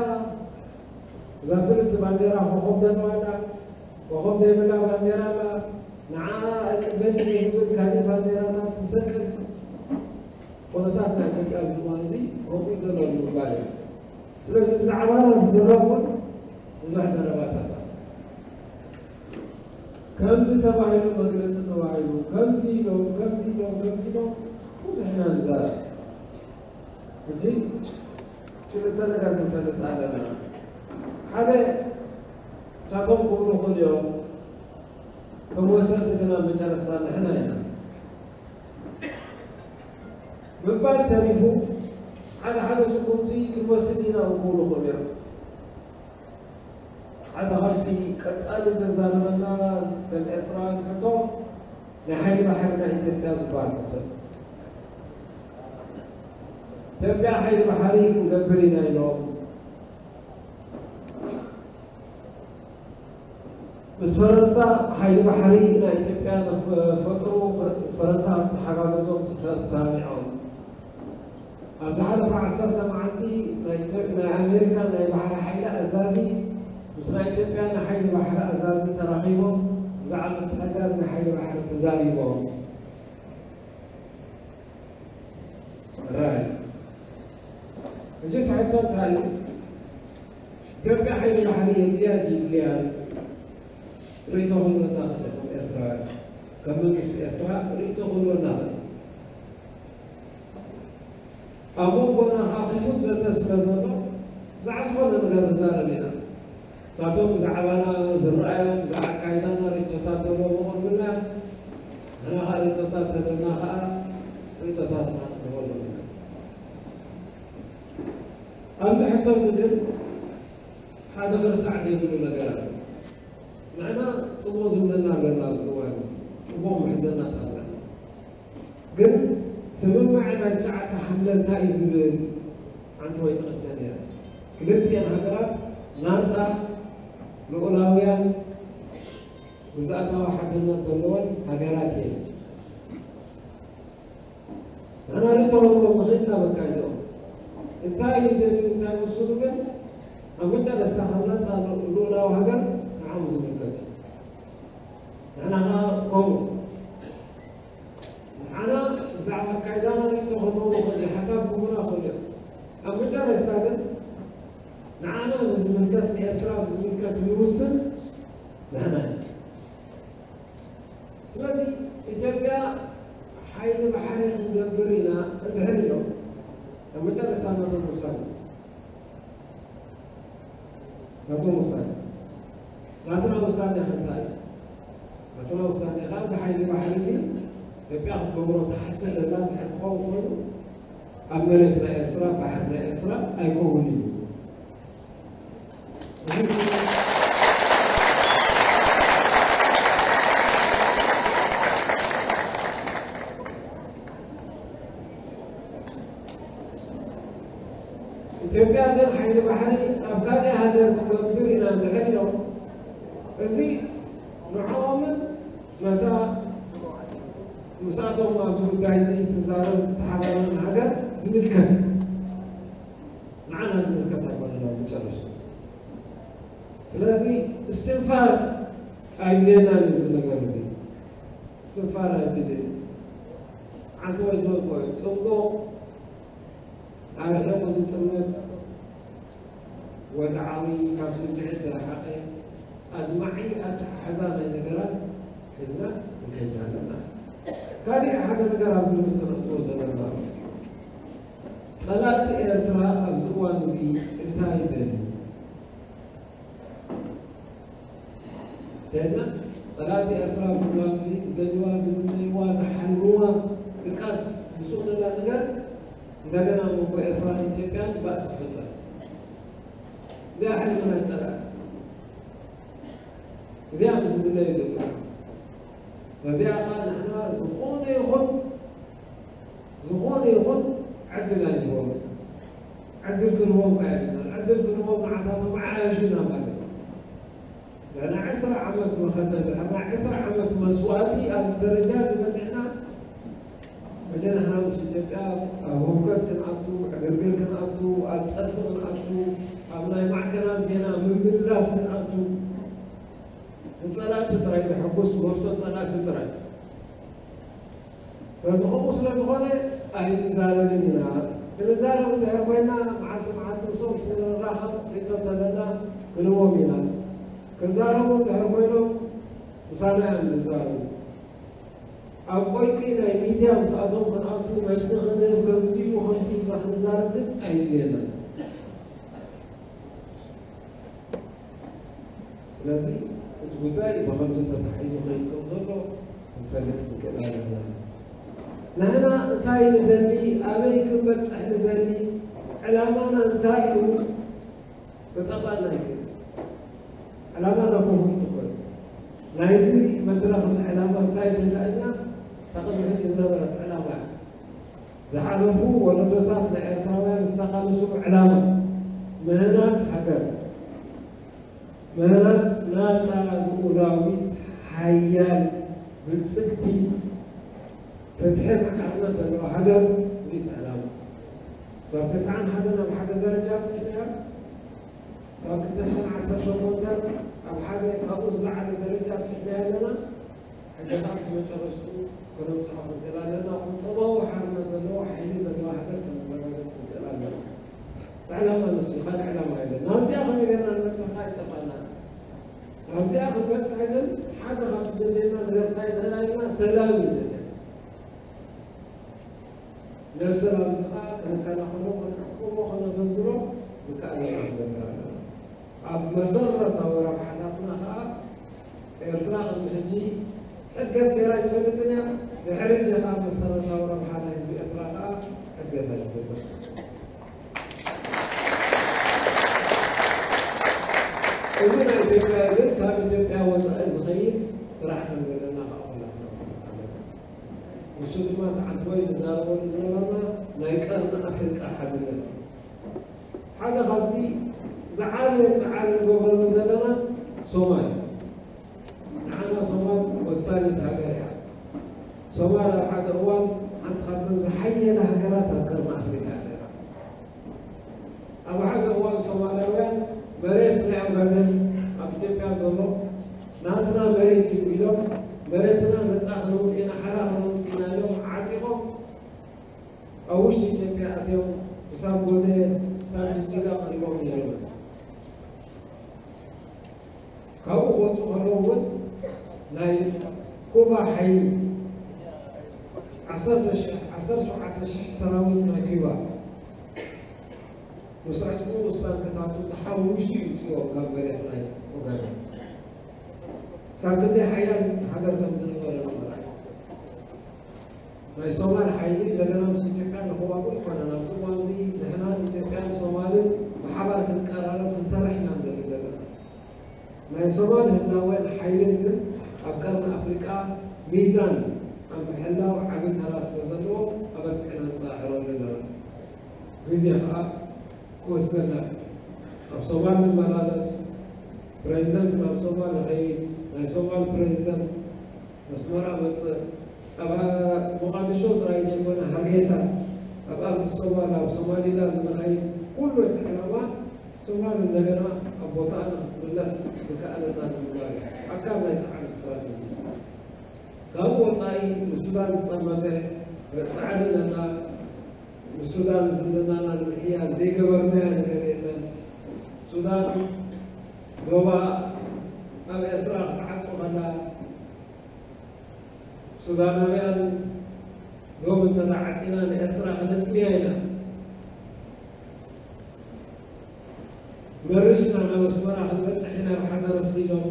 እዛ ፍልጥቲ ባንዴራ ኮኾብ ዘለዋ ኣላ፣ ኮኾብ ዘይብላ ባንዴራ ኣላ፣ ንዓኣ እቅበል እየ ዝብል ካሊእ ባንዴራታት ዝሰቅል ኩነታት ናይ ኢትዮጵያ ኣብዚ እዋን እዚ ከምኡ እዩ ዘሎ ንምባል እዩ። ስለዚ ብዛዕባና ዝዝረብ እውን ብዙሕ ዘረባታት ኣሎ። ከምዚ ተባሂሉ መግለፂ ተባሂሉ ከምዚ ኢሎም ከምዚ ኢሎም ከምዚ ኢሎም ብዙሕ ኢና ንዛረብ። ሕጂ ክልተ ነገር ክንፈልጥ ኣለና። ሓደ ንሳቶም ክብሉ ይኽእሉ እዮም፣ ከም ወሰንቲ ግን ኣብ መጨረስታ ንሕና ኢና። ምባል ተሪፉ ሓደ ሓደ ስጉምቲ ክንወስድ ኢና እውን ክብሉ ይኽእሉ እዮም። ሓደ ካብቲ ቀጻሊ ዘዛርበና ከም ኤርትራውያን ሕቶ ናይ ሓይሊ ባሕሪ ናይ ኢትዮጵያ ዝበሃል ሕቶ እዩ። ኢትዮጵያ ሓይሊ ባሕሪ ክንገብር ኢና ኢሎም ምስ ፈረንሳ ሓይሊ ባሕሪ ናይ ኢትዮጵያ ንክፈጥሩ ፈረንሳ ተሓጋገዞም ተሰ-፣ ተሰማሚዖም። ኣብ ዝሓለፈ ዓሰርተ መዓልቲ ናይ ኢትዮ-፣ ናይ ኣሜሪካ ናይ ባሕሪ ሓይሊ ኣዛዚ ምስ ናይ ኢትዮጵያ ናይ ሓይሊ ባሕሪ ኣዛዚ ተራኺቦም ብዛዕባ ምትሕግጋዝ ናይ ሓይሊ ባሕሪ ተዛሪቦም። ራይ። ሕጂ እቲ ሕቶ እንታይ እዩ? ኢትዮጵያ ሓይሊ ባሕሪ የድልያ ድዩ የድልያን? ርእይቶ ክህልወና ክእል፣ ከም ኤርትራውያን፣ ከም መንግስቲ ኤርትራ ርእይቶ ክህልወና ክእል። ኣብ መንጎና ከዓ ክፉት ዘተ ስለ ዘሎ፣ ብዛዕባ ዝኾነ ነገር ንዛረብ ኢና። ንሳቶም ብዛዕባና ዝረኣዮም፣ ብዛዕባ ኣካይዳና ርእይቶታት ተለዎም የቕርቡልና። ንሕና ከዓ ርእይቶታት ተለና ከዓ ርእይቶታትና ንቕርበሎም ኢና። ኣብዚ ሕቶ እዚ ግን ሓደ ክርሳዕ ዘይብሉ ነገር ኣሎ። ንሕና ጽቡቕ ዝምድና ኣለና ኣብዚ እዋን እዚ። ጽቡቕ ምሕዝነታት ኣለና። ግን ስምምዕ ናይ ትሽዓተ ሓምለ እንታይ እዩ ዝብል ሓንቲ ወይ ጠቕሰ ነይረ። ክልቲኤን ሃገራት ናጻ፣ ልኡላውያን፣ ግዝኣታዊ ሓድነት ዘለወን ሃገራት እየን። ንሕና ርእይቶ ክንህቦም ንኽእል ኢና በቃ ኢሎም። እንታይ ይደልዩ፣ እንታይ ይወስኑ ግን ኣብ መጨረስታ ካብ ናጻ ልኡላዊ ሃገር ንዓኦም ዝምልከት እዩ። ንሕና ኸዓ ከምኡ። ንዓና ብዛዕባ ኣካይዳና ርእይቶ ክህልዎም ይኽእል እዩ፣ ሓሳብ ክህቡና ይኽእሉ እዮም። ኣብ መጨረስታ ግን ንዓና ብዝምልከት፣ ንኤርትራ ብዝምልከት ዝውስን ንሕና ኢና። ስለዚ ኢትዮጵያ ሓይሊ ባሕሪ ክንገብር ኢና እንድሕር ኢሎም፣ ኣብ መጨረስታ ናቶም ውሳኔ፣ ናቶም ውሳኔ፣ ናትና ውሳኔ ከ እንታይ እዩ? ናትና ውሳኔ ከኣ እዚ ሓይሊ ባሕሪ እዚ ኢትዮጵያ ክትገብሮ ትሓስብ ዘላ እንድሕር ክኸውን ኮይኑ፣ ኣብ መሬት ናይ ኤርትራ፣ ባሕሪ ናይ ኤርትራ ኣይከውን እዩ። ኢትዮጵያ ግን ሓይሊ ባሕሪ ኣብ ካልእ ሃገር ክትገብር ኢና እንድሕር ኢሎም፣ እዚ ንዕኦምን ነታ ምስኣቶም ኣብዚ ጉዳይ እዚ ትዛረብ እትሓበረን ሃገር ዝምልከት፣ ንዓና ዝምልከት ኣይኮነን ኣብ መጨረሽታ። ስለዚ እስትንፋር ኣይድልየናን እዩ እዚ ነገር እዚ። እስትንፋር ኣይድልየን። ሓንቲ ወይ ዝበልኮ እዩ። ጥንቁቕ ኣርሒቑ ዝጥምት፣ ወግዓዊ፣ ካብ ስምዒት ዝረሓቐ፣ ኣድማዒ ኣተሓሕዛ ናይ ነገራት ሒዝና ንከይድ ኣለና። ካሊእ ሓደ ነገር ኣብ ግምት ከነእትዎ ዘለና፣ ጸላእቲ ኤርትራ ኣብዚ እዋን እዚ እንታይ ይደልዩ? እንተኢልና፣ ጸላእቲ ኤርትራ ኣብዚ እዋን እዚ ዝደልይዋ፣ ዝምነይዋ፣ ዝሓልምዋ ድቃስ ዝስእኑላ ነገር እንደገና ኣብ መንጎ ኤርትራን ኢትዮጵያን ባእሲ ክፍጠር። እዚኣ ሕልሚ ናይ ጸላእቲ። እዚኣ ምስ ዝምነዩ ዘለዉ። በዚኣ ኸኣ ንሕና ዝኾነ ይኹን፣ ዝኾነ ይኹን ዕድል ኣይንህቦም። ዕድል ክንህቦም ከኣ የብልናን። ዕድል ክንህቦም ንዓታቶም ዓያሹ ኢና ማለት እዩ። ድሕና ዕስራ ዓመት መኸተ፣ ድሕና ዕስራ ዓመት መስዋእቲ ኣብዚ ደረጃ እዚ በጺሕና፣ ሕጂ ንሕና ምስ ኢትዮጵያ ኣብ ህውከት ክንኣቱ፣ ዕግርግር ክንኣቱ፣ ኣብ ጸርፊ ክንኣቱ፣ ኣብ ናይ ማዕከናት ዜና ምምልላስ ክንኣቱ፣ ንጸላእቲ ጥራይ ዘሐጉስ መፍቶ ጸላእቲ ጥራይ። ስለዚ ከምኡ ስለ ዝኾነ ኣይንዛረብን ኢና። ክንዛረብ እንድሕር ኮይና መዓልቲ መዓልቲ ምስኦም ስንራኸብ ርኢቶ እንተለና ክንህቦም ኢና። ክዛረቡ እንድሕር ኮይኖም ምሳና እዮም ዝዛረቡ። ኣብ ቆይቂ ናይ ሚድያ ምስኣቶም ክንኣቱ መልሲ ክንህብ ከምዚ እዩ ከምዚ ኢልና ክንዛረብ ግን ኣይድልየናን። ስለዚ እቲ ጉዳይ ብኸምዚ ተታሒዙ ከይድ ከም ዘሎ ክንፈልጥ ንክእል ኣለና። ንሕና እንታይ ንደሊ፣ ኣበይ ክንበጽሕ ንደሊ፣ ዕላማና እንታይ እዩ፣ ክጠፍኣና ይክእል። ዕላማና ክፉት እኮ እዩ። ናይዚ መድረኽ እዚ ዕላማ እንታይ እዩ ተላኢልና? እታ ቅድሚ ሕጂ ዝነበረት ዕላማ እያ። ዝሓለፉ ወለዶታት ናይ ኤርትራውያን ዝተቓለስሉ ዕላማ፣ ምህናጽ ሃገር፣ ምህናጽ ናጻ፣ ልኡላዊት፣ ሓያል፣ ብልጽግቲ፣ ፍትሒ፣ ማዕርነት ዘለዋ ሃገር፣ እዚ እቲ ዕላማ። ክሳብ ተስዓን ሓደን ኣብ ሓደ ደረጃ ኣብጺሕናዮ። ክሳብ ክልተ ሽሕን ዓሰርተ ሸሞንተን ኣብ ሓደ ካብኡ ዝለዓለ ደረጃ ኣብጺሕናዮ ኣለና። ሕጂ ከኣ እቲ መጨረሽትኡ ከነብጽሖ ክንክእል ኣለና። ቁጠባዊ ሓርነት ዘለዎ ሓይሊ ዘለዋ ሃገር ከነረጋግጽ ክንክእል ኣለና። እቲ ዕላማ ንሱ እዩ፣ ካልእ ዕላማ የለን። ናብዚኣ ከመይ ጌርና ንበጽሕ ከኣ ይጠፍኣና። ናብዚኣ ክንበጽሕ ግን ሓደ ካብቲ ዘድልየና ነገር እንታይ ይኽእል ኣለና? ሰላም እዩ ዘድልየና። ነዚ ሰላም እዚ ከኣ ከነከናኸኖ፣ ከነዕቅቦ፣ ከነደልድሎ ዝከኣለና ክንገብር ኣለና። ኣብ መሰረታዊ ረብሓታትና ከኣ ኤርትራ ቅድሚ ሕጂ ሕድገት ገይራ ኣይትፈልጥን እያ። ድሕሪ ሕጂ ከኣ መሰረታዊ ረብሓ ናይ ህዝቢ ኤርትራ ከኣ ሕድገት ኣይትገብር። እዚ ናይ ኢትዮጵያ ግን ካብ ኢትዮጵያ ወጻኢ ዝኸይድ ስራሕ ከም ዘለና ከኣ ኩላትና ንፈልጥ ኣለና። ንሱ ድማ እቲ ዓንተቦይ ዝዛረበሉ ዝነበርና ናይ ቀርኒ ኣፍሪቃ ሓድነት እዩ። ሓደ ካብቲ ዝዓበየ ጻዕሪ ንገብረሉ ዘለና ሶማል እዩ። ንዓና ሶማል ወሳኒት ሃገር እያ። ሶማል ኣብ ሓደ እዋን ሓንቲ ካብተን ዝሓየላ ሃገራት ኣብ ቀርኒ ኣፍሪቃ እያ ነይራ። ኣብ ሓደ እዋን ሶማላውያን መሬት ናይ ኦጋደን ኣብ ኢትዮጵያ ዘሎ ናትና መሬት እዩ ኢሎም መሬትና ነጻ ከነውጽእ ኢና፣ ሓራ ከነውጽእ ኢና ኢሎም ዓጢቖም ኣብ ውሽጢ ኢትዮጵያ ኣትዮም ክሳብ ጎዴ፣ ክሳብ ጅጅጋ ቀሪቦም ነይሮም። ካብኡ ክወጹ ከለዉ እውን ናይ ኩባ ሓይሊ ዓሰርተ ሽሕ፣ ዓሰርተ ሸውዓተ ሽሕ ሰራዊት ናይ ኩባ ምስ ዕጥቁ ምስ ታንክታቱ ተሓዊሱ እዩ ውጽዎም ካብ መሬት ናይ ኦጋዴን። ክሳብ ክንደይ ሓያል ሃገር ከም ዝነበረ ንምርኣይ። ናይ ሶማል ሓይሊ እንደገና ምስ ኢትዮጵያ ንኽዋግኡ ኣይኮነን። ኣብዚ እዋን እዚ ንሕና ኢትዮጵያን ሶማልን ብሓባር ክንቀራረብ ክንሰርሕ ኢና ንደሊ ዘለና። ናይ ሶማል ህላወን ሓይልን ግን ኣብ ቀርኒ ኣፍሪቃ ሚዛን ኣብ ምሕላው ዓቢ ተራ ስለ ዘለዎ ኣበርቲዕና ንጻዕረሉ ኣለና። ግዜ ኸኣ ክወስደና እዩ። ኣብ ሶማል ንመላለስ፣ ፕረዚደንት ናብ ሶማል ይኸይድ፣ ናይ ሶማል ፕረዚደንት ኣስመራ መጽእ፣ ኣብ ሞቓዲሾ ጥራይ ዘይኮነ ሃርጌሳ፣ ኣብ ኣዲስ ኣበባ፣ ኣብ ሶማሊላንድ ንኸይድ፣ ኩሉ እቲ ዕላማ ሶማል እንደገና ኣብ ቦታኣ ንክትምለስ ዝከኣለና ንምግባር እዩ። ኣካል ናይቲ ዓቢ ስትራተጂ። ካብኡ ወጻኢ ንሱዳን ዝጠመተ ጻዕሪ ኣለና። ንሱዳን ዝምድናና ንምሕያል ዘይገበርናዮ ነገር የለን። ሱዳን ዶባ ኣብ ኤርትራ ክትዓጹ ከላ ሱዳናውያን ዶብ እንተ ዓጺና ንኤርትራ ክነጥምያ ኢና። መሪስና ናብ ኣስመራ ክንበጽሕ ኢና ብሓደረት ኢሎም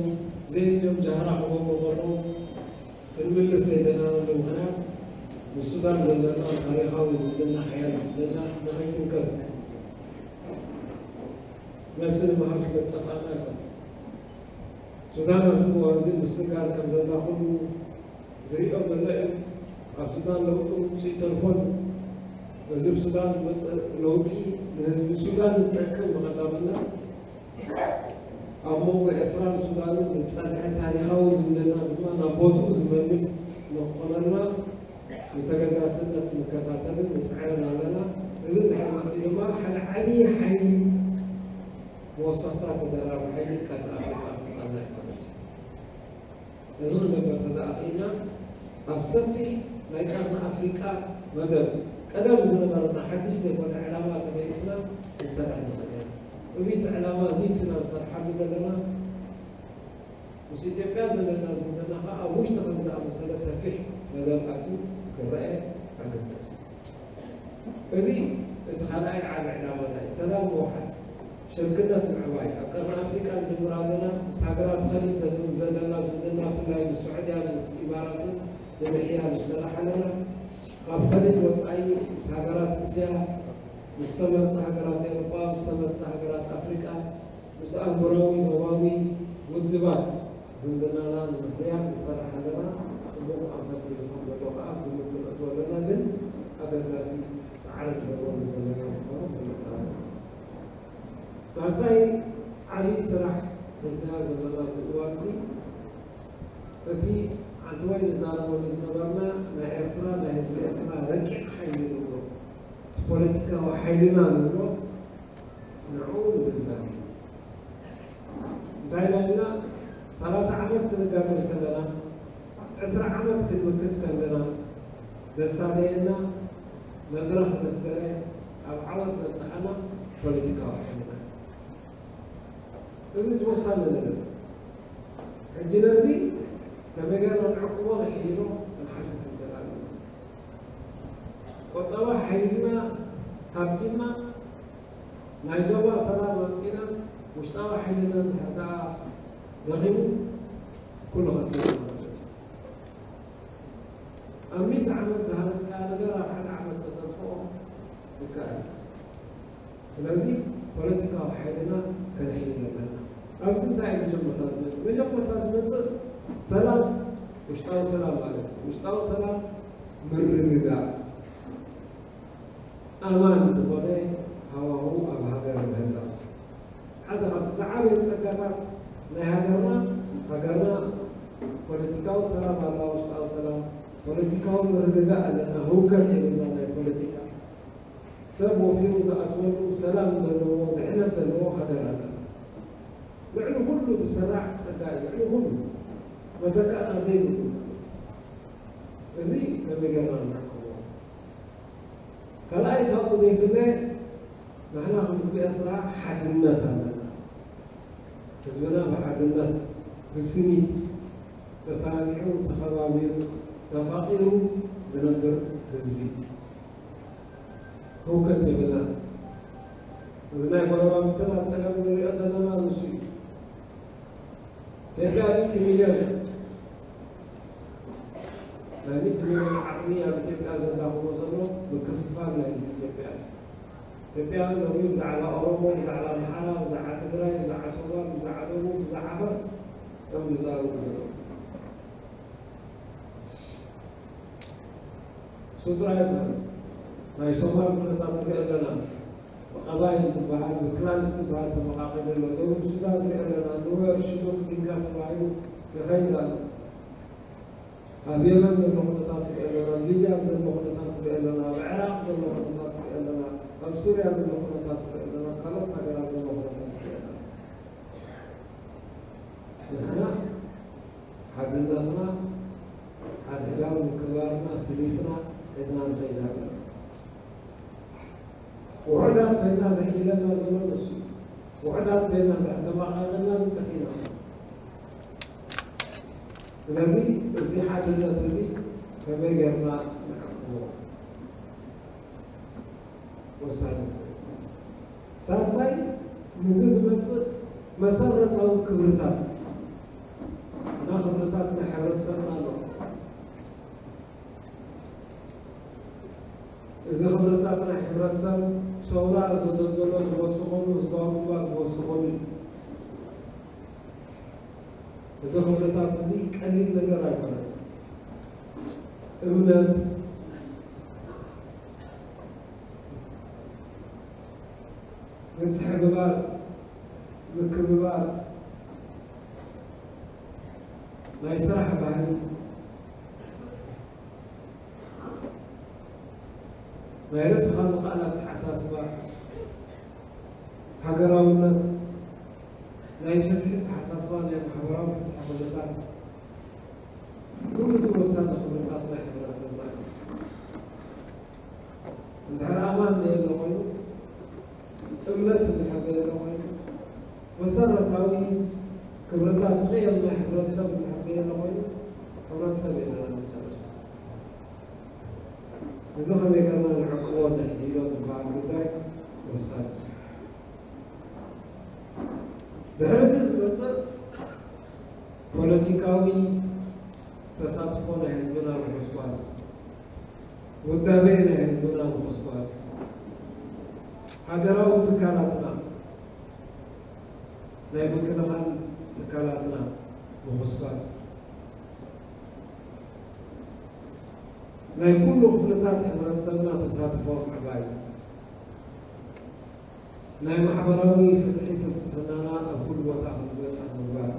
ዘየድልዮም ጃህራ ክገብሩ ከለዉ ክንምልስ ዘይደለናሉ ምኽንያት ንሱዳን ዘለና ታሪኻዊ ዝምድና ሓያል ዝምድና ንኸይትንከፍ መልሲ ንምሃብ ስለዝጠፍኣና ኣይኮነን። ሱዳን ኣብዚ እዋን እዚ ምስጋር ከም ዘላ ኩሉ ዝሪኦ ዘሎ እዩ። ኣብ ሱዳን ለውጢ ምምፅኡ ይተርፎን እዚ ብሱዳን ዝመፅእ ለውጢ ንህዝቢ ሱዳን ዝጠቅም ብቐዳምነት ኣብ መንጎ ኤርትራን ሱዳንን ዝፀንሐ ታሪኻዊ ዝምድና ድማ ናብ ቦትኡ ዝመልስ ንክኾነልና ብተገዳስነት ንከታተልን ንፅዕርን ኣለና። እዚ እንድሕር መፂኡ ድማ ሓደ ዓብዪ ሓይሊ መወሰኽታ ተደራቢ ሓይሊ ቀርኒ ኣፍሪቃ ክመፀና ይኽእል። እዚ ክንገብር ተደኣ ክኢልና ኣብ ሰፊሕ ናይ ቀርኒ ኣፍሪቃ መደብ ቀደም ዝነበረና ሓድሽ ዘይኮነ ዕላማ ተመሊስና ክንሰርሕ ንኽእል ኢና። እዚ እቲ ዕላማ እዚ እቲ ኢና ንሰርሓሉ ዘለና። ምስ ኢትዮጵያ ዘለና ዝምድና ኸዓ ኣብ ውሽጢ ከም ዝኣመሰለ ሰፊሕ መደብ ኣትዩ ክረአ ኣገዳሲ እዩ። እዚ እቲ ካልኣይ ዓቢ ዕላማና እዩ። ሰላም ምውሓስ፣ ሽርክነት ምዕባይ። ኣብ ቀርኒ ኣፍሪቃ ንጅምር ኣለና። ምስ ሃገራት ኸሊጅ ዘ- ዘለና ዝምድና ብፍላይ ምስ ስዑድያን ምስ ኢማራትን ንምሕያል ንሰርሕ ኣለና። ካብ ኸሊጅ ወጻኢ ምስ ሃገራት እስያ፣ ምስ ተመርጻ ሃገራት ኤውሮጳ፣ ምስ ተመርጻ ሃገራት ኣፍሪቃ፣ ምስ ኣህጉራዊ ዞባዊ ውድባት ዝምድናና ንምሕያል ንሰርሕ ኣለና። ጽቡቕ ኣንፈት ሒዙ ከም ዘሎ ከኣ ግምት ክነእትወሉ ኣለና፣ ግን ኣገዳሲ ጻዕሪ ንገብረሉ ዘለና ምዃኑ ክነጠራጥር። ሳልሳይ ዓቢ ስራሕ ሒዝናዮ ዘለና ኣብዚ እዋን እዚ፣ እቲ ዓንተወይ ንዛረበሉ ዝነበርና ናይ ኤርትራ፣ ናይ ህዝቢ ኤርትራ ረቂቕ ሓይሊ ንብሎ፣ እቲ ፖለቲካዊ ሓይልና ንብሎ፣ ንዕኡ ንምድላው እዩ። እንታይ ኢልና ኢልና ሰላሳ ዓመት ክንጋገዝ ከለና፣ ዕስራ ዓመት ክንምክት ከለና፣ ዘሳለየና መድረኽ መስከረ ኣብ ዓወት ዘብጽሓና ፖለቲካዊ ሓይልና። እዚ እቲ ወሳኒ ነገር። ሕጂ ነዚ ከመይ ጌርና ንዕቅቦ ንሕይሎ ክንሓስብ ንኽእል ኣለና። ቁጠባ ሓይልና ሃብቲና ናይ ዞባ ሰላም ኣምጺና ውሽጣዊ ሓይልና እንድሕር ደኣ ደኺሙ ኩሉ ከሲርና ማለት እዩ። ኣብ ሚእቲ ዓመት ዝሃነጽካዮ ነገር ኣብ ሓደ ዓመት ከተጥፍኦ ይከኣል። ስለዚ ፖለቲካዊ ሓይልና ከነሕይል ኣለና። ኣብዚ እንታይ እዩ መጀመርታ ዝመጽእ? መጀመርታ ዝመጽእ ሰላም፣ ውሽጣዊ ሰላም ማለት እዩ። ውሽጣዊ ሰላም ምርግጋእ፣ ኣማን ዝኾነ ሃዋሁ ኣብ ሃገር ምህላው። ሓደ ካብቲ ዝዓበየ ጸጋታት ናይ ሃገርና፣ ሃገርና ፖለቲካዊ ሰላም ኣለዋ፣ ውሽጣዊ ሰላም፣ ፖለቲካዊ ምርግጋእ ኣለና፣ ህውከት የብልና ናይ ፖለቲካ። ሰብ ወፊሩ ዝኣትወሉ ሰላም ዘለዎ፣ ድሕነት ዘለዎ ሃገር ኣለና። ልዕሊ ኩሉ ዝሰራዕ ጸጋ እዩ፣ ልዕሊ ኩሉ መተካእታ ዘይብሉ። እዚ ከመይ ጌርና ንዕቅቦ? ካልኣይ ካብኡ ዘይፍለ ንሕና ከም ህዝቢ ኤርትራ ሓድነት ኣለና። ህዝብና ብሓድነት ብስኒት ተሰማሚዑ ተኸባቢሩ ተፋቒሩ ዝነብር ህዝቢ እዩ። ህውከት የብልናን። እዚ ናይ ጎረባብትና ኣብ ጸገም ንሪኦ ዘለና ንሱ እዩ። ኢትዮጵያ ሚእቲ ሚልዮን እያ። ናይ ሚእቲ ሚልዮን ዓቕሚ ኣብ ኢትዮጵያ ዘዳኽሞ ዘሎ ምክፍፋል ናይ ህዝቢ ኢትዮጵያ እዩ። ኢትዮጵያ ሎሚ ብዛዕባ ኦሮሞ፣ ብዛዕባ ኣምሓራ፣ ብዛዕባ ትግራይ፣ ብዛዕባ ሶማል፣ ብዛዕባ ደቡብ፣ ብዛዕባ ዓፈር እዮም ዝዛረቡ ዘለዉ። እሱ ጥራይ ኣይኮነን። ናይ ሶማል ኩነታት ንሪኦ ኣለና። ብቐባይል ዝበሃል፣ ብክላንስ ዝበሃል ተመቓቒሉ ኣሎ። ደቡብ ሱዳን ንሪኦ ኣለና። ኑዌር፣ ሽሉክ፣ ዲንካ ተባሂሉ ይኸይድ ኣሎ። ኣብ የመን ዘሎ ኩነታት ንሪኦ ኣለና። ኣብ ሊብያ ዘሎ ኩነታት ንሪኦ ኣለና። ኣብ ዕራቕ ዘሎ ኩነታት ንሪኦ ኣለና። ኣብ ሱርያ ዘሎ ኩነታት ንሪኦ ኣለና። ኣብ ካልኦት ሃገራት ዘሎ ኩነታት ንሪኦ ኣለና። ንሕና ሓድነትና፣ ሓድሕዳዊ ምክብባርና፣ ስኒትና ሒዝና ንኸይድ ኣለና። ውሑዳት ኮይንና ዘሕይለና ዘሎ ንሱ እዩ። ውሑዳት ኮይንና እንድሕር ተመቓቒልና ንጠፊእና። ስለዚ እዚ ሓድነት እዚ ከመይ ጌርና ንዕቅቦ? ወሳኒ። ሳልሳይ፣ ምስዚ ዝመጽእ መሰረታዊ ክብርታት፣ እና ክብርታት ናይ ሕብረተሰብና ኣሎ። እዚ ክብርታት ናይ ሕብረተሰብ ሰውራ ዘደልደሎ ዝወሰኸሉ፣ ህዝባዊ ግንባር ዝወሰኸሉ እዩ። እዚ ክብርታት እዚ ቀሊል ነገር ኣይኮነን። እምነት፣ ምትሕብባር፣ ምክብባር፣ ናይ ስራሕ ባህሊ፣ ናይ ርእስኻ ምኽኣል ኣተሓሳስባ፣ ሃገራውነት፣ ናይ ፍትሒ ኣተሓሳስባ፣ ናይ ማሕበራዊ ፍትሒ ኩነታት፣ ኩሉ እቲ ወሳኒ ክብርታት ናይ ሕብረተሰብና እዩ። እንድሕር ኣማን ዘየለ ኮይኑ፣ እምነት እንድሕር ዘየለ ኮይኑ፣ መሰረታዊ ክብርታት ቅየም ናይ ሕብረተሰብ እንድሕር ዘየለ ኮይኑ፣ ሕብረተሰብ የለን ኣብ መጨረሻ። እዚ ከመይ ጌርና ንዕቅቦ፣ ነሕይሎ ዝበሃል ጉዳይ ወሳኒ እዩ። ድሕሪ እዚ ዝመጽእ ፖለቲካዊ ተሳትፎ ናይ ህዝብና ምኹስኳስ፣ ውዳቤ ናይ ህዝብና ምኹስኳስ፣ ሃገራዊ ትካላትና፣ ናይ ምክልኻል ትካላትና ምኹስኳስ፣ ናይ ኩሉ ክፍልታት ሕብረተሰብና ተሳትፎ ምዕባይ፣ ናይ ማሕበራዊ ፍትሒ ፍልስፍናና ኣብ ኩሉ ቦታ ክንበጽሕ ምግባር፣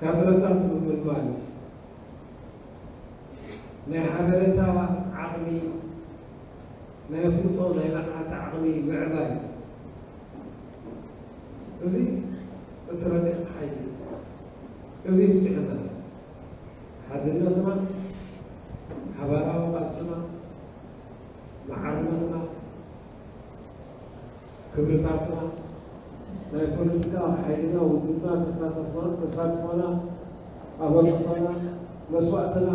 ካድረታት ምምልማል፣ ናይ ሓበሬታ ዓቕሚ፣ ናይ ኣፍልጦ፣ ናይ ንቕሓት ዓቕሚ ምዕባይ፣ እዚ እቲ ረቂቕ ሓይሊ እዩ። እዚ ብፅዕነት ሓድነትና፣ ሓባራዊ ቃልስና፣ ማዕርነትና፣ ክብርታትና፣ ናይ ፖለቲካ ሓይልና፣ ውድብና፣ ተሳትፎና፣ ተሳትፎና፣ ኣበርክቶና፣ መስዋእትና፣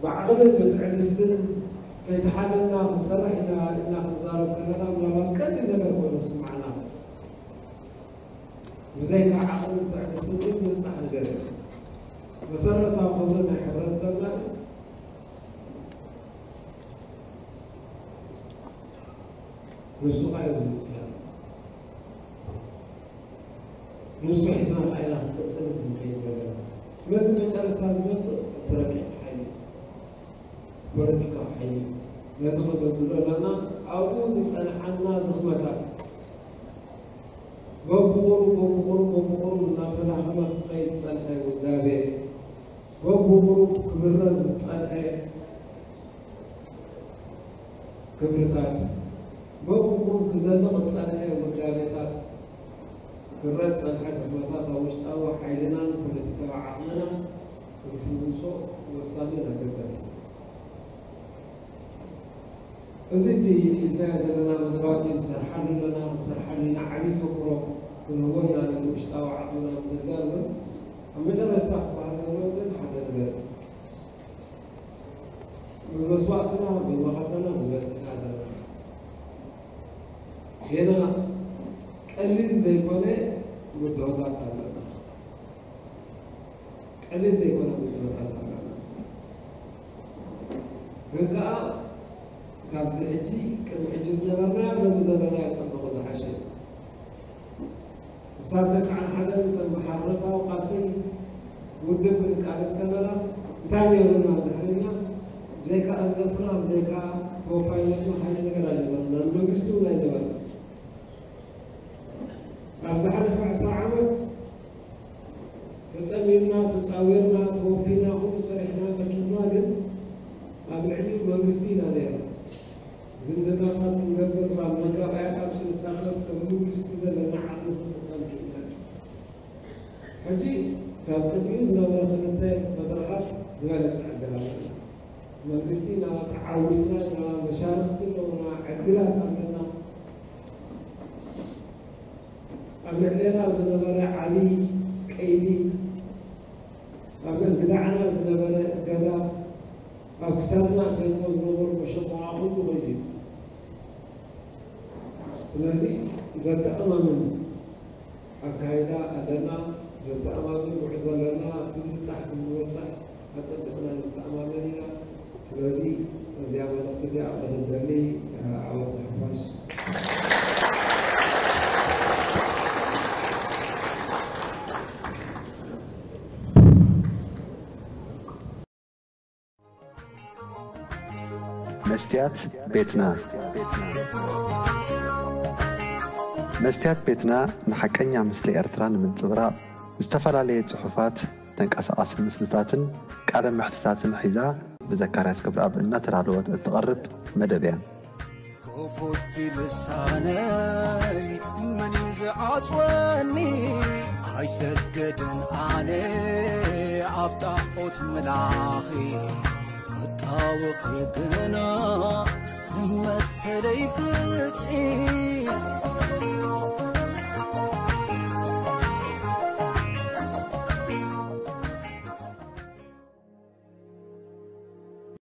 ብዓቕልን ብትዕግስትን ከይተሓለልና ክንሰርሕ ኢና ኢልና ክንዛረብ ከለና፣ ምናልባት ቀሊል ነገር ኮይኑ ክስምዓና። ብዘይካ ዓቕልን ትዕግስትን ግን ዝብጻሕ ነገር የለን። መሰረታዊ ክብሪ ናይ ሕብረተሰብና ንሱ ኸኣ እዩ ዝብጻሕ። ንሱ ሒዝና ኸኣ ኢና ክንቅጽል ክንከይድ ዘለና። ስለዚ መጨረሽታ ዝመጽእ እቲ ረቂቕ ሓይሊ፣ ፖለቲካዊ ሓይሊ። ነዚ ክነብሎ ኣለና። ኣብኡ ዝጸንሓና ድኽመታት በብቑሩብ፣ በብቑሩብ፣ በብቑሩብ እናተዳኸመ ክኸይድ ዝጸንሐ ውዳቤ፣ በብቑሩብ ክብረዝ ዝጸንሐ ክብርታት፣ በብቑሩብ ክዘልቕ ዝጸንሐ ውዳቤታት፣ ክረእ ዝጸንሐ ድኽመታት ኣብ ውሽጣዊ ሓይልናን ፖለቲካዊ ዓቕምናን ክንፍውሶ ወሳንን ኣገዳሲ እዩ። እዚ እቲ ሒዝናዮ ዘለና መደባት እዩ። ንሰርሓሉ ኣለና፣ ክንሰርሓሉ ኢና። ዓብዪ ተኩሮ ክንህቦ ኢና ነዚ ውሽጣዊ ዓቕምና ምግልጋል እውን። ኣብ መጨረሽታ ክበሃል ዘለዎ ግን ሓደ ነገር እዩ። ብመስዋእትና፣ ብመኸተና ዝበጽሕና ኣለና። ጌና ቀሊል ዘይኮነ ብድሆታት ኣለና። ቀሊል ዘይኮነ ውድመታት ኣለና። ግን ከኣ ካብዚ ሕጂ ቅድሚ ሕጂ ዝነበርናዮ ሎሚ ዘለናዮ ጽቡቕ ዝሓሸ እዩ። ክሳብ ተስዓን ሓደን ከም ብሓርነታዊ ቃልሲ ውድብ ክንቃለስ ከለና እንታይ ነይሩና እንድሕር ኢልና፣ ብዘይካ እምነትና፣ ብዘይካ ተወፋይነትና ካልእ ነገር ኣይነበረና። መንግስቲ እውን ኣይነበረና። ኣብ ዝሓለፈ ዕስራ ዓመት ተጸሚምና፣ ተጻዊርና፣ ተወፊና፣ ኩሉ ሰሪሕና፣ ደኪምና፣ ግን ኣብ ልዕሊኡ መንግስቲ ኢና ነይርና። ዝምድናታት ክንገብር፣ ኣብ መጋባእያታት ክንሳተፍ፣ ከም መንግስቲ ዘለና ዓቕሚ ክንጥቀም ክኢልና። ሕጂ ካብ ቅድሚኡ ዝነበረ ክልተ መድረኻት ዝበለጸ ዕድል ኣለና። መንግስቲ ኢና ተዓዊትና ኢና፣ መሻርኽቲ ኣለዉና፣ ዕድላት ኣለና። ኣብ ልዕሌና ዝነበረ ዓብዪ ቀይዲ፣ ኣብ እንግዳዕና ዝነበረ እገዳ፣ ኣብ ክሳድና እገድዎ ዝነበሩ መሸቆቓ ኩሉ ከይዱ እዩ። ስለዚ ዘተኣማምን ኣካይዳ ኣለና፣ ዘተኣማምን ጉዕዞ ኣለና። እቲ ዝብጻሕ ክንበጽሕ ኣጸቢቕና ንተኣማመን ኢና። ስለዚ እዚኣ መልእኽቲ እዚኣ ክህብ ደሊ። ዓወት ንሓፋሽ። መስትያት ቤትና። መስትያት ቤትና ንሓቀኛ ምስሊ ኤርትራ ንምንጽብራቕ ዝተፈላለየ ጽሑፋት፣ ተንቀሳቓሲ ምስልታትን ቃለ መሕትታትን ሒዛ ብዘካርያስ ገብረኣብ እናተዳለወት እትቐርብ መደብ እያ። ክፉት ልሳነይ መን እዩ ዝዓጽወኒ? ኣይሰገድን ኣነ ኣብ ጣዖት ምላኺ ክጣወኺ ግና መሰለይ ፍትሒ።